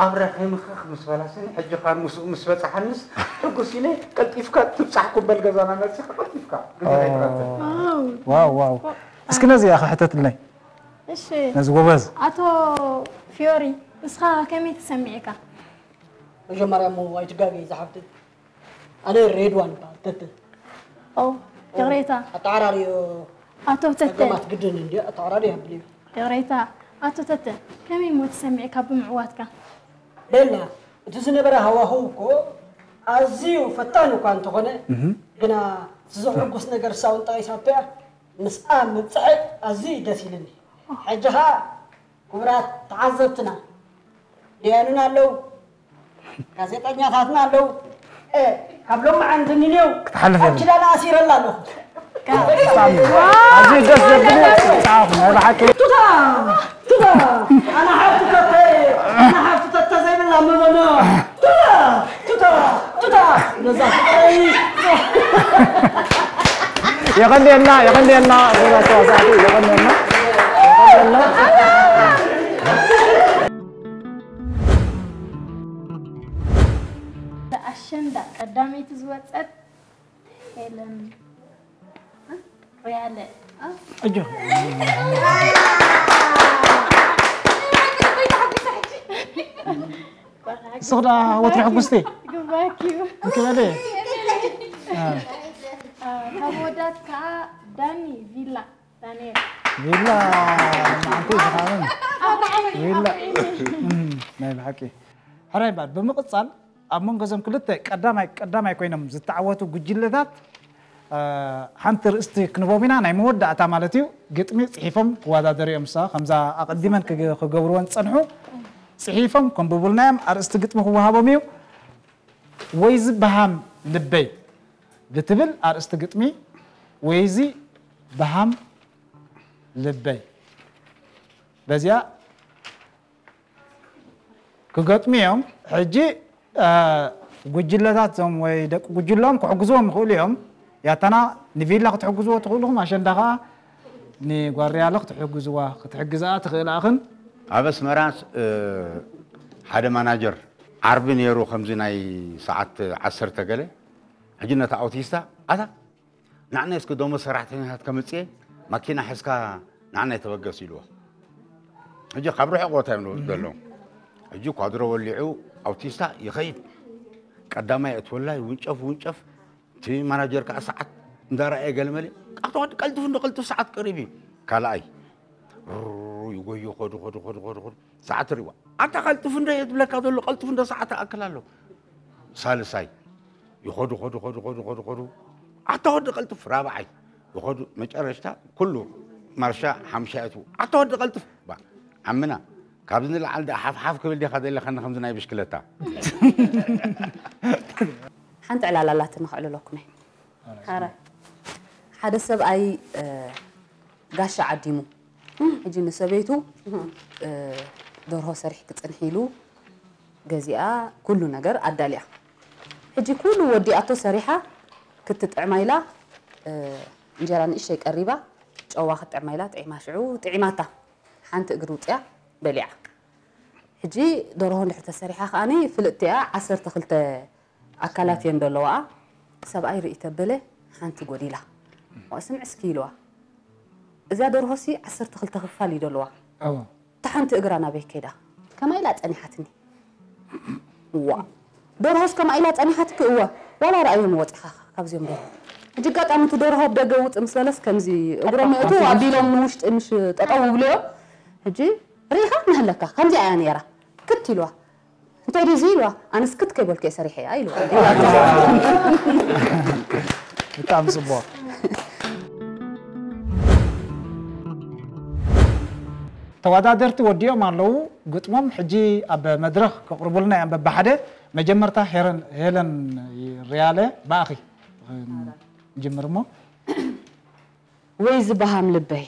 ኣብረ ከይምኽኽ ምስ በላስኒ ሕጂ ኻን ምስኡ ምስ በፃሓንስ ሕጉስ ኢለ ቀልጢፍካ ትብፃሕኩም በል ገዛና መፂኻ ቀልጢፍካ ግዜ ከይትቐትል ዋው ዋው እስኪ ነዚኣ ክሕተትለይ እሺ ነዚ ጎበዝ ኣቶ ፊዮሪ ንስኻ ከመይ ተሰሚዕካ? መጀመርያ እሞ ኣይትጋገይ ዝሓፍተይ ኣነ ሬድዋን ይበሃል ተተ ኦ ይቕሬታ ኣተዓራርዮ ኣቶ ተተ ጸገማት ግድን እንዲ ኣተዓራርዮ የብል እዩ ይቕሬታ ኣቶ ተተ ከመይ እሞ ተሰሚዕካ ብምዕዋትካ? ቤላ እቲ ዝነበረ ሃዋህው እኮ ኣዝዩ ፈታኒ እኳ እንተኾነ፣ ግና እቲ ዘሕጉስ ነገር እሳ እውን ጠቒሳቶ እያ። ምስኣ ምብፅሐይ ኣዝዩ እዩ ደስ ኢልኒ። ሕጂ ኸኣ ክቡራት ተዓዘብትና፣ ደያኑና ኣለዉ፣ ጋዜጠኛታትና ኣለዉ። ካብ ሎማዓንቲ ንኔው ክትሓልፍ ኣብ የብልካ። ኪዳን ኣሲረላ ኣለኹ። ብጣዕሚ ኣዝዩ ደስ ዘብል እዩ። ጻዕኹ ናይ ብሓቂ። ቱታ! ቱታ! ኣነ ሓፍቲ ተተ-፣ ኣነ ሓፍቲ ተተ ዘይብላ መበሎ። ቱታ! ቱታ! ቱታ! ነዛ ፍቕረይ! የቐንየልና፣ የቐንየልና፣ ዞባ ተዋሳእቲ፣ የቐንየልና፣ የቐንየልና። ኣሸንዳ ቀዳመይቲ ዝወጸት ሄለን ሪያለ። ኣጆ። ንስኽ ደኣ ወትሪ ሕጉስቲ። ግባኪ። እንክበለ። ካብ ወዳት ከዓ ዳኒ ቪላ ዳንኤል። ቪላ መዓልቲ ዝኻብን። ቪላ። እም፣ ናይ ብሓቂ። ሕራይ ባል፣ ብምቕጻል ኣብ መንጎ እዞም ክልተ ቀዳማይ ቀዳማይ ኮይኖም ዝተዓወቱ ጉጅለታት፣ እ፣ ሓንቲ ርእስቲ ክንቦም ኢና፣ ናይ መወዳእታ ማለት እዩ። ግጥሚ ጽሒፎም ክወዳደሩ እዮም። እሳ ከምዛ ኣቐዲመን ክገ-፣ ክገብርወን ዝጸንሑ ጽሒፎም ከንብቡልና እዮም። ኣርእስቲ ግጥሚ ክወሃቦም እዩ። ወይዚ በሃም ልበይ ብትብል ኣርእስቲ ግጥሚ፣ ወይዚ በሃም ልበይ፣ በዚኣ ክገጥሙ እዮም። ሕጂ፣ እ፣ ጉጅለታት እዞም ወይ ደቂ ጉጅሎም ክሕግዝዎም ይኽእሉ እዮም። ያታና ንቪላ ክትሕግዝዎ ትኽእሉ ኢኹም፣ ኣሸንዳ ኸኣ ንጓርያሎ ክትሕግዝዋ፣ ክትሕግዝኣ ትኽእላ ኢኽን። ኣብ ኣስመራ፣ እ፣ ሓደ ማናጀር ዓርቢ ነይሩ፣ ከምዚ ናይ ሰዓት ዓሰርተ ገለ፣ ሕጂ ነታ ኣውቲስታ፣ ኣታ ንዓናይ እስኪ ደሞዝ ሰራሕተኛታት ከምጽእ እየ፣ ማኪና ሒዝካ ንዓናይ ተበገስ ኢልዎ። ሕጂ ካብ ርሑቕ ቦታ እዮም ዘለዉ። ሕጂ ኳድሮ ወሊዑ ኣውቲስታ ይኸይድ። ቀዳማይ የእትወላ ይውንጨፍ፣ ይውንጨፍ። እቲ ማናጀር ከኣ ሰዓት እንዳረኣየ ገለመለ፣ "ኣቶ ወዲ ቀልጥፍ እንዶ ቀልጥፍ፣ ሰዓት ቀሪብ እዩ።" ካልኣይ ሩሩ ይጎዩ፣ ኸዱ፣ ኸዱ፣ ኸዱ፣ ኸዱ፣ ኸዱ። ሰዓት ሪእዋ። "ኣታ ቀልጥፍ እንዶ እየ ዝብለካ ዘሎ፣ ቀልጥፍ እንዶ፣ ሰዓት ይኣክል ኣሎ።" ሳልሳይ ይኸዱ፣ ኸዱ፣ ኸዱ፣ ኸዱ፣ ኸዱ፣ ኸዱ። "ኣታ ወዲ ቀልጥፍ!" ራብዓይ ይኸዱ። መጨረሽታ ኩሉ ማርሻ ሓምሻይ ኣትዉ። "ኣታ ወዲ ቀልጥፍ!" ባ፣ ዓምና፣ ካብዚ ንላዕሊ ደኣ ሓፍ ሓፍ ክብል ዲኻ ደሊኻኒ ከምዚ ናይ ብሽክለታ? ሓንቲ ዕላል ኣላትኒ ከዕልለኩም እየ። ሓራይ። ሓደ ሰብኣይ፣ እ፣ ጋሻ ዓዲሙ። ሕጂ ንሰበይቱ፣ እ፣ ደርሆ ሰሪሕኪ ጽንሒ ኢሉ ገዚኣ፣ ኩሉ ነገር ኣዳልያ። ሕጂ ኩሉ ወዲኣቶ ሰሪሓ ክትጥዕማ ኢላ፣ እ፣ እንጀራ ንእሽተይ ቀሪባ፣ ጨዋ ክትጥዕማ ኢላ ጥዒማ፣ ሽዑ ጥዒማታ። ሓንቲ እግሪ ውፅያ በሊዓ። ሕጂ ደርሆ እንድሕር ተሰሪሓ ከኣኒ ፍልጥቲ እያ፣ ዓሰርተ ክልተ ኣካላት እየን ዘለዋኣ። ሰብኣይ ርኢ ተበለ፣ ሓንቲ ጎዲላ። "ዋ፣ ስምዒ እስኪ" ኢልዋ። "እዚኣ ደርሆሲ ዓሰርተ ክልተ ክፋል እዩ ዘለዋ። እወ። እታ ሓንቲ እግራ ናበይ ከይዳ? ከማይ ኢላ ጸኒሓትኒ?" "ዋ፣ ደርሆስ ከማይ ኢላ ጸኒሓትኪ?" "እወ። ዋላ ረኣዮም ወጺኻ ካብዚኦም ደርሆ?" ሕጂ ኣጋጣሚ እቲ ደርሆ ኣብ ደገ ውጽእ ምስ በለስ ከምዚ እግሮም የእትዉ ኣቢሎም ንውሽጢ ምሽ ጠጠው ይብልዮ። ሕጂ "ርኢኻ እናሃለካ ከምዚኣ እያ ነይራ። ክት" ኢልዋ። "እንታይ ድዩ እዚ?" ኢልዋ። "ኣነስ ክት ከይበልኩ እየ ሰሪሐያ" ኢልዋ። ብጣዕሚ ጽቡቕ። ተወዳደርቲ ወዲኦም ኣለዉ ግጥሞም። ሕጂ ኣብ መድረኽ ከቕርቡልና እዮም በብሓደ። መጀመርታ ሄረን-፣ ሄለን ሪያለ፣ ብኣኺ ንጅምር እሞ። ወይ ዝበሃም ልበይ፣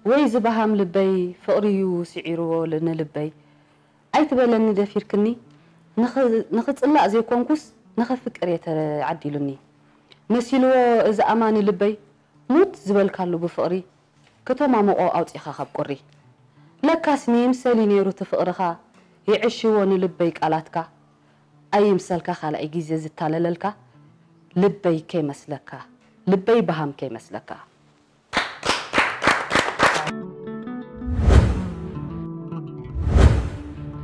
ወይ ዝበሃም ልበይ፣ ፍቕሪ እዩ ስዒርዎ ል-፣ ንልበይ። ኣይትበለኒ ደፊርክኒ፣ ንኽ-፣ ንኽጽላእ ዘይኮንኩስ፣ ንኸፍቅር እየ ተዓዲሉኒ። መሲልዎ እዚ ኣማኒ ልበይ፣ ሙት ዝበልካሉ ብፍቕሪ፣ ክተማምቖ ኣውጺኻ ካብ ቁሪ። ለካስ ንይምሰል እዩ ነይሩ እቲ ፍቕርኻ፣ ይዕሽዎ ንልበይ ቃላትካ። ኣይምሰልካ ካልኣይ ግዜ ዝታለለልካ፣ ልበይ ከይመስለካ፣ ልበይ በሃም ከይመስለካ።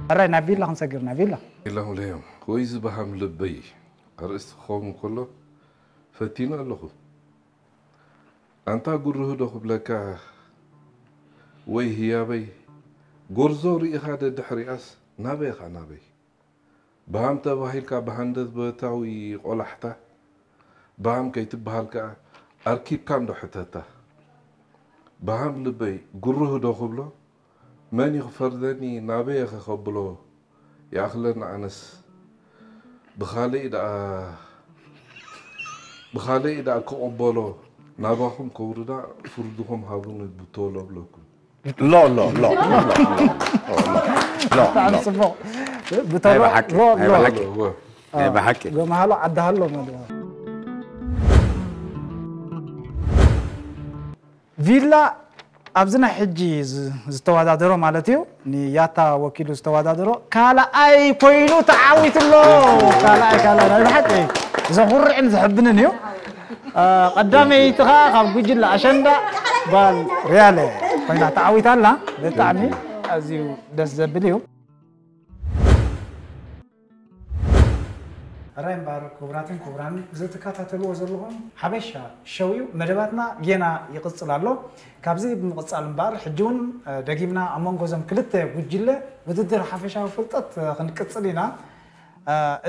ሕራይ ናብ ቪላ ክንሰግር፣ ናብ ቪላ። ኢሎም ለዮም፣ ወይ ዝበሃም ልበይ ኣርእስቲ ክኸውን ከሎ ፈቲኑ ኣለኹ። ኣንታ ጉርህ ዶ ክብለካ ወይ ህያበይ፣ ጎርዞ ርኢኻ ደድሕሪኣስ ናበይ ኢኻ ናበይ? ብሃም ተባሂልካ ብሃንደበት ብረታዊ ቆላሕታ፣ ብሃም ከይትበሃል ከኣ ኣርኪብካ እንዶ ሕተታ። ብሃም ልበይ ግሩህ ዶ ክብሎ፣ መን እዩ ክፈርደኒ ናበይ እየ ከኸብሎ፣ ይኣኽለኒ ኣነስ ብኻልእ ደኣ ብኻልእ ደኣ ክቕበሎ ናባኹም ከውርዳ ፍርድኹም ሃቡኒ ብቶሎ ብለኩም። ሎ ሎ ሎ ሎ ሎ ሎ ብጣዕሚ ጽቡቕ። ብተሎ ናይ ብሓቂ ሎ ናይ ሎ ብሓቂ እወ። ናይ ብሓቂ ገመሃሎ ዓዲ ሃሎ መድዋ ቪላ ኣብዚ ናይ ሕጂ ዝ- ዝተወዳደሮ ማለት እዩ ንያታ ወኪሉ ዝተወዳደሮ ካልኣይ ኮይኑ ተዓዊትሎ። ካልኣይ ካልኣይ ናይ ብሓቂ ዘኹርዕን ዘሕብንን እዩ። አ፣ ቀዳመይቲ ኸዓ ካብ ጉጅለ ኣሸንዳ ጓል ሪያለ ኮይና ተዓዊታ ኣላ። ብጣዕሚ ኣዝዩ ደስ ዘብል እዩ። ሕራይ እምበኣር ክቡራትን ክቡራን እዚ ትከታተልዎ ዘለኹም ሓበሻ ሸው እዩ። መደባትና ጌና ይቕጽል ኣሎ። ካብዚ ብምቕጻል እምበኣር ሕጂ እውን ደጊምና ኣብ መንጎ እዞም ክልተ ጉጅለ ውድድር ሓፈሻዊ ፍልጠት ክንቅጽል ኢና።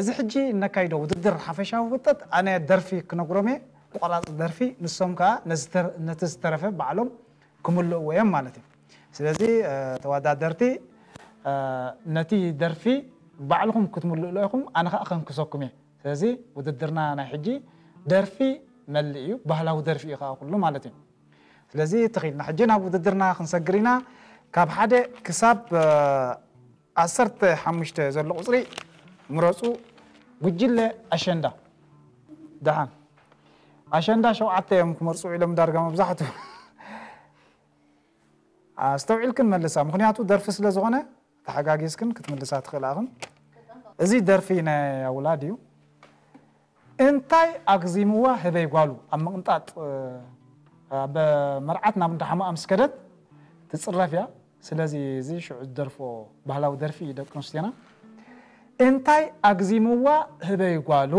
እዚ ሕጂ እነካይዶ ውድድር ሓፈሻዊ ፍልጠት ኣነ ደርፊ ክነግሮም እየ። ቁራጽ ደርፊ ንሶም ከኣ ነቲ ዝተረፈ ባዕሎም ክምልእዎ እዮም ማለት እዩ። ስለዚ ተወዳደርቲ ነቲ ደርፊ ባዕልኹም ክትምልእሉ ኢኹም ኣነ ከዓ ከንክሰኩም እየ። ስለዚ ውድድርና ናይ ሕጂ ደርፊ መልእ እዩ። ባህላዊ ደርፊ እዩ ከዓ ኩሉ ማለት እዩ። ስለዚ ተኺልና ሕጂ ናብ ውድድርና ክንሰግር ኢና። ካብ ሓደ ክሳብ ዓሰርተ ሓሙሽተ ዘሎ ቁፅሪ ምረፁ። ጉጅለ ኣሸንዳ ደሓን ኣሸንዳ ሸውዓተ እዮም ክመርፁ ኢሎም ዳርጋ መብዛሕቱ ኣስተውዒልክን መልሳ ምክንያቱ ደርፊ ስለ ዝኾነ ተሓጋጊዝክን ክትምልሳ ትኽእላ ኢኽን። እዚ ደርፊ ናይ ኣውላድ እዩ። እንታይ ኣግዚምዋ ህበይ ጓሉ ኣብ ምቕንጣጥ ኣብ መርዓት ናብ እንዳሓማኣ ምስ ከደት ትፅረፍ እያ። ስለዚ እዚ ሽዑ ዝደርፎ ባህላዊ ደርፊ እዩ ደቂ ኣንስትዮና። እንታይ ኣግዚምዋ ህበይ ጓሉ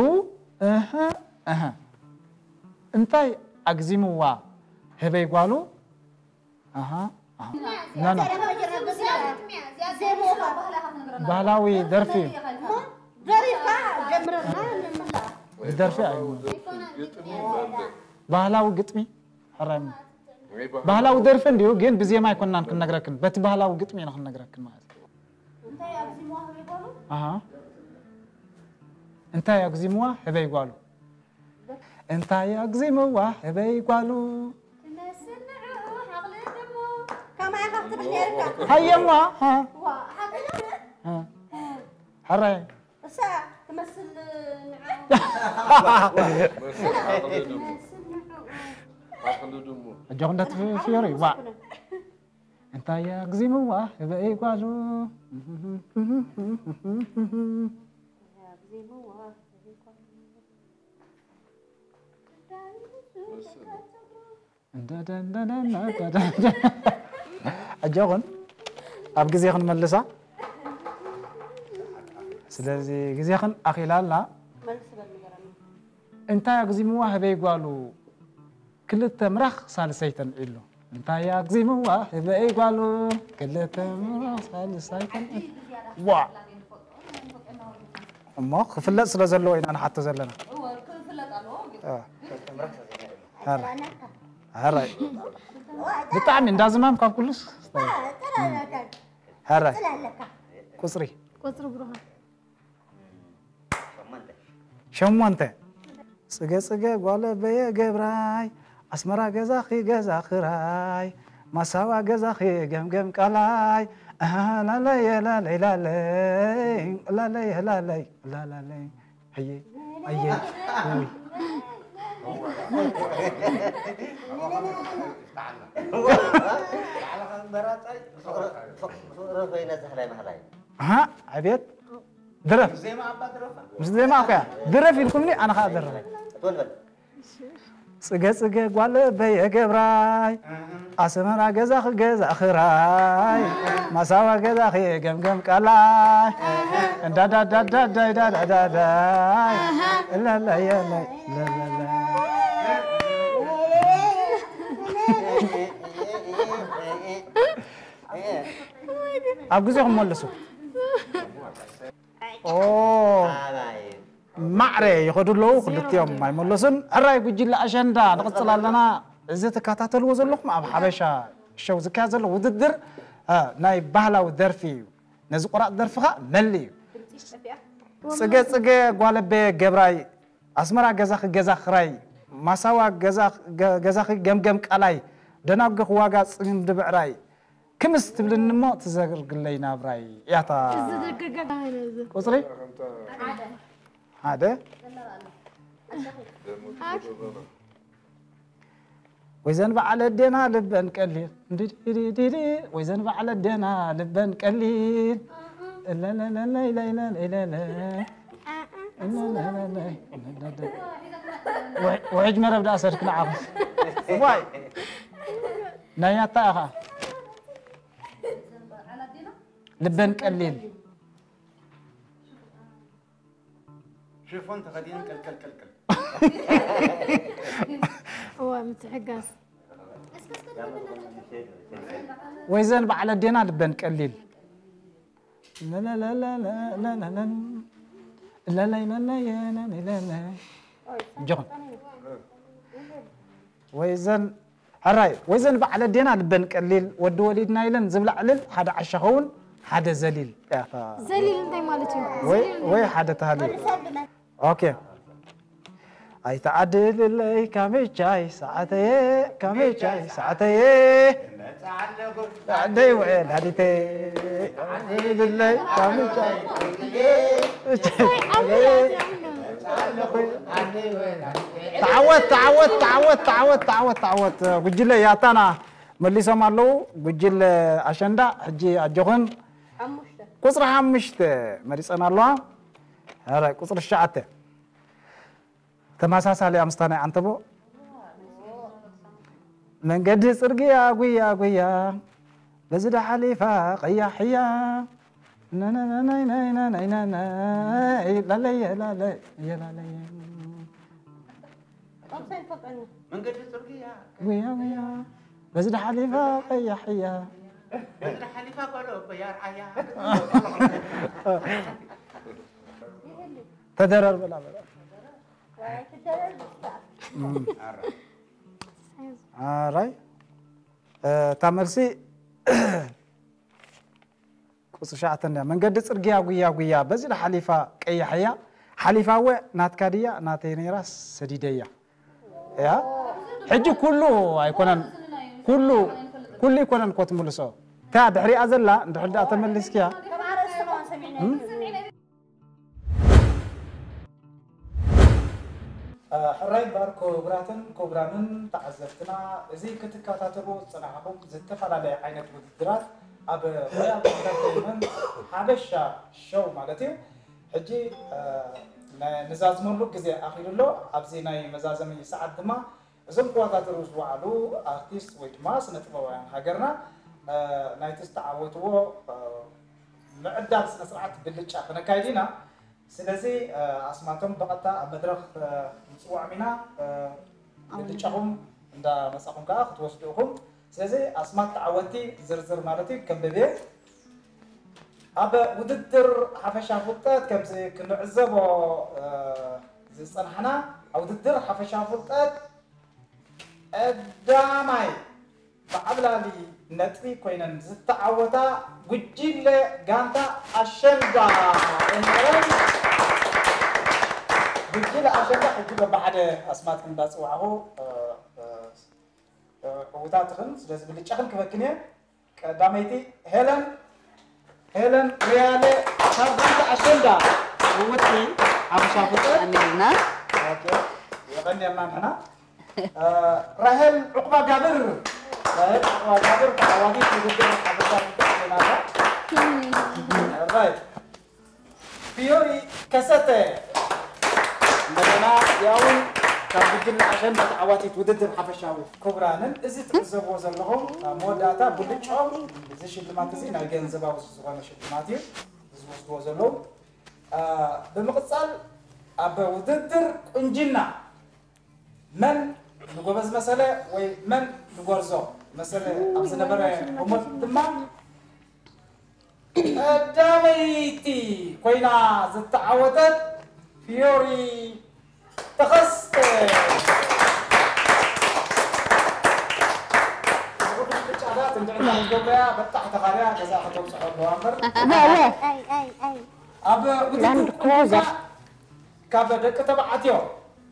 እህ እህ እንታይ ኣግዚምዋ ህበይ ጓሉ ኣሃ ኣሃ ና ና ባህላዊ ደርፊ ደሪፍካ ጀምረና ንምላ ደርፊ ኣዩ ባህላዊ ግጥሚ ሕራይ ባህላዊ ደርፊ እንዲሁ ግን ብዜማ ኣይኮናን ክንነግረክን በቲ ባህላዊ ግጥሚ ኢና ክንነግረክን ማለት እዩ። እንታይ ኣግዚምዋ ህበይ ጓሉ ኣሃ እንታይ ኣግዚምዋ ህበይ ጓሉ እንታይ ኣግዚምዋ ህበይ ጓሉ ትመስል ንዕኡ ሓቕሊ ድሙ ከማይ ካብቲ ነርካ ሃየማ ሃ ዋ ሓቕሊ ሃ ሕራይ እሳ ትመስል ንዕኡ ትመስል ንዕኡ ኣጆኹም እንዳትፍዮሩ ዋ እንታይ ኣግዚምዋ ህበይ ጓሉ ኣግዚምዋ ህበይ ጓሉ ኣጆኹን ኣብ ግዜ ክንመልሳ። ስለዚ ግዜኽን ኣኺላ ኣላ። እንታይ ኣግዚምዋ ህበይ ጓሉ ክልተ ምራኽ ሳልሰይ ተንዒሉ። እንታይ ኣግዚምዋ ህበይ ጓሉ ክልተ ምራኽ ሳልሰይ ተንዒሉ። ዋ እሞ ክፍለጥ ስለ ዘለዎ ኢና ንሓቶ ዘለና። ሕራይ ብጣዕሚ እንዳዝማም ካብ ኩሉስ ሕራይ ቁፅሪ ቁፅሪ ብሩሃን ሸሞንተ ጽገ ጽገ ጓለ በየ ገብራይ ኣስመራ ገዛኺ ገዛ ክራይ ማሳዋ ገዛኺ ገምገም ቃላይ ኣሃ ላለየ ላለይ ላለይ ላለየ ላለይ ላላለይ ኣየ ኣየ ውይ ፍቕሪ ኮይነ ዛሕላይ ማሕላይ ኣሃ ዕቤት ድረፍ ዜማ ኣባ ድረፋ ምስ ዜማ እኮ እያ ድረፍ ኢልኩምኒ ኣነ ከዓ ደረፈ ትወልበል ጽገ ጽገ ጓል በየ ገብራይ ኣስመራ ገዛ ክገዛ ክራይ ማሳዋ ገዛ ክገምገም ቃላይ እንዳዳዳዳዳይ ዳዳዳዳይ ለለየለይ ለለለ ኣብ ግዜኹም መልሱ ኦ ሕራይ ይኸዱ ኣለዉ፣ ክልቲኦም ኣይመለሱን። ሕራይ ጉጅለ ኣሸንዳ ንቕጽል ኣለና። እዚ ትከታተልዎ ዘለኹም ኣብ ሓበሻ ሸው ዝካየድ ዘሎ ውድድር፣ እ፣ ናይ ባህላዊ ደርፊ እዩ። ነዚ ቆራጽ ደርፊ ኸኣ መሊ እዩ። ጽገ ጽገ ጓለቤ ገብራይ፣ ኣስመራ ገዛኺ ገዛ ኽራይ፣ ማሳዋ ገዛ-፣ ገ-፣ ገዛኺ ገምገም ቃላይ፣ ደናጉኺ ዋጋ ጽምዲ ብዕራይ፣ ክምስ ትብልኒ እሞ ትዘርግለይ ናብራይ እያታ። እዚ ደገገ ባህል እዚ። ቁጽሪ? ሓደ። ሓደ። ኣክ-፣ ወይዘን በዓል ኣዴና ልበን ቀሊል፣ እንድድድድድ፣ ወይዘን በዓል ኣዴና ልበን ቀሊል፣ እለለለለይለይለለይለለ፣ እለለለለይ፣ እለለለ። ውሕ-፣ ውሕጅ መረብ ደኣ ሰድክ ንዓኹም። ዋይ። ናይ ኣታ ኢኻ። ልበን ቀሊል። ሽፎን ተኸዲነን ቀልቀል ቀልቀል። እዋ፣ ምትሕጋዝ። ወይዘን በዓል ኣዴና ልበን ቀሊል። ለለለለለለለለ። ለለይ ለለይ ለለይ ለለይ። እጆኹም። ወይዘን ሕራይ፣ ወይዘን በዓል ኣዴና ልበን ቀሊል፣ ወዲ ወሊድና ኢለን ዝብላ ዕልል፣ ሓደ ዓሻ ኸውን፣ ሓደ ዘሊል። ያታ። ዘሊል እንታይ ማለት እዩ? ወይ፣ ዘሊል ወይ እንታይ? ሓደ ተሃሊል። ኦኬ። ኣይተዓድልለይ ካሜቻይ ሰዓተየ፣ ካሜቻይ ሰዓተየ። ዓደይ ውዕል ሃዲተይ። ዓድልለይ ካሜቻይ። ተዓወት፣ ተዓወት፣ ተዓወት፣ ተዓወት፣ ተዓወት፣ ተዓወት። ጉጅለ ያታና መሊሶም ኣለዉ። ጉጅለ ኣሸንዳ፣ ሕጂ ኣጆኽን። ሓሙሽተ። ቁጽሪ ሓሙሽተ መሪጸን ኣለዋ። ኧረ፣ ቁጽሪ ትሽዓተ። ተመሳሳሊ ኣምስታ ናይ ዓንተቦ። መንገዲ ጽርግያ ጉያ ጉያ፣ በዚ ዳ ሓሊፋ ቀያሕ እያ። ናናናናይናይናናይናናይ፣ ላለየ ላለየ ላለየ። መንገዲ ጽርግያ ጉያ ጉያ፣ በዚ ዳ ሓሊፋ ቀያሕ እያ። በዚ ዳ ሓሊፋ ጓሎ እኮ እያ ርኣያ። ተደረር በላ በላ። እም። ኣራይ። እ፣ እታ መልሲ ቁጽሪ ትሽዓተ እንድያ። መንገዲ ጽርግያ ጉያ ጉያ፣ በዚ ሓሊፋ ቀያሕ እያ። ሓሊፋ እወ ናትካ ድያ? ናተይ ነይራ ሰዲደያ። እያ። ሕጂ ኩሉ ኣይኮነን፣ ኩሉ፣ ኩሉ ኣይኮነን እኮ ትምልሶ። እታ ድሕሪኣ ዘላ እንድሕር ደኣ ተመሊስክያ። እም? ሕራይ እምበኣር ክቡራትን ክቡራንን ተዓዘብትና፣ እዚ ክትከታተልዎ ዝጸናሕኩም ዝተፈላለየ ዓይነት ውድድራት ኣብ ሮያል ኢንተርተይንመንት ሓበሻ ሾው ማለት እዩ። ሕጂ፣ እ፣ ነ-፣ ንዛዝመሉ ግዜ ኣኺሉ ኣሎ። ኣብዚ ናይ መዛዘሚ ሰዓት ድማ እዞም ክወዳደሩ ዝወዓሉ ኣርቲስት ወይ ድማ ስነ ጥበባውያን ሃገርና፣ እ፣ ናይቲ ዝተዓወትዎ፣ እ፣ ምዕዳል ስነ ስርዓት ብልጫ ክነካይድ ኢና። ስለዚ፣ እ፣ ኣስማቶም ብቐጥታ ኣብ መድረኽ፣ እ፣ ንጽውዖም ኢና። እ፣ ብልጫኹም እንዳመጻኹም ከኣ ክትወስዱ ኢኹም። ስለዚ ኣስማት ተዓወትቲ ዝርዝር ማለት እዩ ከንብብ እየ። ኣብ ውድድር ሓፈሻ ፍልጠት ከምዚ ክንዕዘቦ፣ እ፣ ዝጸናሕና፣ ኣብ ውድድር ሓፈሻ ፍልጠት ቀዳማይ ብዓብላሊ ነጥቢ ኮይነን ዝተዓወታ ጉጅለ ጋንታ ኣሸንዳ እምበረን ጉጅለ ኣሸንዳ ሕጂ በብሓደ ኣስማትክን እንዳጽዋዕኹ፣ እ፣ እ፣ እ፣ ዕዉታትኽን፣ ስለዚ ብልጫኽን ክበክን እየ። ቀዳመይቲ ሄለን፣ ሄለን ሪያለ ካብ ጋንታ ኣሸንዳ ዕውትቲ ሓሙሻ ፍጥረት። ኣሜልና። ኦኬ፣ የቐንየልና ንሕና። እ፣ ራሄል ዑቕባ ጋብር፣ ራሄል ዑቕባ ጋብር ተዓዋቲት ውድድር ሓፈሻ ፍጥረት ኮይና ኣላ። ራይት። ፊዮሪ ከሰተ። እንደገና ያውን ካብ ጉጅለ ኣሸንዳ ተዓዋቲት ውድድር ሓፈሻዊ። ክቡራንን፣ እዚ ትዕዘብዎ ዘለኹም ኣብ መወዳእታ ብልጫኦም እዚ ሽልማት እዚ ናይ ገንዘባዊ ዝኾነ ሽልማት እዩ ዝወስድዎ ዘለዉ። እ፣ ብምቕጻል ኣብ ውድድር ቁንጅና መን ንጎበዝ መሰለ ወይ መን ንጎርዞ መሰለ ኣብ ዝነበረ ህሞት ድማ ቀዳመይቲ ኮይና ዝተዓወተት ፊዮሪ ተኸስተ። ብኹሉ ብጫታት እንድዕታ ዝገብረያ በጣሕ ተኻርያ ገዛ ከተብፅሖ ኣለዋ እምበር። እወ ኣይ ኣይ ኣይ ኣብ ውድድር ላንድ ክሩዘር። ካብ ደቂ ተባዕትዮ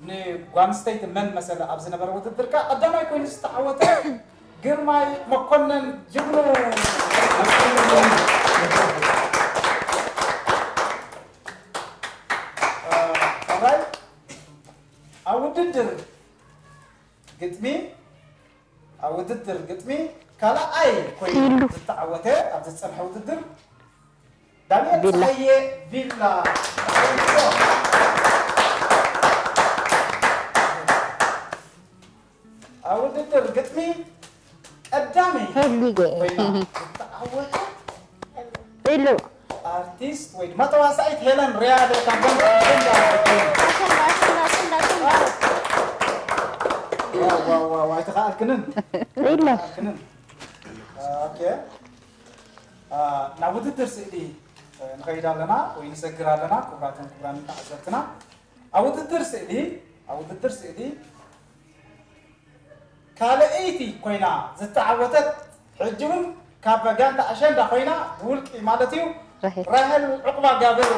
ንጓንስተይቲ መን መሰለ ኣብ ዝነበረ ውድድር ከኣ ቀዳማይ ኮይኑ ዝተዓወተ ግርማይ መኮነን ጅግኑ። ራይ ኣብ ውድድር ግጥሚ ኣብ ውድድር ግጥሚ ካልኣይ ኮይኑ ዝተዓወተ ኣብ ዝጸንሐ ውድድር ዳንኤል ቪላ። ጸሃየ ቪላ። ኣብ ውድድር ግጥሚ ቀዳመይ ሄሊጌ ኮይና ዝተዓወተት ኢሉ ኣርቲስት ወይ ድማ ተዋሳኢት ሄለን ሪያዶ ካብ ጋንታ ኣሸንዳ። ዋው፣ ዋው፣ ዋው፣ ኣይተኻእልክንን። ኢለ ኣይተኻእልክንን። ኦኬ። አ፣ ናብ ውድድር ስእሊ ንኸይድ ኣለና ወይ ንሰግር ኣለና። ክቡራትን ክቡራን ተዓዘብትና፣ ኣብ ውድድር ስእሊ፣ ኣብ ውድድር ስእሊ ካልኣይቲ ኮይና ዝተዓወተት፣ ሕጂ እውን ካብ ጋንታ ኣሸንዳ ኮይና ብውልቂ ማለት እዩ፣ ራሄል። ራሄል ዕቁባ ጋብር።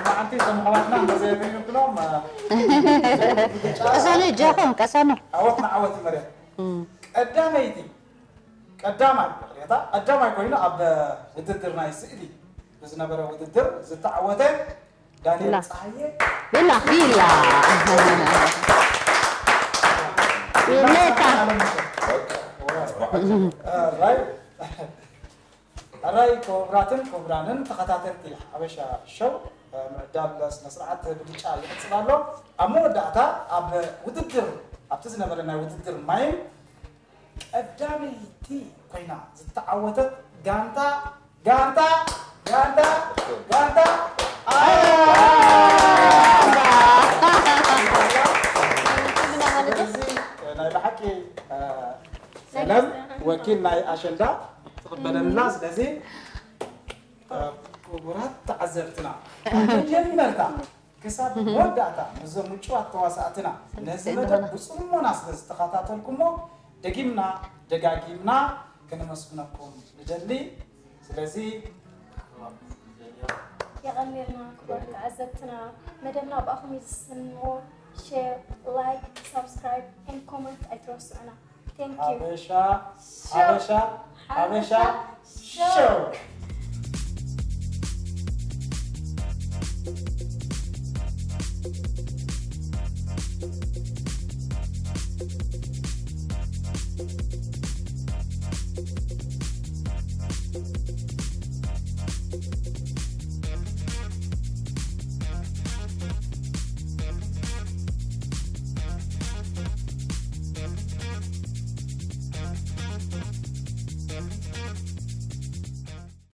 መዓንቲ እዞም ኣሕዋትና እንተዘየበይኑብሎም፣ ቀሰኑ እጃኹም ቀሰኑ ዓወት ንዓወት እዩ መርያ። ቀዳመይቲ፣ ቀዳማይ፣ ይቕሬታ፣ ቀዳማይ ኮይኑ ኣብ ውድድር ናይ ስእሊ ብዝነበረ ውድድር ዝተዓወተ ዳንኤል ላ። ጸሃየ። ቢላ ቢላ ቢሌታ ራይ፣ ራይ ክቡራትን ክቡራንን ተኸታተልቲ ሓበሻ ሸው፣ ምዕዳል ስነ ስርዓት ብልጫ ይቕጽል ኣሎ። ኣብ መወዳእታ ኣብ ውድድር፣ ኣብቲ ዝነበረ ናይ ውድድር ማይም ቀዳመይቲ ኮይና ዝተዓወተት ጋንታ፣ ጋንታ፣ ጋንታ፣ ጋንታ ስለዚ ናይ ብሓቂ ሰለም ወኪል ናይ ኣሸንዳ ትቕበለልና። ስለዚ ክቡራት ተዓዘብትና፣ ካብ መጀመርታ ክሳብ መወዳእታ ምስዞም ምጭዋት ተዋሳእትና ነዚ መደብ ብጽሞና ስለ ዝተኸታተልኩሞ ደጊምና ደጋጊምና ከነመስግነኩም ንደሊ። ስለዚ የቐንየልና ክቡራት ተዓዘብትና፣ መደብና ብኣኹም እዩ ዝስን እሞ ሼር፣ ላይክ፣ ሳብስክራይብ ኤንድ ኮመንት ኣይትረስዑና። Thank you። ሓበሻ ሓበሻ ሓበሻ ሸው።